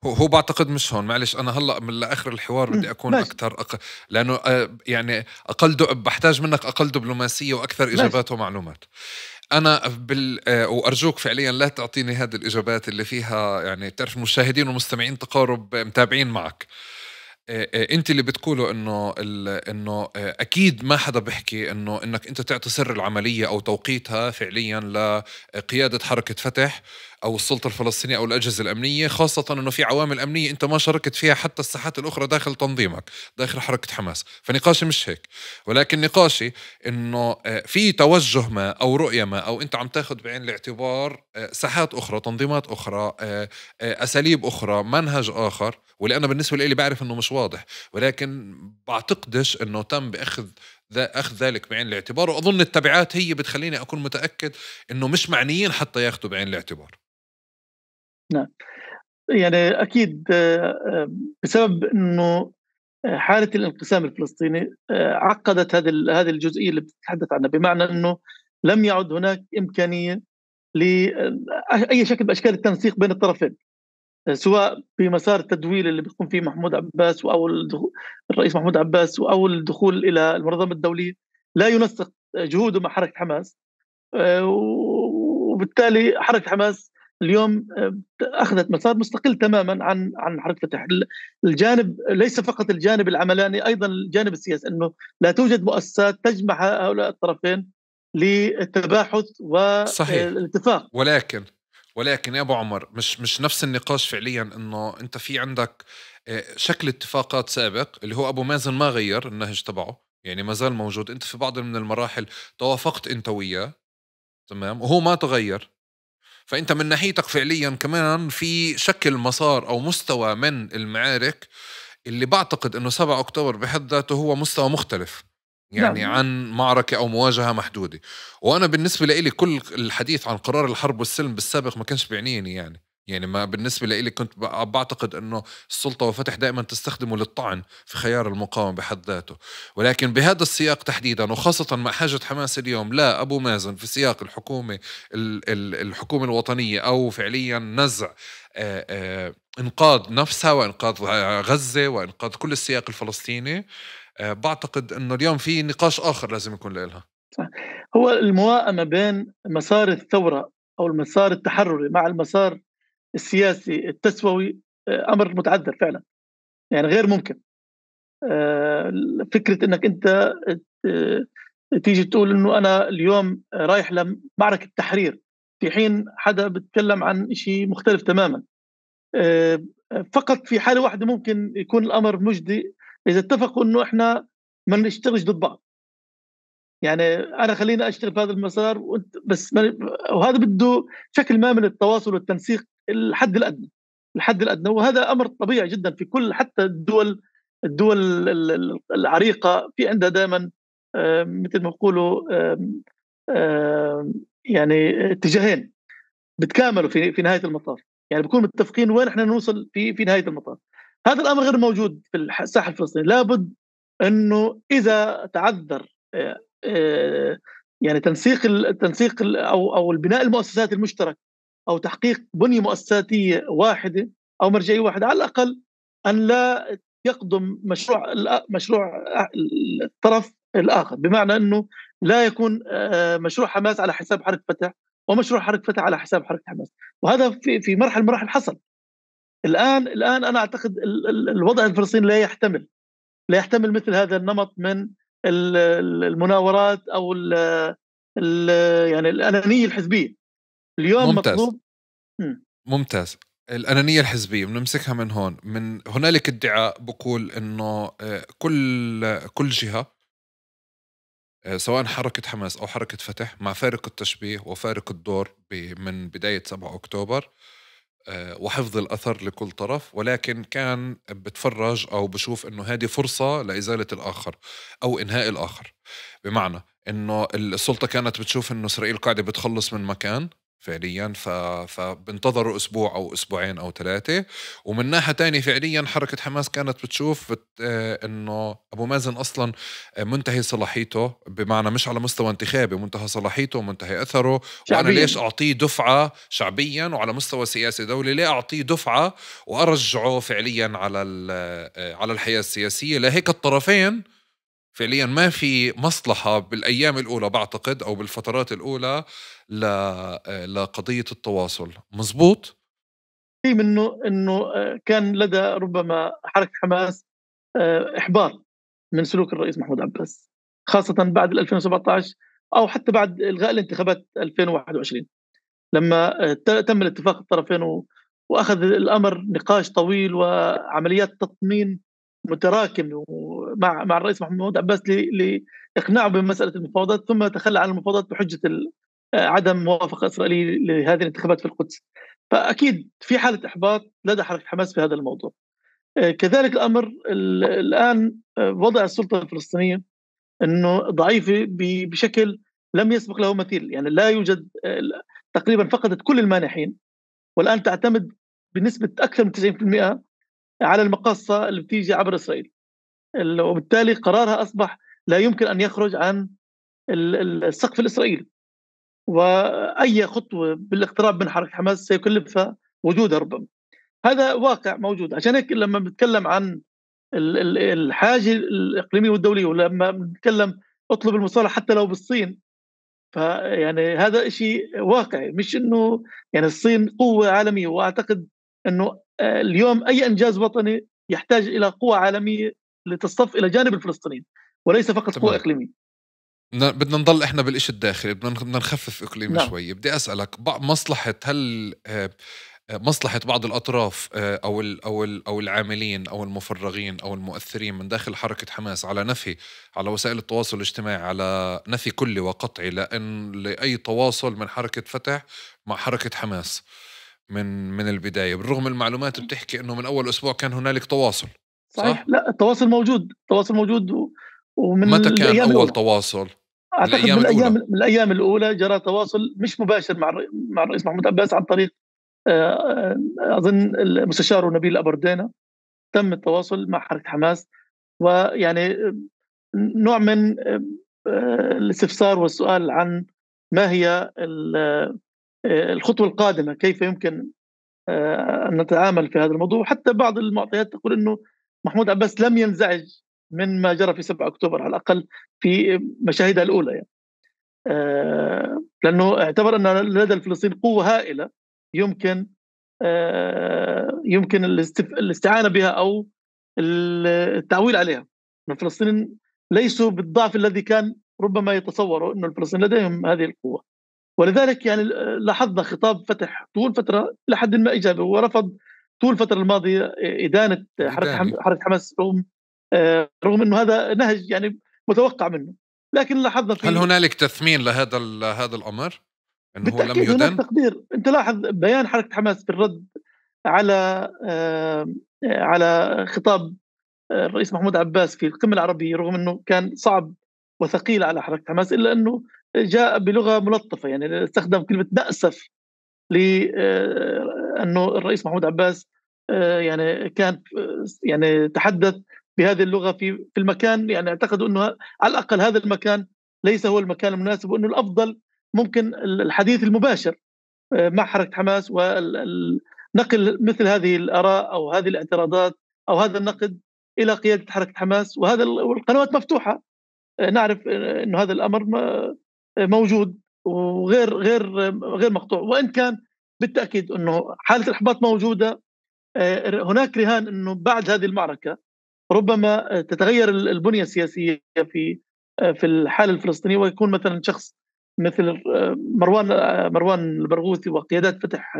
هو بعتقد مش هون، معلش انا هلا من لاخر الحوار بدي اكون ماشي. اكثر لانه يعني بحتاج منك اقل دبلوماسيه واكثر ماشي. اجابات ومعلومات. انا وارجوك فعليا لا تعطيني هذه الاجابات اللي فيها يعني تعرف المشاهدين والمستمعين تقارب متابعين معك. انت اللي بتقوله انه اكيد ما حدا بيحكي انك انت تعطي سر العمليه او توقيتها فعليا لقياده حركه فتح او السلطه الفلسطينيه او الاجهزه الامنيه، خاصه انه في عوامل امنيه انت ما شاركت فيها حتى الساحات الاخرى داخل تنظيمك داخل حركه حماس. فنقاشي مش هيك، ولكن نقاشي انه في توجه ما او رؤيه ما او انت عم تاخذ بعين الاعتبار ساحات اخرى، تنظيمات اخرى، اساليب اخرى، منهج اخر، واللي انا بالنسبه لي بعرف انه مش واضح، ولكن بعتقدش انه تم اخذ ذلك بعين الاعتبار. واظن التبعات هي بتخليني اكون متاكد انه مش معنيين حتى ياخذوا بعين الاعتبار. نعم. يعني اكيد بسبب انه حاله الانقسام الفلسطيني عقدت هذه الجزئيه اللي بتتحدث عنها، بمعنى انه لم يعد هناك امكانيه لاي شكل باشكال التنسيق بين الطرفين، سواء في مسار التدويل اللي بيقوم فيه محمود عباس الرئيس محمود عباس، او الدخول الى المنظمه الدوليه. لا ينسق جهوده مع حركه حماس، وبالتالي حركه حماس اليوم اخذت مسار مستقل تماما عن حركه فتح. الجانب ليس فقط الجانب العملاني، ايضا الجانب السياسي، انه لا توجد مؤسسات تجمع هؤلاء الطرفين للتباحث صحيح. والاتفاق. ولكن يا ابو عمر مش نفس النقاش فعليا، انه انت في عندك شكل اتفاقات سابق اللي هو ابو مازن ما غير النهج تبعه، يعني ما زال موجود. انت في بعض من المراحل توافقت انت وياه، تمام، وهو ما تغير. فانت من ناحيتك فعليا كمان في شكل مسار او مستوى من المعارك اللي بعتقد انه 7 اكتوبر بحد ذاته هو مستوى مختلف يعني نعم. عن معركة او مواجهة محدودة. وانا بالنسبة لي كل الحديث عن قرار الحرب والسلم بالسابق ما كانش بيعنيني يعني ما بالنسبة لي كنت بعتقد انه السلطة وفتح دائما تستخدمه للطعن في خيار المقاومة بحد ذاته، ولكن بهذا السياق تحديدا وخاصة مع حاجة حماس اليوم لا ابو مازن في سياق الحكومة الحكومة الوطنية او فعليا نزع انقاذ نفسها وانقاذ غزة وانقاذ كل السياق الفلسطيني، بعتقد انه اليوم في نقاش اخر لازم يكون لها. هو المواءمة بين مسار الثورة أو المسار التحرري مع المسار السياسي التسوي أمر متعذر فعلا، يعني غير ممكن. فكرة أنك أنت آه، تيجي تقول أنه أنا اليوم رايح لمعركة تحرير، في حين حدا بتكلم عن شيء مختلف تماما. فقط في حالة واحدة ممكن يكون الأمر مجدي، إذا اتفقوا إنه إحنا ما نشتغلش ضد بعض. يعني أنا خلّيني أشتغل في هذا المسار وأنت بس وهذا بده شكل ما من التواصل والتنسيق الحد الأدنى، الحد الأدنى، وهذا أمر طبيعي جدًا في كل حتى الدول العريقة في عندها دايمًا مثل ما بيقولوا يعني اتجاهين بتكاملوا في نهاية المطاف، يعني بنكون متفقين وين إحنا نوصل في نهاية المطاف. هذا الأمر غير موجود في الساحة الفلسطينية، لابد إنه إذا تعذّر يعني تنسيق أو البناء المؤسسات المشترك أو تحقيق بنية مؤسساتية واحدة أو مرجعية واحدة، على الأقل أن لا يقدم مشروع الطرف الآخر، بمعنى أنه لا يكون مشروع حماس على حساب حركة فتح ومشروع حركة فتح على حساب حركة حماس، وهذا في مرحلة من المراحل حصل. الآن أنا أعتقد الوضع الفلسطيني لا يحتمل مثل هذا النمط من المناورات أو يعني الأنانية الحزبية. اليوم ممتاز. مطلوب ممتاز. الأنانية الحزبية بنمسكها من هون. من هنالك ادعاء بقول إنه كل جهة سواء حركة حماس أو حركة فتح مع فارق التشبيه وفارق الدور من بداية 7 أكتوبر وحفظ الأثر لكل طرف، ولكن كان بتفرج أو بشوف إنه هذه فرصة لإزالة الآخر أو إنهاء الآخر. بمعنى إنه السلطة كانت بتشوف إنه إسرائيل قاعدة بتخلص من مكان فعليا، فبنتظروا أسبوع أو أسبوعين أو 3. ومن ناحية تانية فعليا حركة حماس كانت بتشوف إنه أبو مازن أصلا منتهي صلاحيته، بمعنى مش على مستوى انتخابي، منتهى صلاحيته ومنتهى أثره، وأنا ليش أعطيه دفعة شعبيا وعلى مستوى سياسي دولي، ليه أعطيه دفعة وأرجعه فعليا على الحياة السياسية. لهيك الطرفين فعليا ما في مصلحة بالأيام الأولى بعتقد أو بالفترات الأولى لقضية التواصل. مزبوط؟ إنه كان لدى ربما حركة حماس إحباط من سلوك الرئيس محمود عباس، خاصة بعد 2017 أو حتى بعد إلغاء الانتخابات 2021 لما تم الاتفاق الطرفين وأخذ الأمر نقاش طويل وعمليات تطمين متراكم مع الرئيس محمود عباس لإقناعه بمسألة المفاوضات، ثم تخلى عن المفاوضات بحجة عدم موافقة إسرائيلية لهذه الانتخابات في القدس. فأكيد في حالة إحباط لدى حركة حماس في هذا الموضوع. كذلك الأمر الآن وضع السلطة الفلسطينية أنه ضعيفة بشكل لم يسبق له مثيل، يعني لا يوجد تقريبا فقدت كل المانحين، والآن تعتمد بنسبة أكثر من 90% على المقاصة اللي بتيجي عبر إسرائيل، وبالتالي قرارها أصبح لا يمكن أن يخرج عن السقف الإسرائيلي، وأي خطوة بالاقتراب من حركة حماس سيكلفها وجودها ربما. هذا واقع موجود. عشان هيك لما بنتكلم عن الحاجة الإقليمية والدولية، ولما بنتكلم اطلب المصالحة حتى لو بالصين، فيعني هذا شيء واقعي، مش إنه يعني الصين قوة عالمية، وأعتقد إنه اليوم أي إنجاز وطني يحتاج إلى قوة عالمية لتصطف إلى جانب الفلسطينيين وليس فقط قوة إقليمية. بدنا نضل إحنا بالإشي الداخلي، بدنا نخفف إقليمي نعم. شوي. بدي أسألك مصلحة، هل مصلحة بعض الأطراف أو العاملين أو المفرغين أو المؤثرين من داخل حركة حماس على وسائل التواصل الاجتماعي على نفي كلي وقطعي لأي تواصل من حركة فتح مع حركة حماس من البداية، بالرغم المعلومات بتحكي أنه من أول أسبوع كان هنالك تواصل؟ صحيح. لا، التواصل موجود ومن متى كان الأيام أول الأولى. تواصل؟ أعتقد من الأيام الأولى جرى تواصل مش مباشر مع الرئيس محمود عباس عن طريق أظن المستشار نبيل أبردينا. تم التواصل مع حركة حماس، ويعني نوع من الاستفسار والسؤال عن ما هي الخطوة القادمة، كيف يمكن أن نتعامل في هذا الموضوع. حتى بعض المعطيات تقول أنه محمود عباس لم ينزعج من ما جرى في 7 أكتوبر، على الأقل في مشاهدها الأولى يعني. لأنه اعتبر أن لدى الفلسطينيين قوة هائلة يمكن الاستعانة بها أو التعويل عليها. الفلسطينيين ليسوا بالضعف الذي كان ربما يتصوروا، أن الفلسطينيين لديهم هذه القوة. ولذلك يعني لاحظنا خطاب فتح طول فترة لحد ما إيجابي، ورفض طول الفترة الماضية إدانة إدانة. حركة حماس، رغم إنه هذا نهج يعني متوقع منه، لكن لاحظنا هل في هنالك تثمين هذا الأمر إنه هو لم بالتأكيد هناك يدن؟ تقدير. أنت لاحظ بيان حركة حماس في الرد على على خطاب الرئيس محمود عباس في القمة العربية، رغم أنه كان صعب وثقيل على حركة حماس، إلا أنه جاء بلغة ملطفة، يعني استخدم كلمة نأسف لأنه الرئيس محمود عباس يعني كان يعني تحدث بهذه اللغة في المكان، يعني اعتقدوا أنه على الأقل هذا المكان ليس هو المكان المناسب، وأنه الأفضل ممكن الحديث المباشر مع حركة حماس ونقل مثل هذه الآراء أو هذه الاعتراضات أو هذا النقد إلى قيادة حركة حماس، وهذا والقنوات مفتوحة. نعرف إنه هذا الأمر موجود وغير غير مقطوع، وإن كان بالتأكيد إنه حالة الإحباط موجودة. هناك رهان إنه بعد هذه المعركة ربما تتغير البنية السياسية في الحالة الفلسطينية، ويكون مثلا شخص مثل مروان البرغوثي وقيادات فتح،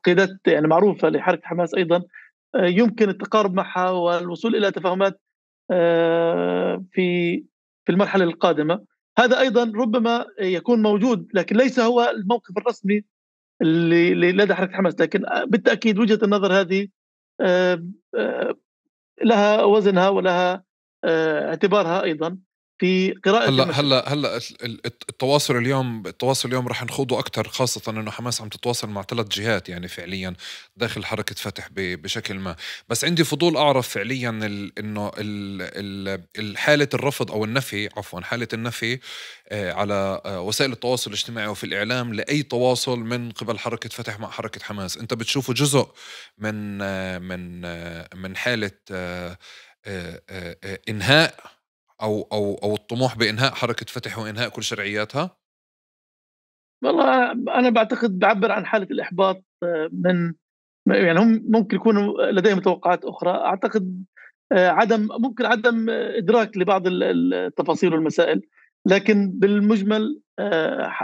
قيادات يعني معروفة لحركة حماس أيضا، يمكن التقارب معها والوصول إلى تفاهمات في المرحلة القادمة. هذا أيضا ربما يكون موجود، لكن ليس هو الموقف الرسمي اللي لدى حركة حماس، لكن بالتأكيد وجهة النظر هذه آه، آه، لها وزنها ولها اعتبارها أيضا في قراءة هلا المشهد. هلا هلا التواصل اليوم رح نخوضه اكثر، خاصه انه حماس عم تتواصل مع 3 جهات يعني فعليا داخل حركه فتح بشكل ما. بس عندي فضول اعرف فعليا انه حاله الرفض او النفي، عفوا حاله النفي على وسائل التواصل الاجتماعي وفي الاعلام لاي تواصل من قبل حركه فتح مع حركه حماس، انت بتشوفه جزء من حاله انهاء أو الطموح بإنهاء حركة فتح وإنهاء كل شرعياتها؟ والله أنا بعتقد بعبر عن حالة الإحباط من يعني هم ممكن يكونوا لديهم توقعات أخرى. أعتقد ممكن عدم إدراك لبعض التفاصيل والمسائل، لكن بالمجمل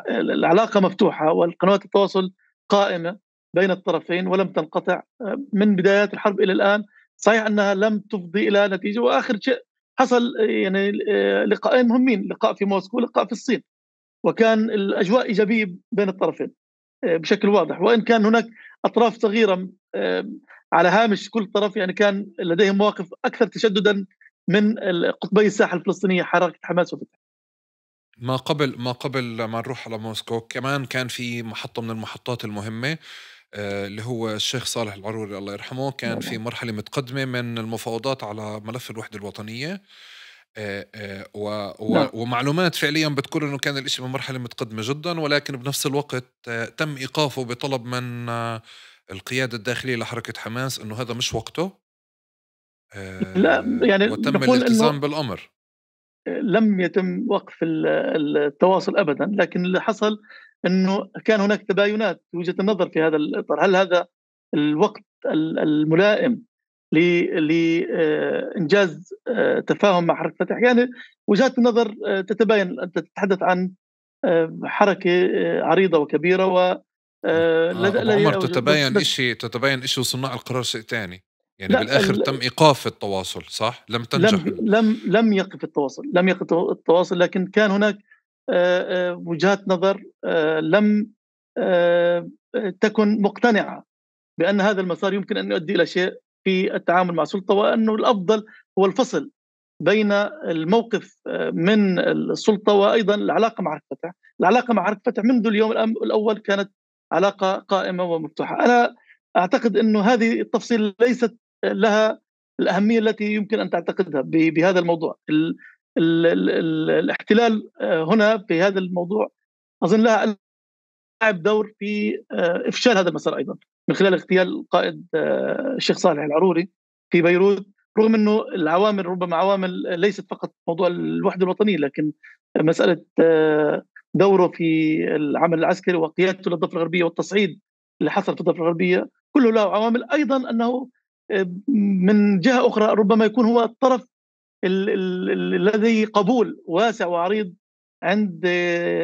العلاقة مفتوحة والقنوات التواصل قائمة بين الطرفين ولم تنقطع من بدايات الحرب إلى الآن. صحيح أنها لم تفضي إلى نتيجة، وآخر شيء حصل يعني لقاءين مهمين، لقاء في موسكو ولقاء في الصين، وكان الأجواء إيجابية بين الطرفين بشكل واضح، وإن كان هناك أطراف صغيرة على هامش كل طرف يعني كان لديهم مواقف أكثر تشددا من قطبي الساحة الفلسطينية حركة حماس وفتح. ما قبل ما نروح على موسكو كمان كان في محطة من المحطات المهمة، اللي هو الشيخ صالح العروري الله يرحمه، كان في نعم. مرحلة متقدمة من المفاوضات على ملف الوحدة الوطنية. نعم. ومعلومات فعليا بتقول انه كان الاشي بمرحلة متقدمة جدا، ولكن بنفس الوقت تم ايقافه بطلب من القيادة الداخلية لحركة حماس انه هذا مش وقته، لا يعني وتم نقول الالتزام أنه بالامر. لم يتم وقف التواصل أبدا، لكن اللي حصل أنه كان هناك تباينات في وجهة النظر في هذا الإطار. هل هذا الوقت الملائم لإنجاز تفاهم مع حركة فتح؟ يعني وجهات النظر تتباين. أنت تتحدث عن حركة عريضة وكبيرة، و ابو عمر، بس تتباين اشي وصناع القرار شيء تاني. يعني لا، بالاخر تم ايقاف التواصل، صح؟ لم تنجح لم يقف التواصل، لم يقف التواصل، لكن كان هناك وجهات نظر لم آه، تكن مقتنعة بأن هذا المسار يمكن أن يؤدي إلى شيء في التعامل مع السلطة، وأنه الأفضل هو الفصل بين الموقف من السلطة وأيضا العلاقة مع حركة فتح. العلاقة مع حركة فتح منذ اليوم الأول كانت علاقة قائمة ومفتوحة. أنا أعتقد أنه هذه التفصيل ليست لها الأهمية التي يمكن أن تعتقدها بهذا الموضوع. الاحتلال هنا في هذا الموضوع أظن لها لعب دور في إفشال هذا المسار أيضا، من خلال اغتيال القائد الشيخ صالح العروري في بيروت، رغم أنه العوامل ربما عوامل ليست فقط موضوع الوحدة الوطنية، لكن مسألة دوره في العمل العسكري وقيادته للضفة الغربية والتصعيد اللي حصل في الضفة الغربية كله له عوامل. أيضا أنه من جهة أخرى ربما يكون هو الطرف الذي قبول واسع وعريض عند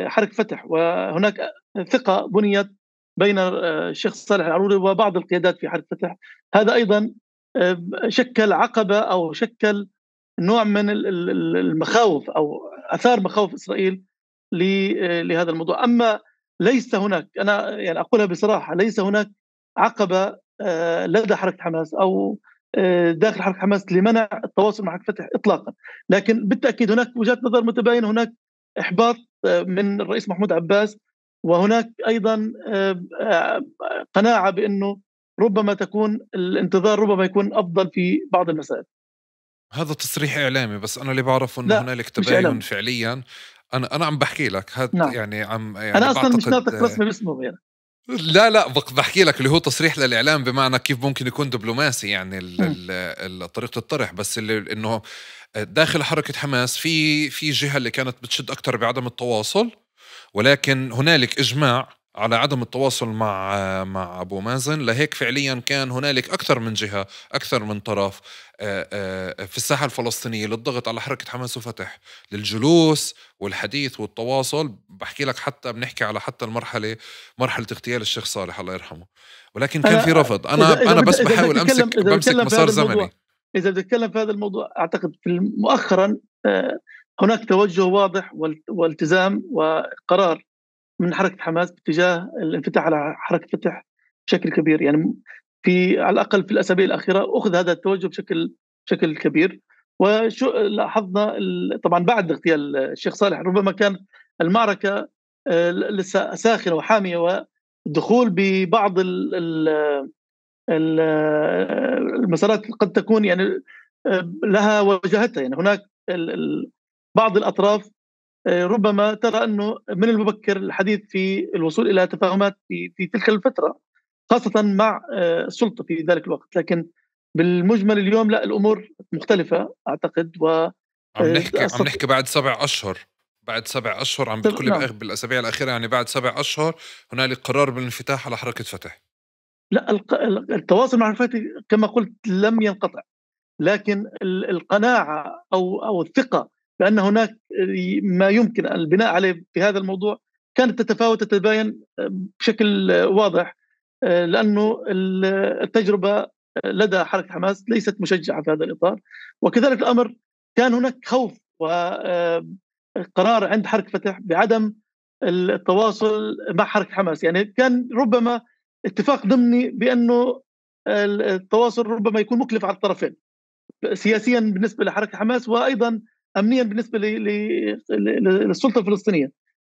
حركة فتح، وهناك ثقة بنيت بين الشيخ صالح العروري وبعض القيادات في حركة فتح. هذا أيضا شكل عقبة أو شكل نوع من المخاوف أو أثار مخاوف إسرائيل لهذا الموضوع. أما ليس هناك، أنا يعني أقولها بصراحة، ليس هناك عقبة لدى حركة حماس أو داخل حركة حماس لمنع التواصل مع حركة فتح إطلاقا. لكن بالتأكيد هناك وجهات نظر متباينة، هناك إحباط من الرئيس محمود عباس، وهناك أيضا قناعة بأنه ربما تكون الانتظار ربما يكون أفضل في بعض المسائل. هذا تصريح إعلامي، بس أنا اللي بعرفه إنه لا، هنالك مش تباين إعلام. فعليا. أنا عم بحكي لك هاد، نعم، يعني عم يعني أنا أصلا مش بعتقد. ناطق رسمي باسمه يعني. لا بحكي لك اللي هو تصريح للإعلام، بمعنى كيف ممكن يكون دبلوماسي، يعني طريقة الطرح. بس اللي إنه داخل حركة حماس في جهة اللي كانت بتشد أكتر بعدم التواصل، ولكن هنالك إجماع على عدم التواصل مع أبو مازن. لهيك فعليا كان هنالك أكثر من جهة، أكثر من طرف في الساحة الفلسطينية للضغط على حركة حماس وفتح، للجلوس والحديث والتواصل. بحكي لك حتى بنحكي على حتى مرحلة اغتيال الشيخ صالح الله يرحمه، ولكن كان في أنا رفض. إذا أنا بس بدك بحاول تتكلم، بمسك في مسار هذا الموضوع، زمني. إذا بدك تتكلم في هذا الموضوع، أعتقد مؤخرا هناك توجه واضح والتزام وقرار من حركة حماس باتجاه الانفتاح على حركة فتح بشكل كبير. يعني على الأقل في الأسابيع الأخيرة أخذ هذا التوجه بشكل كبير. وشو لاحظنا طبعا بعد اغتيال الشيخ صالح ربما كان المعركة لسه ساخنة وحامية، والدخول ببعض المسارات قد تكون يعني لها وجهتها. يعني هناك بعض الأطراف ربما ترى أنه من المبكر الحديث في الوصول إلى تفاهمات في تلك الفترة، خاصة مع السلطة في ذلك الوقت. لكن بالمجمل اليوم لا، الأمور مختلفة أعتقد. و عم نحكي بعد 7 أشهر. بعد 7 أشهر عم بتقولي نعم. بالأسابيع الأخيرة، يعني بعد 7 أشهر هنالك قرار بالانفتاح على حركة فتح. لا، التواصل مع الفتح كما قلت لم ينقطع، لكن القناعة أو الثقة بأن هناك ما يمكن البناء عليه في هذا الموضوع كانت تتفاوت، تتباين بشكل واضح، لأنه التجربة لدى حركة حماس ليست مشجعة في هذا الإطار. وكذلك الأمر كان هناك خوف وقرار عند حركة فتح بعدم التواصل مع حركة حماس. يعني كان ربما اتفاق ضمني بأنه التواصل ربما يكون مكلف على الطرفين، سياسيا بالنسبة لحركة حماس وأيضا أمنيا بالنسبة للسلطة الفلسطينية.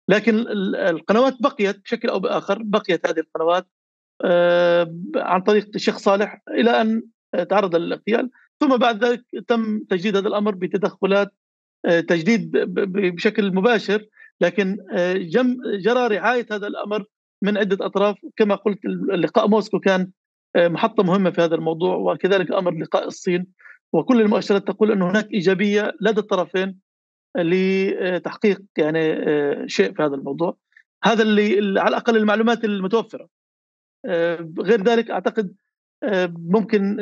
لكن القنوات بقيت بشكل أو بآخر، بقيت هذه القنوات عن طريق الشيخ صالح إلى أن تعرض للاغتيال. ثم بعد ذلك تم تجديد هذا الأمر بتدخلات تجديد بشكل مباشر، لكن جرى رعاية هذا الأمر من عدة أطراف. كما قلت اللقاء موسكو كان محطة مهمة في هذا الموضوع، وكذلك أمر لقاء الصين. وكل المؤشرات تقول أن هناك إيجابية لدى الطرفين لتحقيق يعني شيء في هذا الموضوع. هذا اللي على الأقل المعلومات المتوفرة. غير ذلك أعتقد ممكن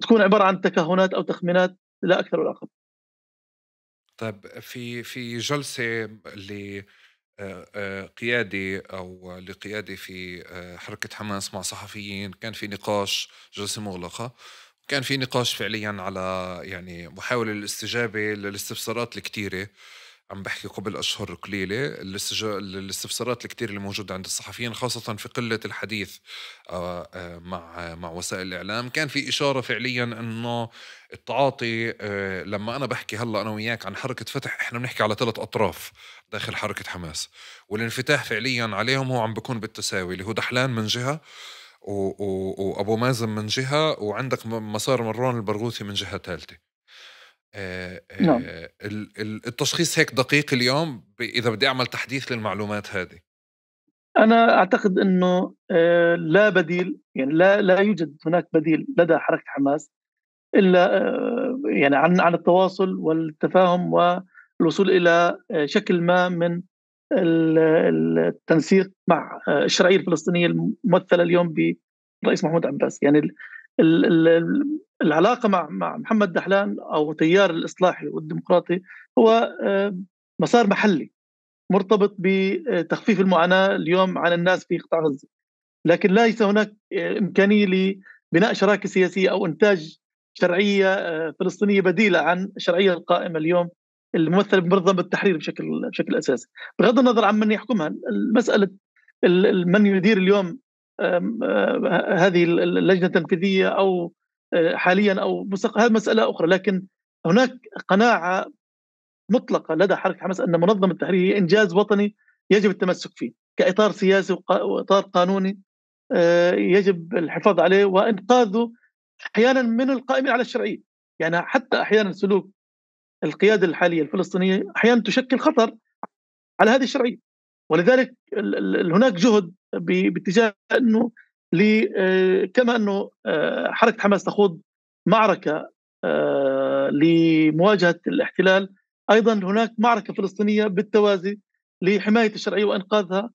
تكون عبارة عن تكهنات أو تخمينات لا أكثر ولا أقل. طيب في جلسة قيادي أو لقيادي في حركة حماس مع صحفيين، كان في نقاش، جلسة مغلقة، كان في نقاش فعليا على يعني محاولة الاستجابة للاستفسارات الكتيرة. عم بحكي قبل أشهر قليلة، الاستفسارات الكتير اللي موجودة عند الصحفيين، خاصة في قلة الحديث مع وسائل الإعلام. كان في إشارة فعليا أنه التعاطي، لما أنا بحكي هلأ أنا وياك عن حركة فتح، إحنا بنحكي على 3 أطراف داخل حركة حماس، والانفتاح فعليا عليهم هو عم بيكون بالتساوي، اللي هو دحلان من جهة وأبو مازن من جهة، وعندك مسار مروان البرغوثي من جهة ثالثة. نعم، التشخيص هيك دقيق اليوم إذا بدي أعمل تحديث للمعلومات هذه؟ أنا أعتقد أنه لا بديل، يعني لا يوجد هناك بديل لدى حركة حماس إلا يعني عن التواصل والتفاهم والوصول إلى شكل ما من التنسيق مع الشرعية الفلسطينية الممثلة اليوم بالرئيس محمود عباس. يعني العلاقة مع محمد دحلان أو تيار الإصلاحي والديمقراطي هو مسار محلي، مرتبط بتخفيف المعاناة اليوم عن الناس في قطاع غزة، لكن ليس هناك إمكانية لبناء شراكة سياسية أو إنتاج شرعية فلسطينية بديلة عن الشرعية القائمة اليوم الممثلة بمنظمة التحرير بشكل أساسي، بغض النظر عن من يحكمها. المسألة من يدير اليوم هذه اللجنة التنفيذية أو حاليا أو مستقبلا، هذه مسألة أخرى، لكن هناك قناعة مطلقة لدى حركة حماس أن منظمة التحرير هي إنجاز وطني يجب التمسك فيه كإطار سياسي وإطار قانوني، يجب الحفاظ عليه وإنقاذه أحيانا من القائمين على الشرعية. يعني حتى أحيانا سلوك القيادة الحالية الفلسطينية أحيانا تشكل خطر على هذه الشرعية، ولذلك هناك جهد باتجاه أنه كما أنه حركة حماس تخوض معركة لمواجهة الاحتلال، أيضا هناك معركة فلسطينية بالتوازي لحماية الشرعية وإنقاذها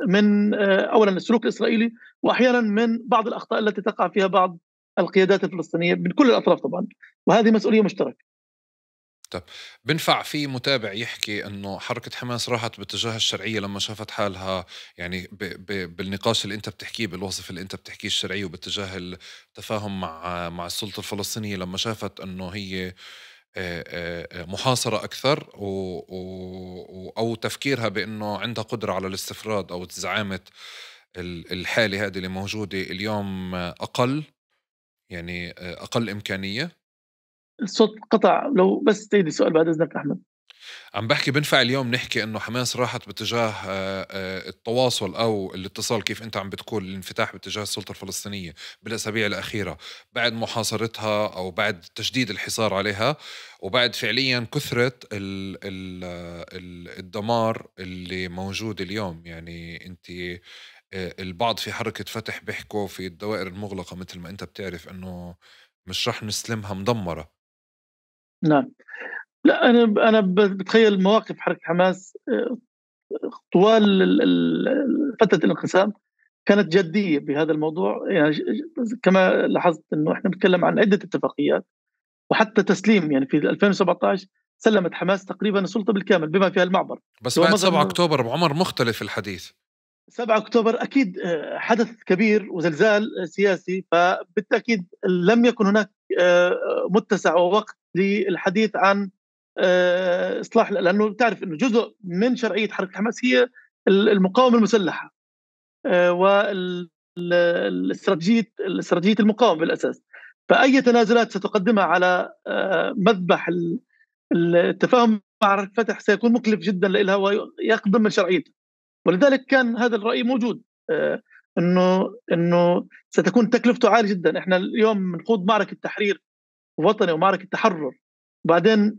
من أولا السلوك الإسرائيلي، وأحيانا من بعض الأخطاء التي تقع فيها بعض القيادات الفلسطينية من كل الأطراف طبعا، وهذه مسؤولية مشتركة. طب بنفع في متابع يحكي انه حركة حماس راحت باتجاه الشرعية لما شافت حالها، يعني بالنقاش اللي انت بتحكيه، بالوصف اللي انت بتحكيه الشرعي، وباتجاه التفاهم مع السلطة الفلسطينية لما شافت انه هي محاصرة أكثر أو تفكيرها بأنه عندها قدرة على الاستفراد أو زعامة الحالة هذه اللي موجودة اليوم أقل، يعني أقل إمكانية. الصوت قطع، لو بس تعيد السؤال بعد إذنك أحمد. عم بحكي بنفع اليوم نحكي انه حماس راحت باتجاه التواصل او الاتصال، كيف انت عم بتقول الانفتاح باتجاه السلطة الفلسطينية بالاسابيع الاخيرة بعد محاصرتها او بعد تشديد الحصار عليها، وبعد فعليا كثرة الدمار اللي موجود اليوم. يعني انت البعض في حركة فتح بيحكوا في الدوائر المغلقة مثل ما انت بتعرف انه مش رح نسلمها مدمرة. نعم، لا أنا بتخيل مواقف حركة حماس طوال فترة الانقسام كانت جدية بهذا الموضوع. يعني كما لاحظت أنه إحنا بنتكلم عن عدة اتفاقيات وحتى تسليم، يعني في 2017 سلمت حماس تقريبا السلطة بالكامل بما فيها المعبر. بس هو بعد مظهر 7 أنه أكتوبر بعمر مختلف الحديث. 7 أكتوبر أكيد حدث كبير وزلزال سياسي، فبالتأكيد لم يكن هناك متسع ووقت للحديث عن إصلاح، لأنه تعرف أنه جزء من شرعية حركة حماس هي المقاومة المسلحة والاستراتيجية المقاومة بالأساس. فأي تنازلات ستقدمها على مذبح التفاهم مع الفتح سيكون مكلف جدا لها ويقدم من شرعيتها، ولذلك كان هذا الرأي موجود انه ستكون تكلفته عاليه جدا. احنا اليوم بنخوض معركه تحرير وطني ومعركه تحرر، بعدين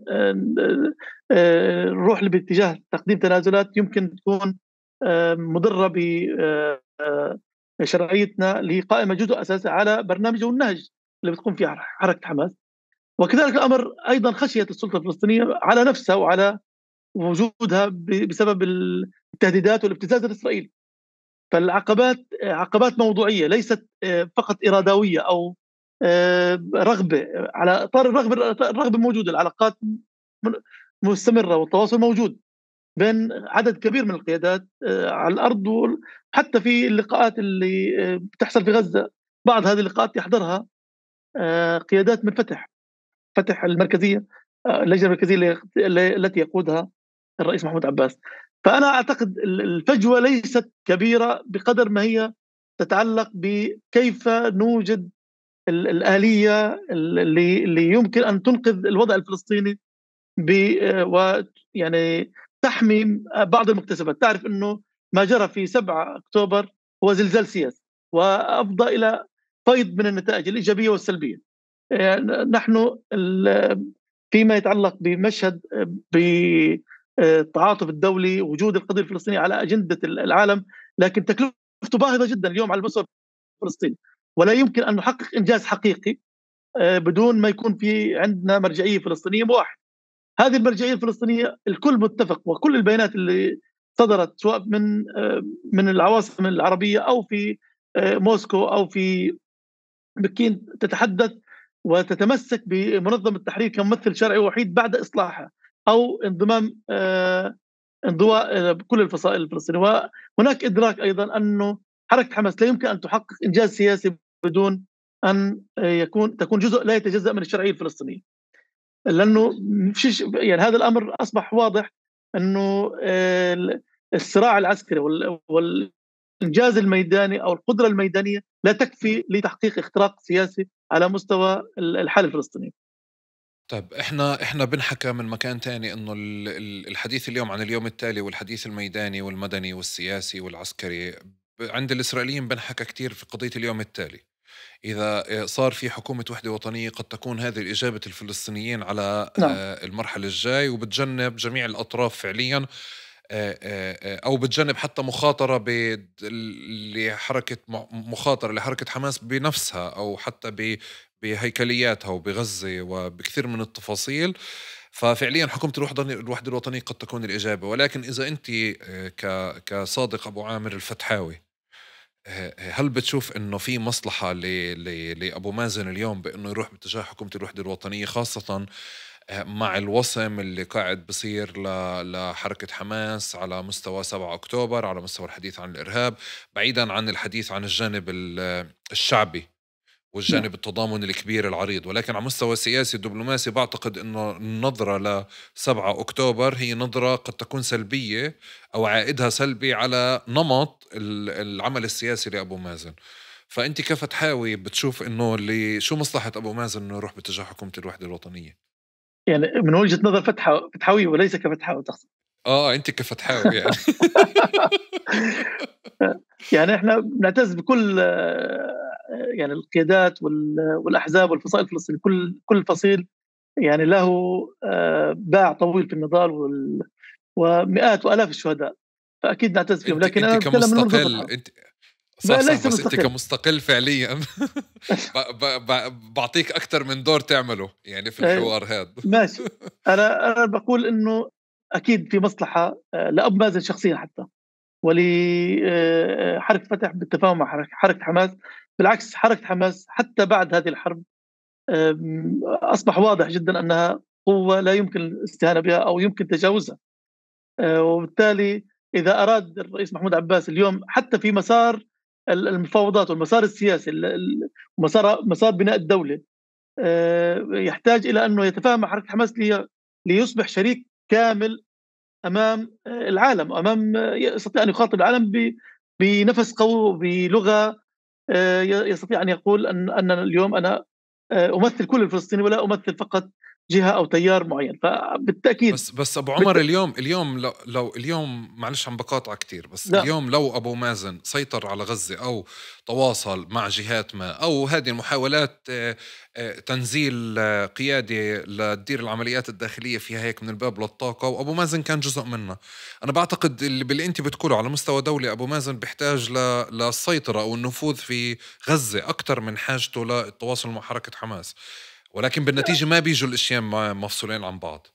نروح باتجاه تقديم تنازلات يمكن تكون مضره بشرعيتنا اللي هي قائمه جزء اساسي على برنامج والنهج اللي بتقوم فيه حركه حماس. وكذلك الامر ايضا خشيه السلطه الفلسطينيه على نفسها وعلى وجودها بسبب التهديدات والابتزاز الاسرائيلي. فالعقبات عقبات موضوعيه ليست فقط ارادويه او رغبه. على اطار الرغبه موجوده، العلاقات مستمره والتواصل موجود بين عدد كبير من القيادات على الارض، وحتى في اللقاءات اللي بتحصل في غزه بعض هذه اللقاءات يحضرها قيادات من فتح المركزيه، اللجنه المركزيه التي يقودها الرئيس محمود عباس. فأنا أعتقد الفجوة ليست كبيرة بقدر ما هي تتعلق بكيف نوجد الآلية اللي يمكن أن تنقذ الوضع الفلسطيني ويعني تحمي بعض المكتسبات. تعرف أنه ما جرى في 7 أكتوبر هو زلزال سياسي وأفضى إلى فيض من النتائج الإيجابية والسلبية. نحن فيما يتعلق بمشهد التعاطف الدولي، وجود القضية الفلسطينية على أجندة العالم، لكن تكلفته باهظة جدا اليوم على المستوى الفلسطيني، ولا يمكن أن نحقق إنجاز حقيقي بدون ما يكون في عندنا مرجعية فلسطينية واحد. هذه المرجعية الفلسطينية الكل متفق، وكل البيانات اللي صدرت سواء من العواصم العربية أو في موسكو أو في بكين تتحدث وتتمسك بمنظمة التحرير كممثل شرعي وحيد بعد إصلاحها أو انضمام انضواء كل الفصائل الفلسطينية. وهناك إدراك أيضا أنه حركة حماس لا يمكن أن تحقق إنجاز سياسي بدون أن تكون جزء لا يتجزأ من الشرعية الفلسطينية، لأنه يعني هذا الأمر أصبح واضح أنه الصراع العسكري والإنجاز الميداني أو القدرة الميدانية لا تكفي لتحقيق اختراق سياسي على مستوى الحالة الفلسطينية. طيب احنا بنحكى من مكان تاني انه الحديث اليوم عن اليوم التالي والحديث الميداني والمدني والسياسي والعسكري عند الإسرائيليين بنحكى كتير في قضية اليوم التالي. إذا صار في حكومة وحدة وطنية قد تكون هذه الإجابة الفلسطينيين على نعم. المرحلة الجاي، وبتجنب جميع الأطراف فعليا، أو بتجنب حتى مخاطرة لحركة مخاطرة لحركة حماس بنفسها أو حتى بهيكلياتها وبغزة وبكثير من التفاصيل. ففعليا حكومة الوحدة الوطنية قد تكون الإجابة. ولكن إذا أنت كصادق أبو عامر الفتحاوي، هل بتشوف إنه في مصلحة لأبو مازن اليوم بإنه يروح باتجاه حكومة الوحدة الوطنية، خاصة مع الوصم اللي قاعد بصير لحركة حماس على مستوى 7 أكتوبر، على مستوى الحديث عن الإرهاب، بعيدا عن الحديث عن الجانب الشعبي والجانب التضامن الكبير العريض، ولكن على مستوى السياسي الدبلوماسي بعتقد أنه النظرة ل7 أكتوبر هي نظرة قد تكون سلبية أو عائدها سلبي على نمط العمل السياسي لأبو مازن. فأنت كفتحاوي بتشوف أنه شو مصلحة أبو مازن أنه يروح باتجاه حكومة الوحدة الوطنية؟ يعني من وجهة نظر فتحاوي وليس كفتحاوي تقصد؟ أنت كفتحاوي يعني. يعني إحنا بنعتز بكل يعني القيادات والأحزاب والفصائل الفلسطينية، كل فصيل يعني له باع طويل في النضال ومئات وآلاف الشهداء، فأكيد نعتز فيهم. لكن انت أنا أتكلم من منظور كمستقل، فتحاوي. انت صح ليس بس انت مستقل. كمستقل فعليا بعطيك اكثر من دور تعمله يعني في الحوار هذا. ماشي. أنا بقول إنه أكيد في مصلحة لأبو مازن شخصيا حتى ولحركة فتح بالتفاهم مع حركة حماس. بالعكس، حركة حماس حتى بعد هذه الحرب أصبح واضح جدا أنها قوة لا يمكن الاستهانة بها أو يمكن تجاوزها. وبالتالي إذا أراد الرئيس محمود عباس اليوم حتى في مسار المفاوضات والمسار السياسي مسار بناء الدولة، يحتاج إلى أنه يتفاهم مع حركة حماس ليصبح شريك كامل أمام العالم، يستطيع أن يخاطب العالم بنفس قوي وبلغة يستطيع أن يقول أن اليوم أنا أمثل كل الفلسطيني ولا أمثل فقط جهة أو تيار معين. فبالتأكيد بس ابو عمر اليوم لو اليوم معلش عم بقاطع كتير، بس لا. اليوم لو ابو مازن سيطر على غزة او تواصل مع جهات ما او هذه المحاولات تنزيل قيادة لتدير العمليات الداخلية فيها هيك من الباب للطاقة، وابو مازن كان جزء منها، انا بعتقد باللي انت بتقوله على مستوى دولي ابو مازن بيحتاج للسيطرة او النفوذ في غزة اكثر من حاجته للتواصل مع حركة حماس، ولكن بالنتيجة ما بيجوا الاشياء مفصولين عن بعض.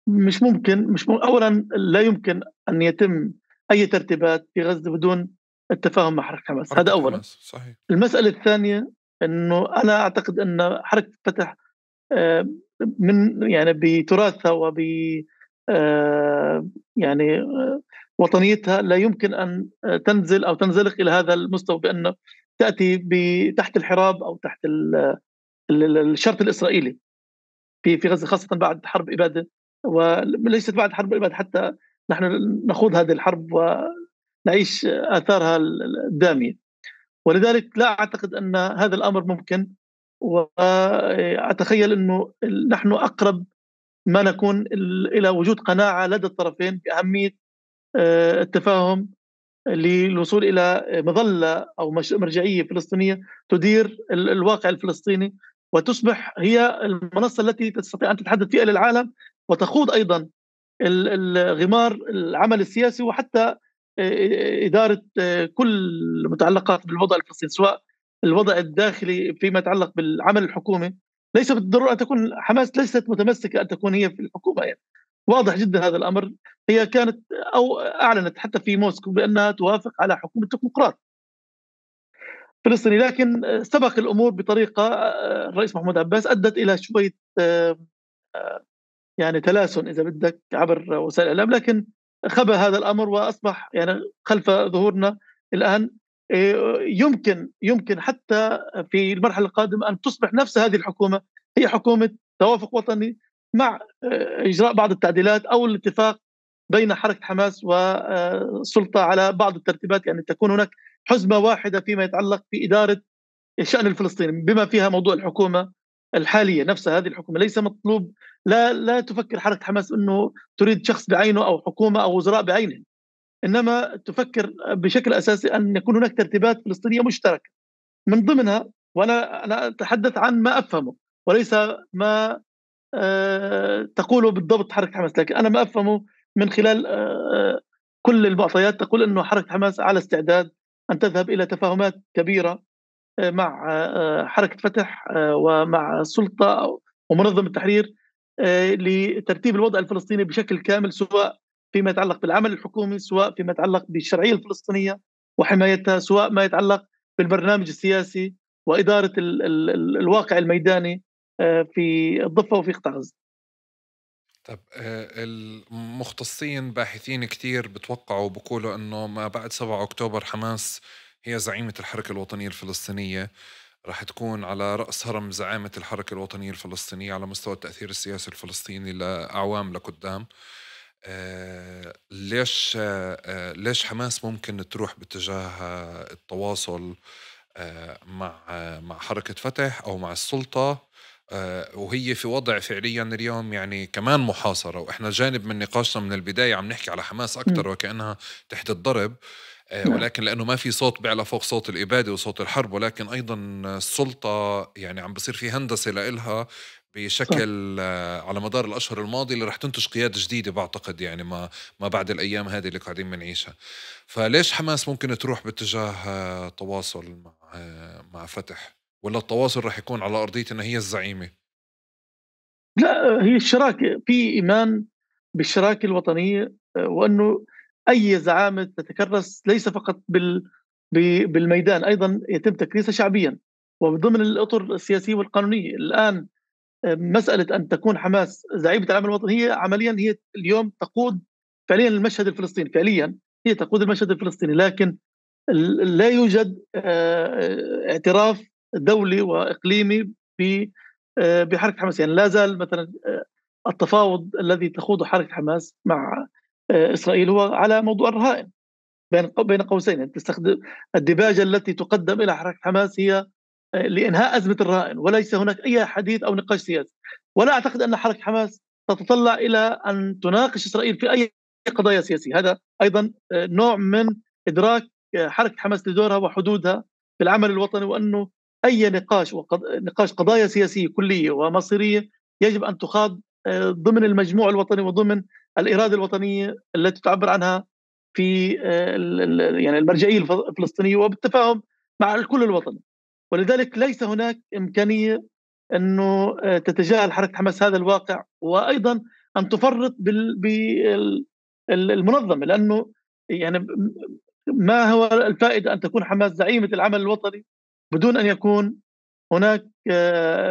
مش ممكن. أولا لا يمكن أن يتم أي ترتيبات في غزة بدون التفاهم مع حركة حماس، هذا حركة أولا. حماس صحيح. المسألة الثانية أنه أنا أعتقد أن حركة فتح من يعني بتراثها يعني وطنيتها لا يمكن أن تنزل أو تنزلق إلى هذا المستوى بأن تأتي تحت الحراب أو تحت الشرط الإسرائيلي في غزة، خاصة بعد حرب إبادة، وليست بعد حرب إبادة حتى نحن نخوض هذه الحرب ونعيش آثارها الدامية. ولذلك لا أعتقد أن هذا الأمر ممكن، وأتخيل أنه نحن أقرب ما نكون إلى وجود قناعة لدى الطرفين بأهمية التفاهم للوصول إلى مظلة أو مرجعية فلسطينية تدير الواقع الفلسطيني وتصبح هي المنصة التي تستطيع أن تتحدث فيها للعالم وتخوض أيضا الغمار العمل السياسي وحتى إدارة كل المتعلقات بالوضع الفلسطيني، سواء الوضع الداخلي فيما يتعلق بالعمل الحكومي. ليس بالضرورة أن تكون حماس ليست متمسكة أن تكون هي في الحكومة، يعني واضح جدا هذا الأمر. هي كانت أو أعلنت حتى في موسكو بأنها توافق على حكومة تكنوقراط فلسطيني، لكن سبق الأمور بطريقة الرئيس محمود عباس أدت إلى شوية يعني تلاسن إذا بدك عبر وسائل الإعلام. لكن خبى هذا الأمر وأصبح يعني خلف ظهورنا الآن. يمكن حتى في المرحلة القادمة أن تصبح نفس هذه الحكومة هي حكومة توافق وطني مع إجراء بعض التعديلات أو الاتفاق بين حركة حماس والسلطة على بعض الترتيبات، يعني تكون هناك حزمة واحدة فيما يتعلق بإدارة الشأن الفلسطيني بما فيها موضوع الحكومة الحالية نفسها. هذه الحكومة ليس مطلوب، لا تفكر حركة حماس أنه تريد شخص بعينه أو حكومة أو وزراء بعينهم، إنما تفكر بشكل أساسي أن يكون هناك ترتيبات فلسطينية مشتركة من ضمنها، وأنا أتحدث عن ما أفهمه وليس ما تقوله بالضبط حركة حماس، لكن أنا ما أفهمه من خلال كل المعطيات تقول أنه حركة حماس على استعداد أن تذهب إلى تفاهمات كبيرة مع حركة فتح ومع السلطة ومنظمة التحرير لترتيب الوضع الفلسطيني بشكل كامل، سواء فيما يتعلق بالعمل الحكومي، سواء فيما يتعلق بالشرعية الفلسطينية وحمايتها، سواء ما يتعلق بالبرنامج السياسي وإدارة الواقع الميداني في الضفة وفي قطاع غزة. طب المختصين باحثين كتير بتوقعوا بقولوا انه ما بعد 7 اكتوبر حماس هي زعيمة الحركة الوطنية الفلسطينية، راح تكون على رأس هرم زعامة الحركة الوطنية الفلسطينية على مستوى التأثير السياسي الفلسطيني لأعوام لقدام. ليش حماس ممكن تروح باتجاه التواصل مع حركة فتح أو مع السلطة، وهي في وضع فعليا اليوم يعني كمان محاصرة، وإحنا جانب من نقاشنا من البداية عم نحكي على حماس أكتر وكأنها تحت الضرب، ولكن لأنه ما في صوت بيعلى فوق صوت الإبادة وصوت الحرب، ولكن أيضا السلطة يعني عم بصير في هندسة لإلها بشكل على مدار الأشهر الماضية اللي رح تنتج قيادة جديدة بعتقد، يعني ما بعد الأيام هذه اللي قاعدين بنعيشها. فليش حماس ممكن تروح باتجاه تواصل مع فتح، ولا التواصل رح يكون على أرضية إن هي الزعيمة؟ لا، هي الشراكة، في إيمان بالشراكة الوطنية، وأنه أي زعامة تتكرس ليس فقط بالميدان، أيضا يتم تكريسها شعبيا وضمن الأطر السياسية والقانونية. الآن مسألة أن تكون حماس زعيمة العمل الوطني هي عمليا هي اليوم تقود فعليا المشهد الفلسطيني، فعليا هي تقود المشهد الفلسطيني، لكن لا يوجد اعتراف دولي وإقليمي بحركة حماس. يعني لا زال مثلا التفاوض الذي تخوضه حركة حماس مع إسرائيل هو على موضوع الرهائن بين قوسين. يعني تستخدم الدباجة التي تقدم إلى حركة حماس هي لإنهاء أزمة الرهائن، وليس هناك أي حديث أو نقاش سياسي. ولا أعتقد أن حركة حماس تتطلع إلى أن تناقش إسرائيل في أي قضايا سياسية. هذا أيضا نوع من إدراك حركة حماس لدورها وحدودها في العمل الوطني، وأنه أي نقاش قضايا سياسية كلية ومصيرية يجب أن تخاض ضمن المجموع الوطني وضمن الإرادة الوطنية التي تعبر عنها في يعني المرجعية الفلسطينية وبالتفاهم مع الكل الوطني. ولذلك ليس هناك إمكانية أنه تتجاهل حركة حماس هذا الواقع، وأيضا أن تفرط بالمنظمة، لأنه يعني ما هو الفائدة أن تكون حماس زعيمة العمل الوطني بدون أن يكون هناك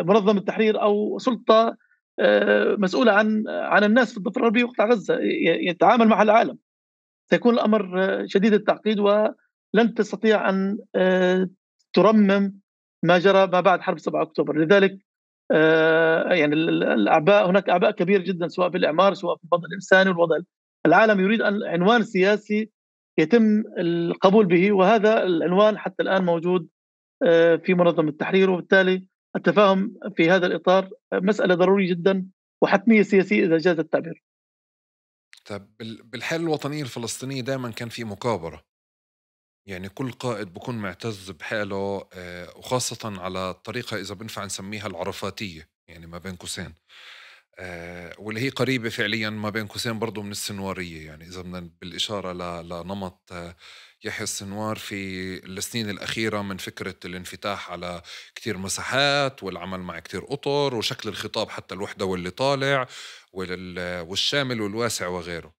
منظمة تحرير أو سلطة مسؤولة عن الناس في الضفة الغربية وقطاع غزة يتعامل مع العالم؟ سيكون الأمر شديد التعقيد، ولن تستطيع أن ترمم ما جرى ما بعد حرب 7 أكتوبر. لذلك يعني الأعباء، هناك أعباء كبيرة جدا سواء في الإعمار سواء في الوضع الإنساني والوضع العالم يريد أن عنوان سياسي يتم القبول به، وهذا العنوان حتى الآن موجود في منظمة التحرير، وبالتالي التفاهم في هذا الإطار مسألة ضرورية جدا وحتمية سياسية إذا جاز التعبير. طب بالحالة الوطنية الفلسطينية دائما كان في مكابرة، يعني كل قائد بكون معتز بحاله، وخاصة على الطريقة إذا بنفع نسميها العرفاتية، يعني ما بين قوسين، واللي هي قريبة فعليا ما بين قوسين برضو من السنوارية. يعني إذا بدنا بالإشارة لنمط يحيى السنوار في السنين الأخيرة من فكرة الانفتاح على كتير مساحات والعمل مع كتير أطر وشكل الخطاب حتى الوحدة واللي طالع والشامل والواسع وغيره.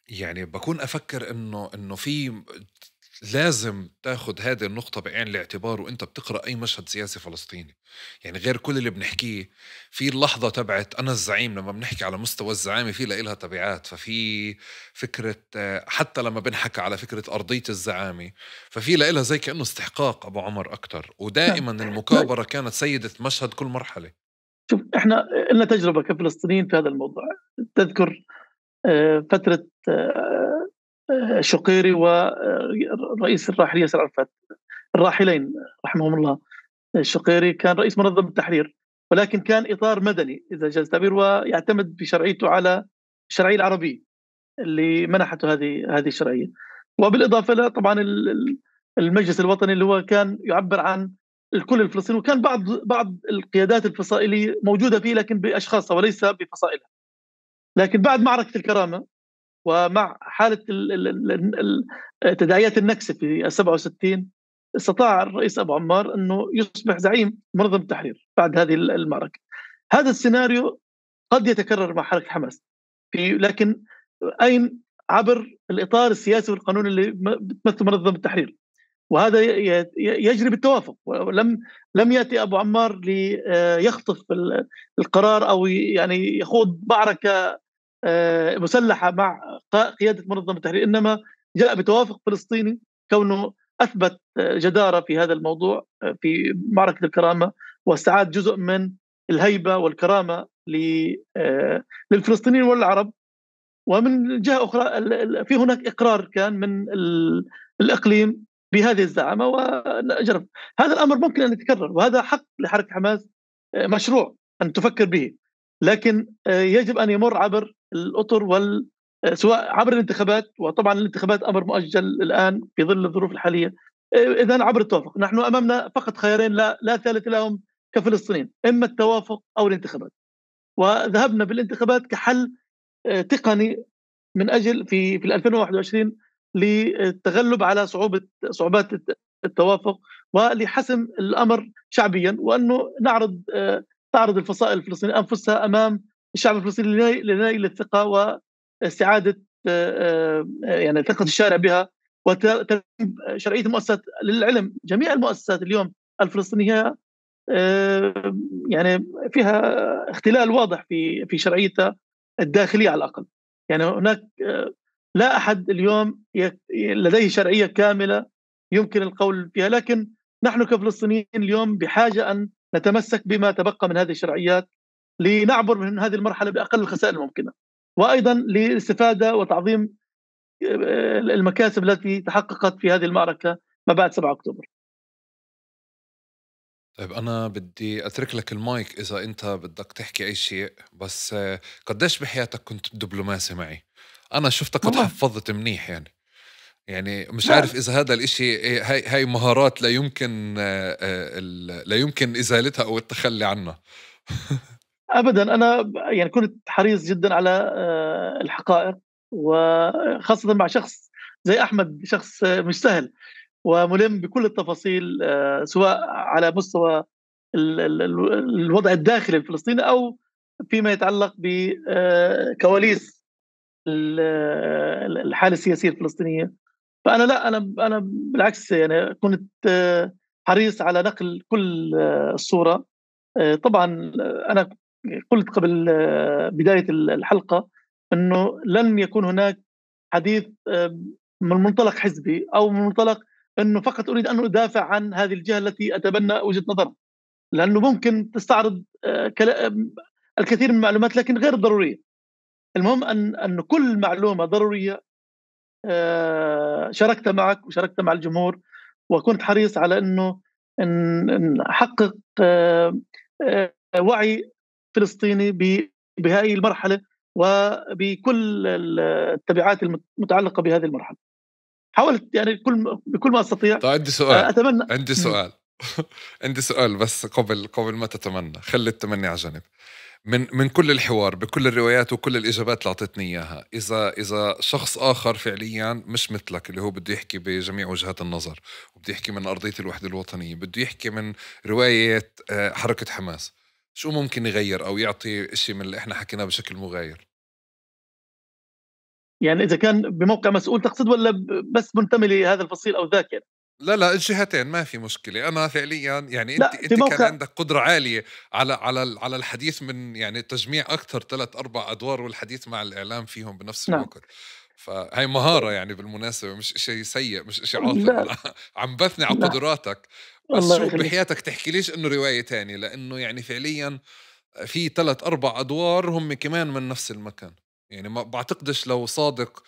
يعني بكون أفكر إنه في لازم تاخد هذه النقطة بعين الاعتبار وانت بتقرأ اي مشهد سياسي فلسطيني. يعني غير كل اللي بنحكيه، في اللحظة تبعت انا الزعيم، لما بنحكي على مستوى الزعامة في لها تبعات. ففي فكرة حتى لما بنحكي على فكرة أرضية الزعامة، ففي لها زي كأنه استحقاق أبو عمر أكتر، نعم. ودائما لا، المكابرة كانت سيدة مشهد كل مرحلة. شوف، احنا لنا تجربه كفلسطينيين في هذا الموضوع. تذكر فتره شقيري والرئيس الراحل ياسر عرفات، الراحلين رحمهم الله. الشقيري كان رئيس منظمة التحرير، ولكن كان إطار مدني إذا جاز التعبير، ويعتمد بشرعيته على الشرعية العربية اللي منحته هذه الشرعية. وبالإضافة إلى طبعا المجلس الوطني اللي هو كان يعبر عن الكل الفلسطيني، وكان بعض القيادات الفصائلية موجودة فيه لكن بأشخاصها وليس بفصائلها. لكن بعد معركة الكرامة ومع حالة تداعيات النكسة في 67، استطاع الرئيس أبو عمار أنه يصبح زعيم منظمة التحرير بعد هذه المعركة. هذا السيناريو قد يتكرر مع حركة حماس، لكن أين؟ عبر الإطار السياسي والقانوني اللي بتمثل منظمة التحرير، وهذا يجري بالتوافق. لم يأتي أبو عمار ليخطف القرار أو يعني يخوض معركة مسلحة مع قيادة منظمة التحرير، إنما جاء بتوافق فلسطيني، كونه أثبت جدارة في هذا الموضوع في معركة الكرامة، واستعاد جزء من الهيبة والكرامة للفلسطينيين والعرب. ومن جهة أخرى في هناك إقرار كان من الإقليم بهذه الزعامة ونجرب. هذا الأمر ممكن أن يتكرر، وهذا حق لحركة حماس مشروع أن تفكر به، لكن يجب أن يمر عبر الأطر سواء عبر الانتخابات، وطبعا الانتخابات أمر مؤجل الآن في ظل الظروف الحالية. إذن عبر التوافق. نحن أمامنا فقط خيارين لا ثالث لهم كفلسطينيين، إما التوافق أو الانتخابات. وذهبنا بالانتخابات كحل تقني من أجل في 2021 للتغلب على صعوبات التوافق، ولحسم الأمر شعبيا، وأنه تعرض الفصائل الفلسطينية أنفسها أمام الشعب الفلسطيني لنيل الثقة واستعادة يعني ثقة الشارع بها وترتيب شرعية المؤسسات. للعلم جميع المؤسسات اليوم الفلسطينية يعني فيها اختلال واضح في شرعيتها الداخلية على الأقل. يعني هناك لا أحد اليوم لديه شرعية كاملة يمكن القول فيها، لكن نحن كفلسطينيين اليوم بحاجة أن نتمسك بما تبقى من هذه الشرعيات لنعبر من هذه المرحلة بأقل الخسائر الممكنة، وأيضا للاستفادة وتعظيم المكاسب التي تحققت في هذه المعركة ما بعد 7 أكتوبر. طيب أنا بدي أترك لك المايك إذا أنت بدك تحكي أي شيء، بس قديش بحياتك كنت دبلوماسي معي؟ أنا شفتك والله تحفظت منيح يعني مش لا، عارف إذا هذا الإشي هاي مهارات لا يمكن لا يمكن إزالتها أو التخلي عنها. أبدا. أنا يعني كنت حريص جدا على الحقائق، وخاصة مع شخص زي أحمد، شخص مش سهل وملم بكل التفاصيل، سواء على مستوى الوضع الداخلي الفلسطيني أو فيما يتعلق بكواليس الحالة السياسية الفلسطينية. فأنا لا، أنا بالعكس يعني كنت حريص على نقل كل الصورة. طبعا أنا قلت قبل بداية الحلقة أنه لن يكون هناك حديث من منطلق حزبي أو من منطلق أنه فقط أريد أن أدافع عن هذه الجهة التي أتبنى وجهة نظرها، لأنه ممكن تستعرض الكثير من المعلومات لكن غير ضرورية. المهم أن كل معلومة ضرورية شاركت معك وشاركت مع الجمهور، وكنت حريص على أنه أن أحقق وعي فلسطيني بهذه المرحلة وبكل التبعات المتعلقة بهذه المرحلة. حاولت يعني بكل ما أستطيع. طيب عندي سؤال، أتمنى. عندي سؤال عندي سؤال، بس قبل ما تتمنى خلي التمني على جنب. من كل الحوار بكل الروايات وكل الإجابات اللي أعطيتني إياها، إذا شخص آخر فعليا مش مثلك اللي هو بده يحكي بجميع وجهات النظر وبده يحكي من أرضية الوحدة الوطنية، بده يحكي من رواية حركة حماس، شو ممكن يغير أو يعطي إشي من اللي إحنا حكيناه بشكل مغاير؟ يعني إذا كان بموقع مسؤول تقصد، ولا بس منتمي لهذا الفصيل أو ذاك يعني؟ لا الجهتين ما في مشكلة. أنا فعليا يعني لا، في أنت كان موقع. عندك قدرة عالية على الحديث من يعني تجميع أكثر 3-4 أدوار والحديث مع الإعلام فيهم بنفس نعم. الوقت. فهي مهارة يعني بالمناسبة، مش إشي سيء، مش إشي عاطل. لا، أنا عم بثني على لا، قدراتك. بس الله شو يخليك. بحياتك تحكي ليش إنه رواية تانية، لأنه يعني فعليا في 3-4 أدوار هم كمان من نفس المكان. يعني ما بعتقدش لو صادق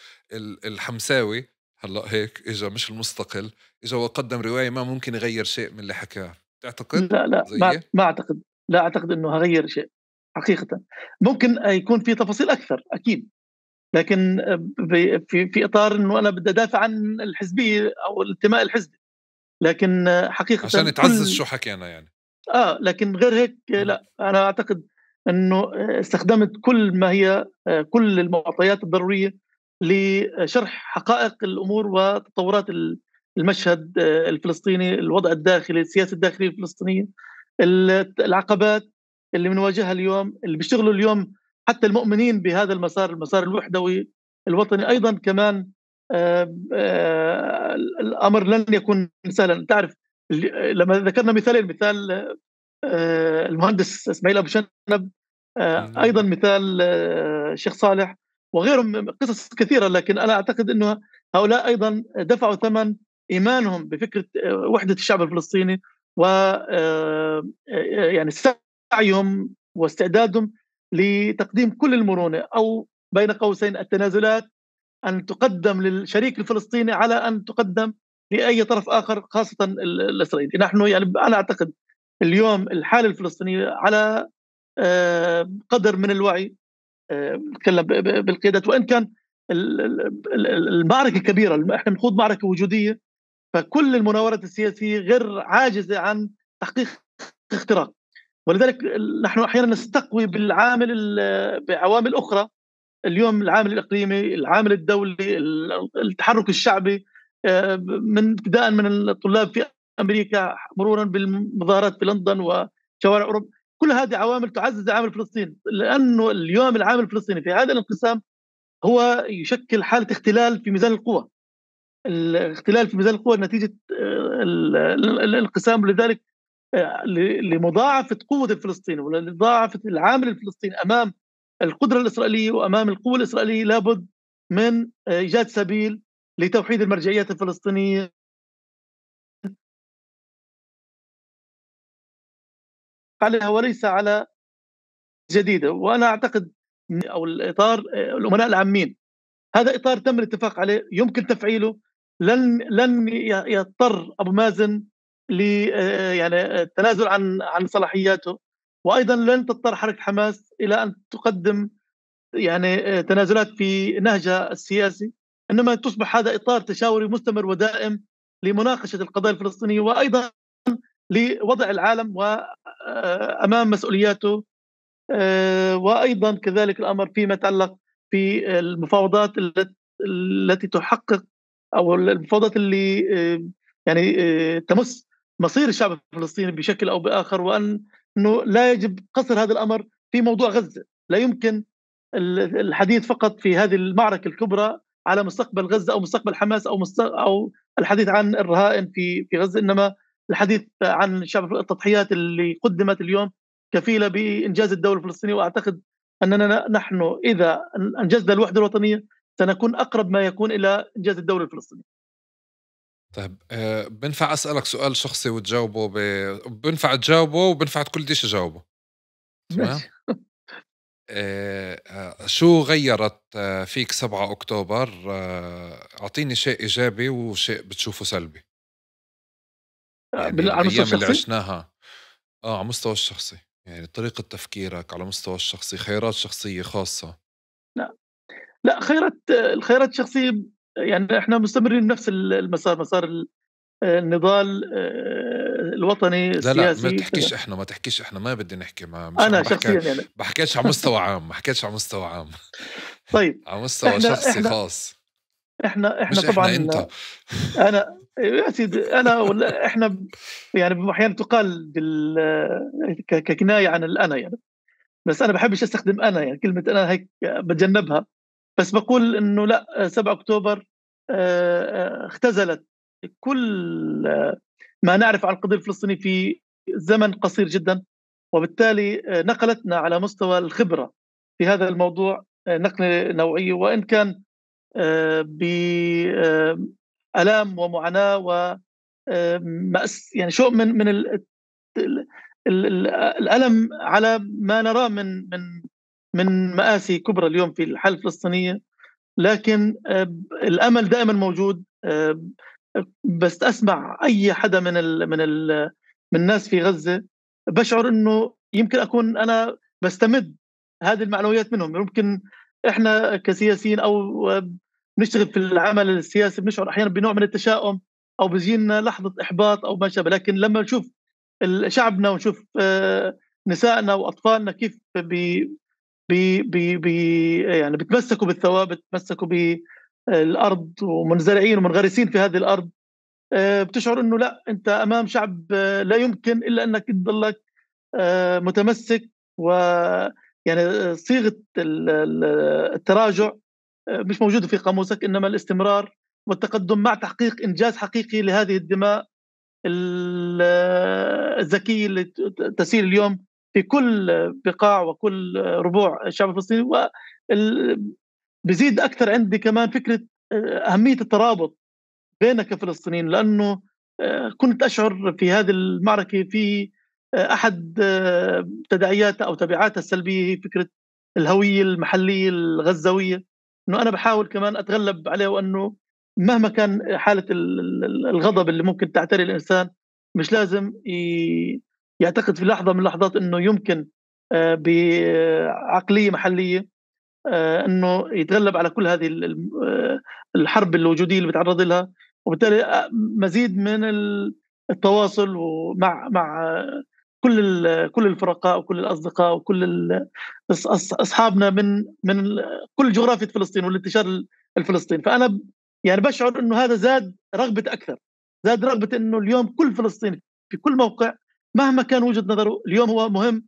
الحمساوي هلأ هيك إجا، مش المستقل، إجا وقدم رواية ما ممكن يغير شيء من اللي حكاه. تعتقد لا، لا، زيي؟ ما أعتقد. لا أعتقد إنه هغير شيء حقيقة. ممكن يكون في تفاصيل أكثر أكيد، لكن في إطار إنه أنا بدي أدافع عن الحزبية أو الانتماء الحزبي، لكن عشان حقيقة تعزز شو حكينا يعني. لكن غير هيك مم. لا، أنا أعتقد إنه استخدمت كل ما هي كل المعطيات الضرورية لشرح حقائق الأمور وتطورات المشهد الفلسطيني، الوضع الداخلي، السياسة الداخلية الفلسطينية، العقبات اللي بنواجهها اليوم، اللي بيشتغلوا اليوم حتى المؤمنين بهذا المسار الوحدوي الوطني أيضا كمان. الأمر لن يكون سهلا. تعرف لما ذكرنا مثال المهندس اسماعيل ابو شنب، مم. ايضا مثال الشيخ صالح وغيرهم من قصص كثيره، لكن انا اعتقد انه هؤلاء ايضا دفعوا ثمن ايمانهم بفكره وحده الشعب الفلسطيني، و يعني سعيهم واستعدادهم لتقديم كل المرونه، او بين قوسين التنازلات، ان تقدم للشريك الفلسطيني على ان تقدم لاي طرف اخر، خاصه الاسرائيلي. نحن يعني انا اعتقد اليوم الحاله الفلسطينيه على قدر من الوعي. نتكلم بالقيادات، وان كان المعركه كبيره، احنا بنخوض معركه وجوديه، فكل المناورات السياسيه غير عاجزه عن تحقيق اختراق. ولذلك نحن احيانا نستقوي بعوامل اخرى. اليوم العامل الاقليمي، العامل الدولي، التحرك الشعبي، من ابتداء من الطلاب في امريكا مرورا بالمظاهرات في لندن وشوارع اوروبا، كل هذه عوامل تعزز عامل فلسطين، لانه اليوم العامل الفلسطيني في هذا الانقسام هو يشكل حاله اختلال في ميزان القوى. الاختلال في ميزان القوى نتيجه الانقسام. لذلك لمضاعفه قوه الفلسطيني ولمضاعفه العامل الفلسطيني امام القدره الاسرائيليه وامام القوه الاسرائيليه، لابد من ايجاد سبيل لتوحيد المرجعيات الفلسطينيه عليها وليس على جديده. وانا اعتقد او الاطار الامناء العامين، هذا اطار تم الاتفاق عليه يمكن تفعيله. لن يضطر ابو مازن ل يعني التنازل عن صلاحياته، وايضا لن تضطر حركه حماس الى ان تقدم يعني تنازلات في نهجها السياسي، انما تصبح هذا اطار تشاوري مستمر ودائم لمناقشه القضايا الفلسطينيه، وايضا لوضع العالم وامام مسؤولياته. وايضا كذلك الامر فيما يتعلق في المفاوضات التي تحقق، او المفاوضات اللي يعني تمس مصير الشعب الفلسطيني بشكل او باخر، وانه لا يجب قصر هذا الامر في موضوع غزه. لا يمكن الحديث فقط في هذه المعركه الكبرى على مستقبل غزه او مستقبل حماس او الحديث عن الرهائن في غزه، انما الحديث عن شعب التضحيات اللي قدمت اليوم كفيله بانجاز الدوله الفلسطينيه. واعتقد اننا نحن اذا انجزنا الوحده الوطنيه سنكون اقرب ما يكون الى انجاز الدوله الفلسطينيه. طيب بنفع أسألك سؤال شخصي وتجاوبه بنفع تجاوبه وبنفع كل ديش تجاوبه. تمام. ماشي. شو غيّرت فيك 7 أكتوبر؟ أعطيني شيء إيجابي وشيء بتشوفه سلبي. يعني على المستوى الأيام اللي الشخصي. عشناها على المستوى الشخصي، يعني طريقة تفكيرك على المستوى الشخصي، خيارات شخصية خاصة. لا، لا، الخيارات الشخصيه، يعني احنا مستمرين بنفس المسار، مسار النضال الوطني لا ما السياسي. تحكيش إحنا، ما تحكيش إحنا، ما بدي نحكي، ما مش انا عم باحكي، شخصيا يعني. باحكيش على مستوى عام، ما حكيتش على مستوى عام. طيب. على مستوى احنا شخصي احنا خاص. احنا مش إحنا، طبعا. أنت. انا يا سيدي، انا ولا احنا يعني احيانا تقال ككنايه عن الانا يعني، بس انا بحبش استخدم انا، يعني كلمه انا هيك بتجنبها. بس بقول إنه لا، 7 أكتوبر اختزلت كل ما نعرف عن القضية الفلسطينية في زمن قصير جدا، وبالتالي نقلتنا على مستوى الخبرة في هذا الموضوع نقلة نوعية، وإن كان بآلام ومعاناة و يعني شوء من الألم على ما نراه من مآسي كبرى اليوم في الحالة الفلسطينية، لكن الأمل دائما موجود. بس أسمع أي حدا من الناس في غزة بشعر إنه يمكن أكون أنا بستمد هذه المعنويات منهم. يمكن إحنا كسياسيين أو نشتغل في العمل السياسي بنشعر أحيانا بنوع من التشاؤم أو بيجينا لحظة إحباط أو ما شابه، لكن لما نشوف شعبنا ونشوف نسائنا وأطفالنا كيف يعني بتمسكوا بالثوابت، بتمسكوا بالأرض ومنزرعين ومنغرسين في هذه الأرض، بتشعر إنه لا، أنت أمام شعب لا يمكن إلا أنك تضلك متمسك. ويعني صيغة التراجع مش موجودة في قاموسك، إنما الاستمرار والتقدم مع تحقيق إنجاز حقيقي لهذه الدماء الذكية اللي تسير اليوم في كل بقاع وكل ربوع الشعب الفلسطيني. بزيد أكثر عندي كمان فكرة أهمية الترابط بيننا كفلسطينيين، لأنه كنت أشعر في هذه المعركة في أحد تداعياتها أو تبعاتها السلبية هي فكرة الهوية المحلية الغزاوية، أنه أنا بحاول كمان أتغلب عليه، وأنه مهما كان حالة الغضب اللي ممكن تعتري الإنسان مش لازم يعتقد في لحظة من اللحظات أنه يمكن بعقلية محلية أنه يتغلب على كل هذه الحرب الوجودية اللي بيتعرض لها. وبالتالي مزيد من التواصل ومع كل الفرقاء وكل الأصدقاء وكل أصحابنا من كل جغرافية فلسطين والانتشار الفلسطيني. فأنا يعني بشعر أنه هذا زاد رغبة أكثر، زاد رغبة أنه اليوم كل فلسطيني في كل موقع مهما كان وجهة نظره اليوم هو مهم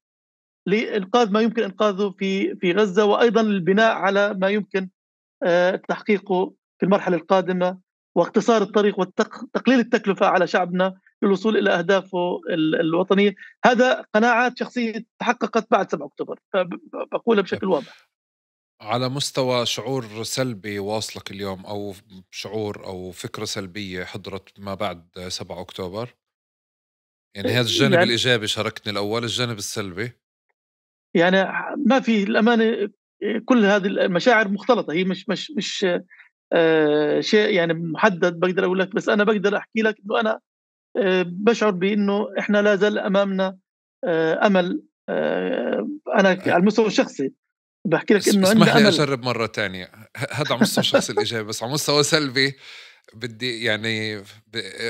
لإنقاذ ما يمكن إنقاذه في غزة، وأيضا البناء على ما يمكن تحقيقه في المرحلة القادمة، واختصار الطريق وتقليل التكلفة على شعبنا للوصول إلى أهدافه الوطنية. هذا قناعات شخصية تحققت بعد 7 أكتوبر، فبقولها بشكل واضح. على مستوى شعور سلبي واصلك اليوم، أو شعور أو فكرة سلبية حضرت ما بعد 7 أكتوبر؟ يعني هذا الجانب يعني الإيجابي شاركتني الأول، الجانب السلبي يعني ما في الأمانة، كل هذه المشاعر مختلطة، هي مش شيء يعني محدد بقدر أقول لك، بس أنا بقدر أحكي لك إنه أنا بشعر بأنه إحنا لا زال أمامنا أمل. أنا على المستوى الشخصي بحكي لك إنه اسمح عندنا لي أمل. أجرب مرة تانية. هذا على مستوى الشخص الإيجابي، بس على مستوى سلبي بدي يعني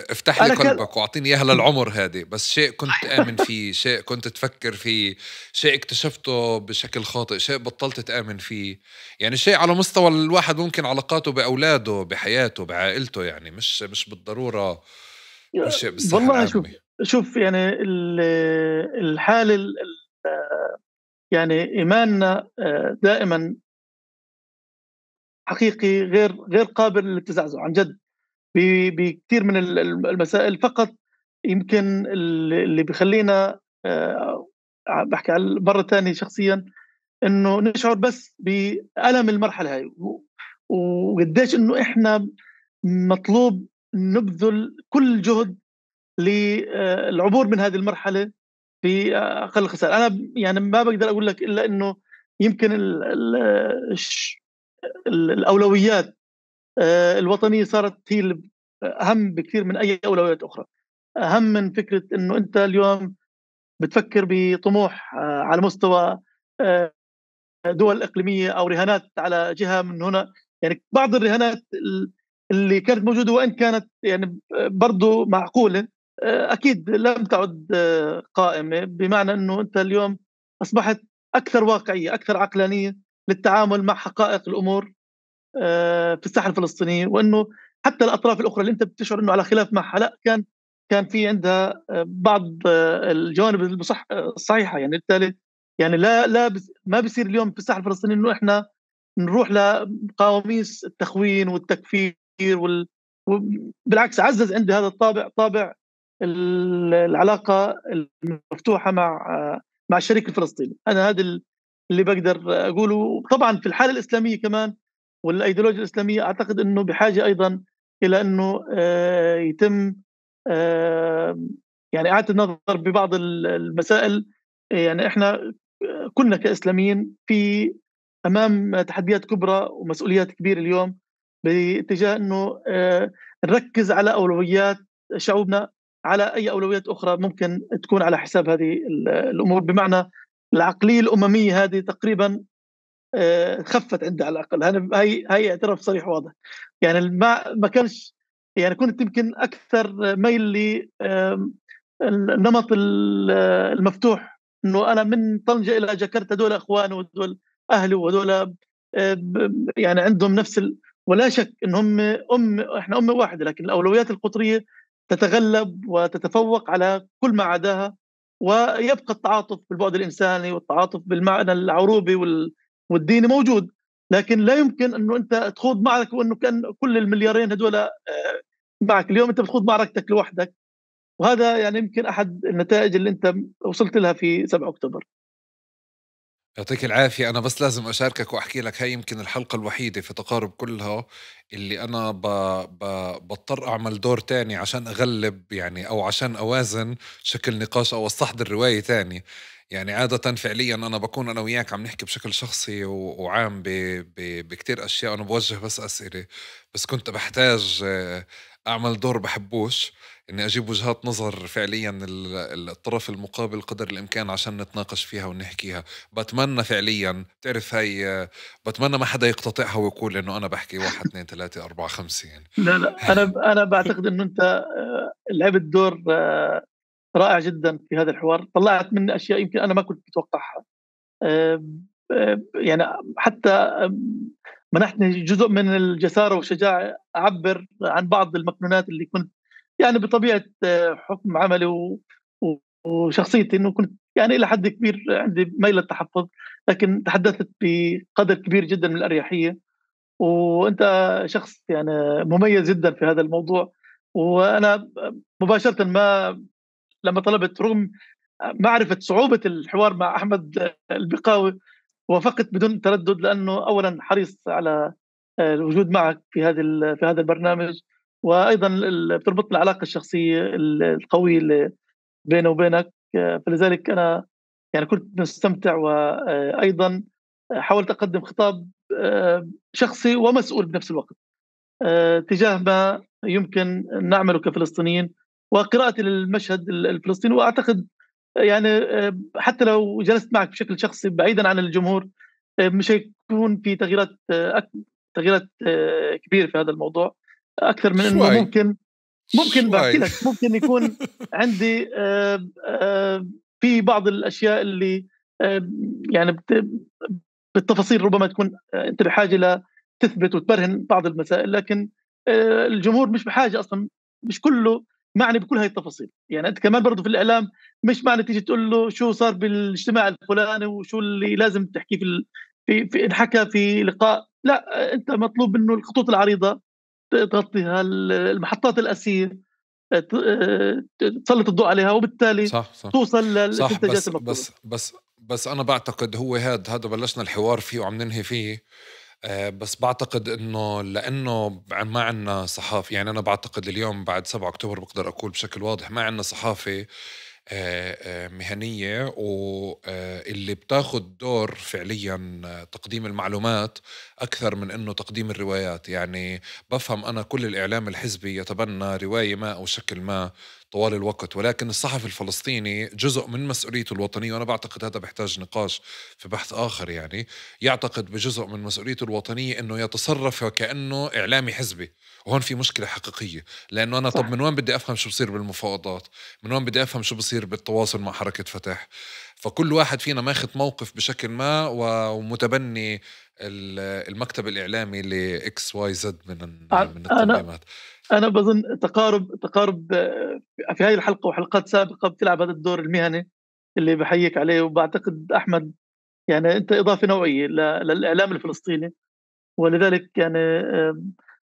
افتح لي أنا كان قلبك واعطيني اياها للعمر هذه، بس شيء كنت تآمن فيه، شيء كنت تفكر فيه، شيء اكتشفته بشكل خاطئ، شيء بطلت تآمن فيه، يعني شيء على مستوى الواحد ممكن علاقاته بأولاده، بحياته، بعائلته، يعني مش بالضرورة كل شيء بالصحة والله العامة. شوف يعني الحالة يعني إيماننا دائما حقيقي غير قابل للتزعزع عن جد بكثير من المسائل. فقط يمكن اللي بيخلينا بحكي على مرة ثانية شخصيا انه نشعر بس بألم المرحلة هاي، وقديش انه احنا مطلوب نبذل كل جهد للعبور من هذه المرحلة في أقل خسائر. أنا يعني ما بقدر أقول لك إلا إنه يمكن الأولويات الوطنية صارت هي أهم بكثير من أي أولويات أخرى، أهم من فكرة إنه أنت اليوم بتفكر بطموح على مستوى دول إقليمية أو رهانات على جهة من هنا. يعني بعض الرهانات اللي كانت موجودة وإن كانت يعني برضو معقولة أكيد لم تعد قائمة، بمعنى أنه أنت اليوم أصبحت أكثر واقعية، أكثر عقلانية للتعامل مع حقائق الأمور في الساحة الفلسطينية، وأنه حتى الأطراف الأخرى اللي أنت بتشعر أنه على خلاف معها لا، كان في عندها بعض الجوانب الصحيحة. يعني بالتالي يعني ما بيصير اليوم في الساحة الفلسطينية أنه إحنا نروح لقواميس التخوين والتكفير بالعكس عزز عندي هذا الطابع، طابع العلاقة المفتوحة مع الشريك الفلسطيني. أنا هذا اللي بقدر أقوله. طبعا في الحالة الإسلامية كمان والأيديولوجيا الإسلامية أعتقد أنه بحاجة أيضا إلى أنه يتم يعني إعادة النظر ببعض المسائل. يعني إحنا كلنا كإسلاميين في أمام تحديات كبرى ومسؤوليات كبيرة اليوم باتجاه أنه نركز على أولويات شعوبنا على أي أولويات أخرى ممكن تكون على حساب هذه الأمور. بمعنى العقلية الأممية هذه تقريبا خفت عندي على الأقل. هي اعتراف صريح واضح. يعني ما كانش يعني كنت يمكن أكثر ميل النمط المفتوح، انه انا من طنجه الى جاكرتا هذول اخواني وهذول اهلي وهذول يعني عندهم نفس ولا شك ان هم احنا امه واحده، لكن الاولويات القطريه تتغلب وتتفوق على كل ما عداها. ويبقى التعاطف بالبعد الانساني والتعاطف بالمعنى العروبي والديني موجود، لكن لا يمكن انه انت تخوض معركه وانه كان كل المليارين هذول معك. اليوم انت بتخوض معركتك لوحدك، وهذا يعني يمكن أحد النتائج اللي أنت وصلت لها في 7 أكتوبر. يعطيك العافية. أنا بس لازم أشاركك وأحكي لك هاي يمكن الحلقة الوحيدة في تقارب كلها اللي أنا بضطر أعمل دور تاني عشان أغلب يعني أو عشان أوازن شكل نقاش أو أستحضر رواية تاني. يعني عادة فعليا أنا بكون أنا وياك عم نحكي بشكل شخصي وعام بكتير أشياء، أنا بوجه بس أسئلة، بس كنت بحتاج أعمل دور بحبوش إني أجيب وجهات نظر فعليا الطرف المقابل قدر الإمكان عشان نتناقش فيها ونحكيها. بتمنى فعليا تعرف هاي، بتمنى ما حدا يقتطعها ويقول إنه أنا بحكي 1 2 3 4 5 يعني. لا أنا باعتقد إنه أنت لعبت دور رائع جدًا في هذا الحوار. طلّعت مني أشياء يمكن أنا ما كنت متوقعها. يعني حتى منحتني جزء من الجسارة والشجاعة أعبّر عن بعض المكنونات اللي كنت يعني بطبيعة حكم عملي وشخصيتي إنه كنت يعني إلى حد كبير عندي ميل للتحفظ، لكن تحدثت بقدر كبير جدًا من الأريحية. وأنت شخص يعني مميز جدًا في هذا الموضوع. وأنا مباشرةً لمّا طلبت رغم معرفة صعوبة الحوار مع أحمد البقاوي وافقت بدون تردد، لأنه أولًا حريص على الوجود معك في هذا البرنامج، وأيضًا بتربطنا العلاقة الشخصية القوية اللي بيني وبينك. فلذلك أنا يعني كنت مستمتع، وأيضًا حاولت أقدم خطاب شخصي ومسؤول بنفس الوقت تجاه ما يمكن نعمله كفلسطينيين وقراءتي للمشهد الفلسطيني. وأعتقد يعني حتى لو جلست معك بشكل شخصي بعيدًا عن الجمهور مش هيكون في تغييرات كبيرة في هذا الموضوع، أكثر من إنه شوي ممكن باحكي شوي لك ممكن يكون عندي في بعض الأشياء اللي يعني بالتفاصيل ربما تكون أنت بحاجة لتثبت وتبرهن بعض المسائل، لكن الجمهور مش بحاجة أصلًا، مش كلّه معني بكل هاي التفاصيل. يعني أنت كمان برضه في الإعلام مش معني تيجي تقول له شو صار بالاجتماع الفلاني وشو اللي لازم تحكيه في انحكى في لقاء. لأ، أنت مطلوب منه الخطوط العريضة تغطي المحطات الأساسية، تسلّط الضوء عليها، وبالتالي صح صح توصل صح. للاستنتاجات بس المطلوبة. بس بس بس أنا بعتقد هو هذا بلشنا الحوار فيه وعم ننهي فيه. بس بعتقد إنه لأنه ما عنا صحافة، يعني أنا بعتقد اليوم بعد 7 أكتوبر بقدر أقول بشكل واضح ما عنا صحافة مهنية واللي بتاخد دور فعليا تقديم المعلومات أكثر من أنه تقديم الروايات. يعني بفهم أنا كل الإعلام الحزبي يتبنى رواية ما أو شكل ما طوال الوقت، ولكن الصحفي الفلسطيني جزء من مسؤوليته الوطنية، وأنا بعتقد هذا بيحتاج نقاش في بحث آخر. يعني يعتقد بجزء من مسؤوليته الوطنية أنه يتصرف وكأنه إعلامي حزبي، وهون في مشكلة حقيقية. لأنه أنا طب صح. من وين بدي أفهم شو بصير بالمفاوضات؟ من وين بدي أفهم شو بصير بالتواصل مع حركة فتح؟ فكل واحد فينا ماخذ موقف بشكل ما ومتبني المكتب الإعلامي لإكس واي زد من أنا التنظيمات. أنا باظن تقارب في هاي الحلقة وحلقات سابقة بتلعب هذا الدور المهني اللي باحييك عليه. وباعتقد أحمد يعني أنت إضافة نوعية للإعلام الفلسطيني، ولذلك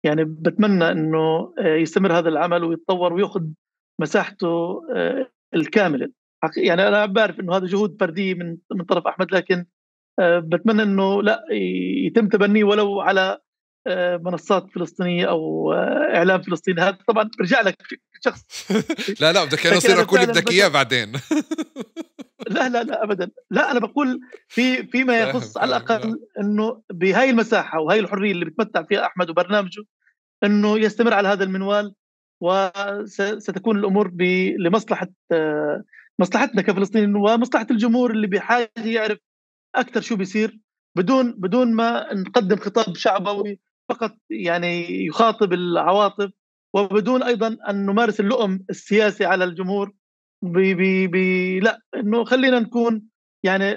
يعني بتمنى انه يستمر هذا العمل ويتطور ويأخذ مساحته الكامله. يعني انا بعرف انه هذا جهود فرديه من طرف احمد، لكن بتمنى انه لا يتم تبنيه ولو على منصات فلسطينيه او اعلام فلسطيني. هذا طبعا برجع لك شخص. لا بدك انا اصير اقول بدك اياه بعدين. لا ابدا، لا انا بقول فيما يخص على الاقل انه بهاي المساحه وهي الحريه اللي بتمتع فيها احمد وبرنامجه، انه يستمر على هذا المنوال، وستكون الامور لمصلحه مصلحتنا كفلسطينيين ومصلحه الجمهور اللي بحاجه يعرف اكثر شو بيصير، بدون ما نقدم خطاب شعبوي فقط يعني يخاطب العواطف، وبدون ايضا ان نمارس اللؤم السياسي على الجمهور. لا، انه خلينا نكون يعني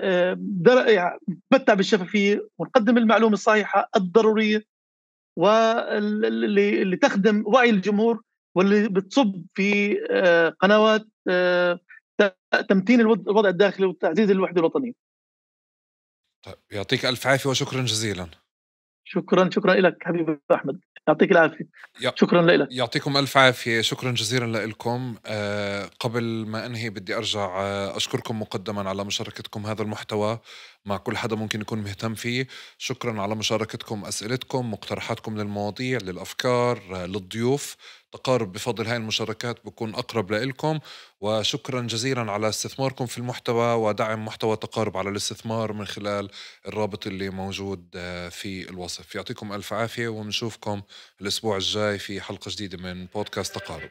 نتمتع بالشفافيه ونقدم المعلومه الصحيحه الضروريه واللي تخدم وعي الجمهور، واللي بتصب في قنوات تمتين الوضع الداخلي وتعزيز الوحده الوطنيه. طيب يعطيك الف عافيه وشكرا جزيلا. شكرا لك حبيبي احمد، يعطيك العافيه. شكرا لك. يعطيكم ألف عافية، شكرا جزيلا لكم. قبل ما أنهي بدي أرجع أشكركم مقدما على مشاركتكم هذا المحتوى مع كل حدا ممكن يكون مهتم فيه. شكرا على مشاركتكم، أسئلتكم، مقترحاتكم للمواضيع، للأفكار، للضيوف. تقارب بفضل هاي المشاركات بكون أقرب لإلكم. وشكرا جزيلا على استثماركم في المحتوى ودعم محتوى تقارب على الاستثمار من خلال الرابط اللي موجود في الوصف. يعطيكم ألف عافية، ونشوفكم الأسبوع الجاي في حلقة جديدة من بودكاست تقارب.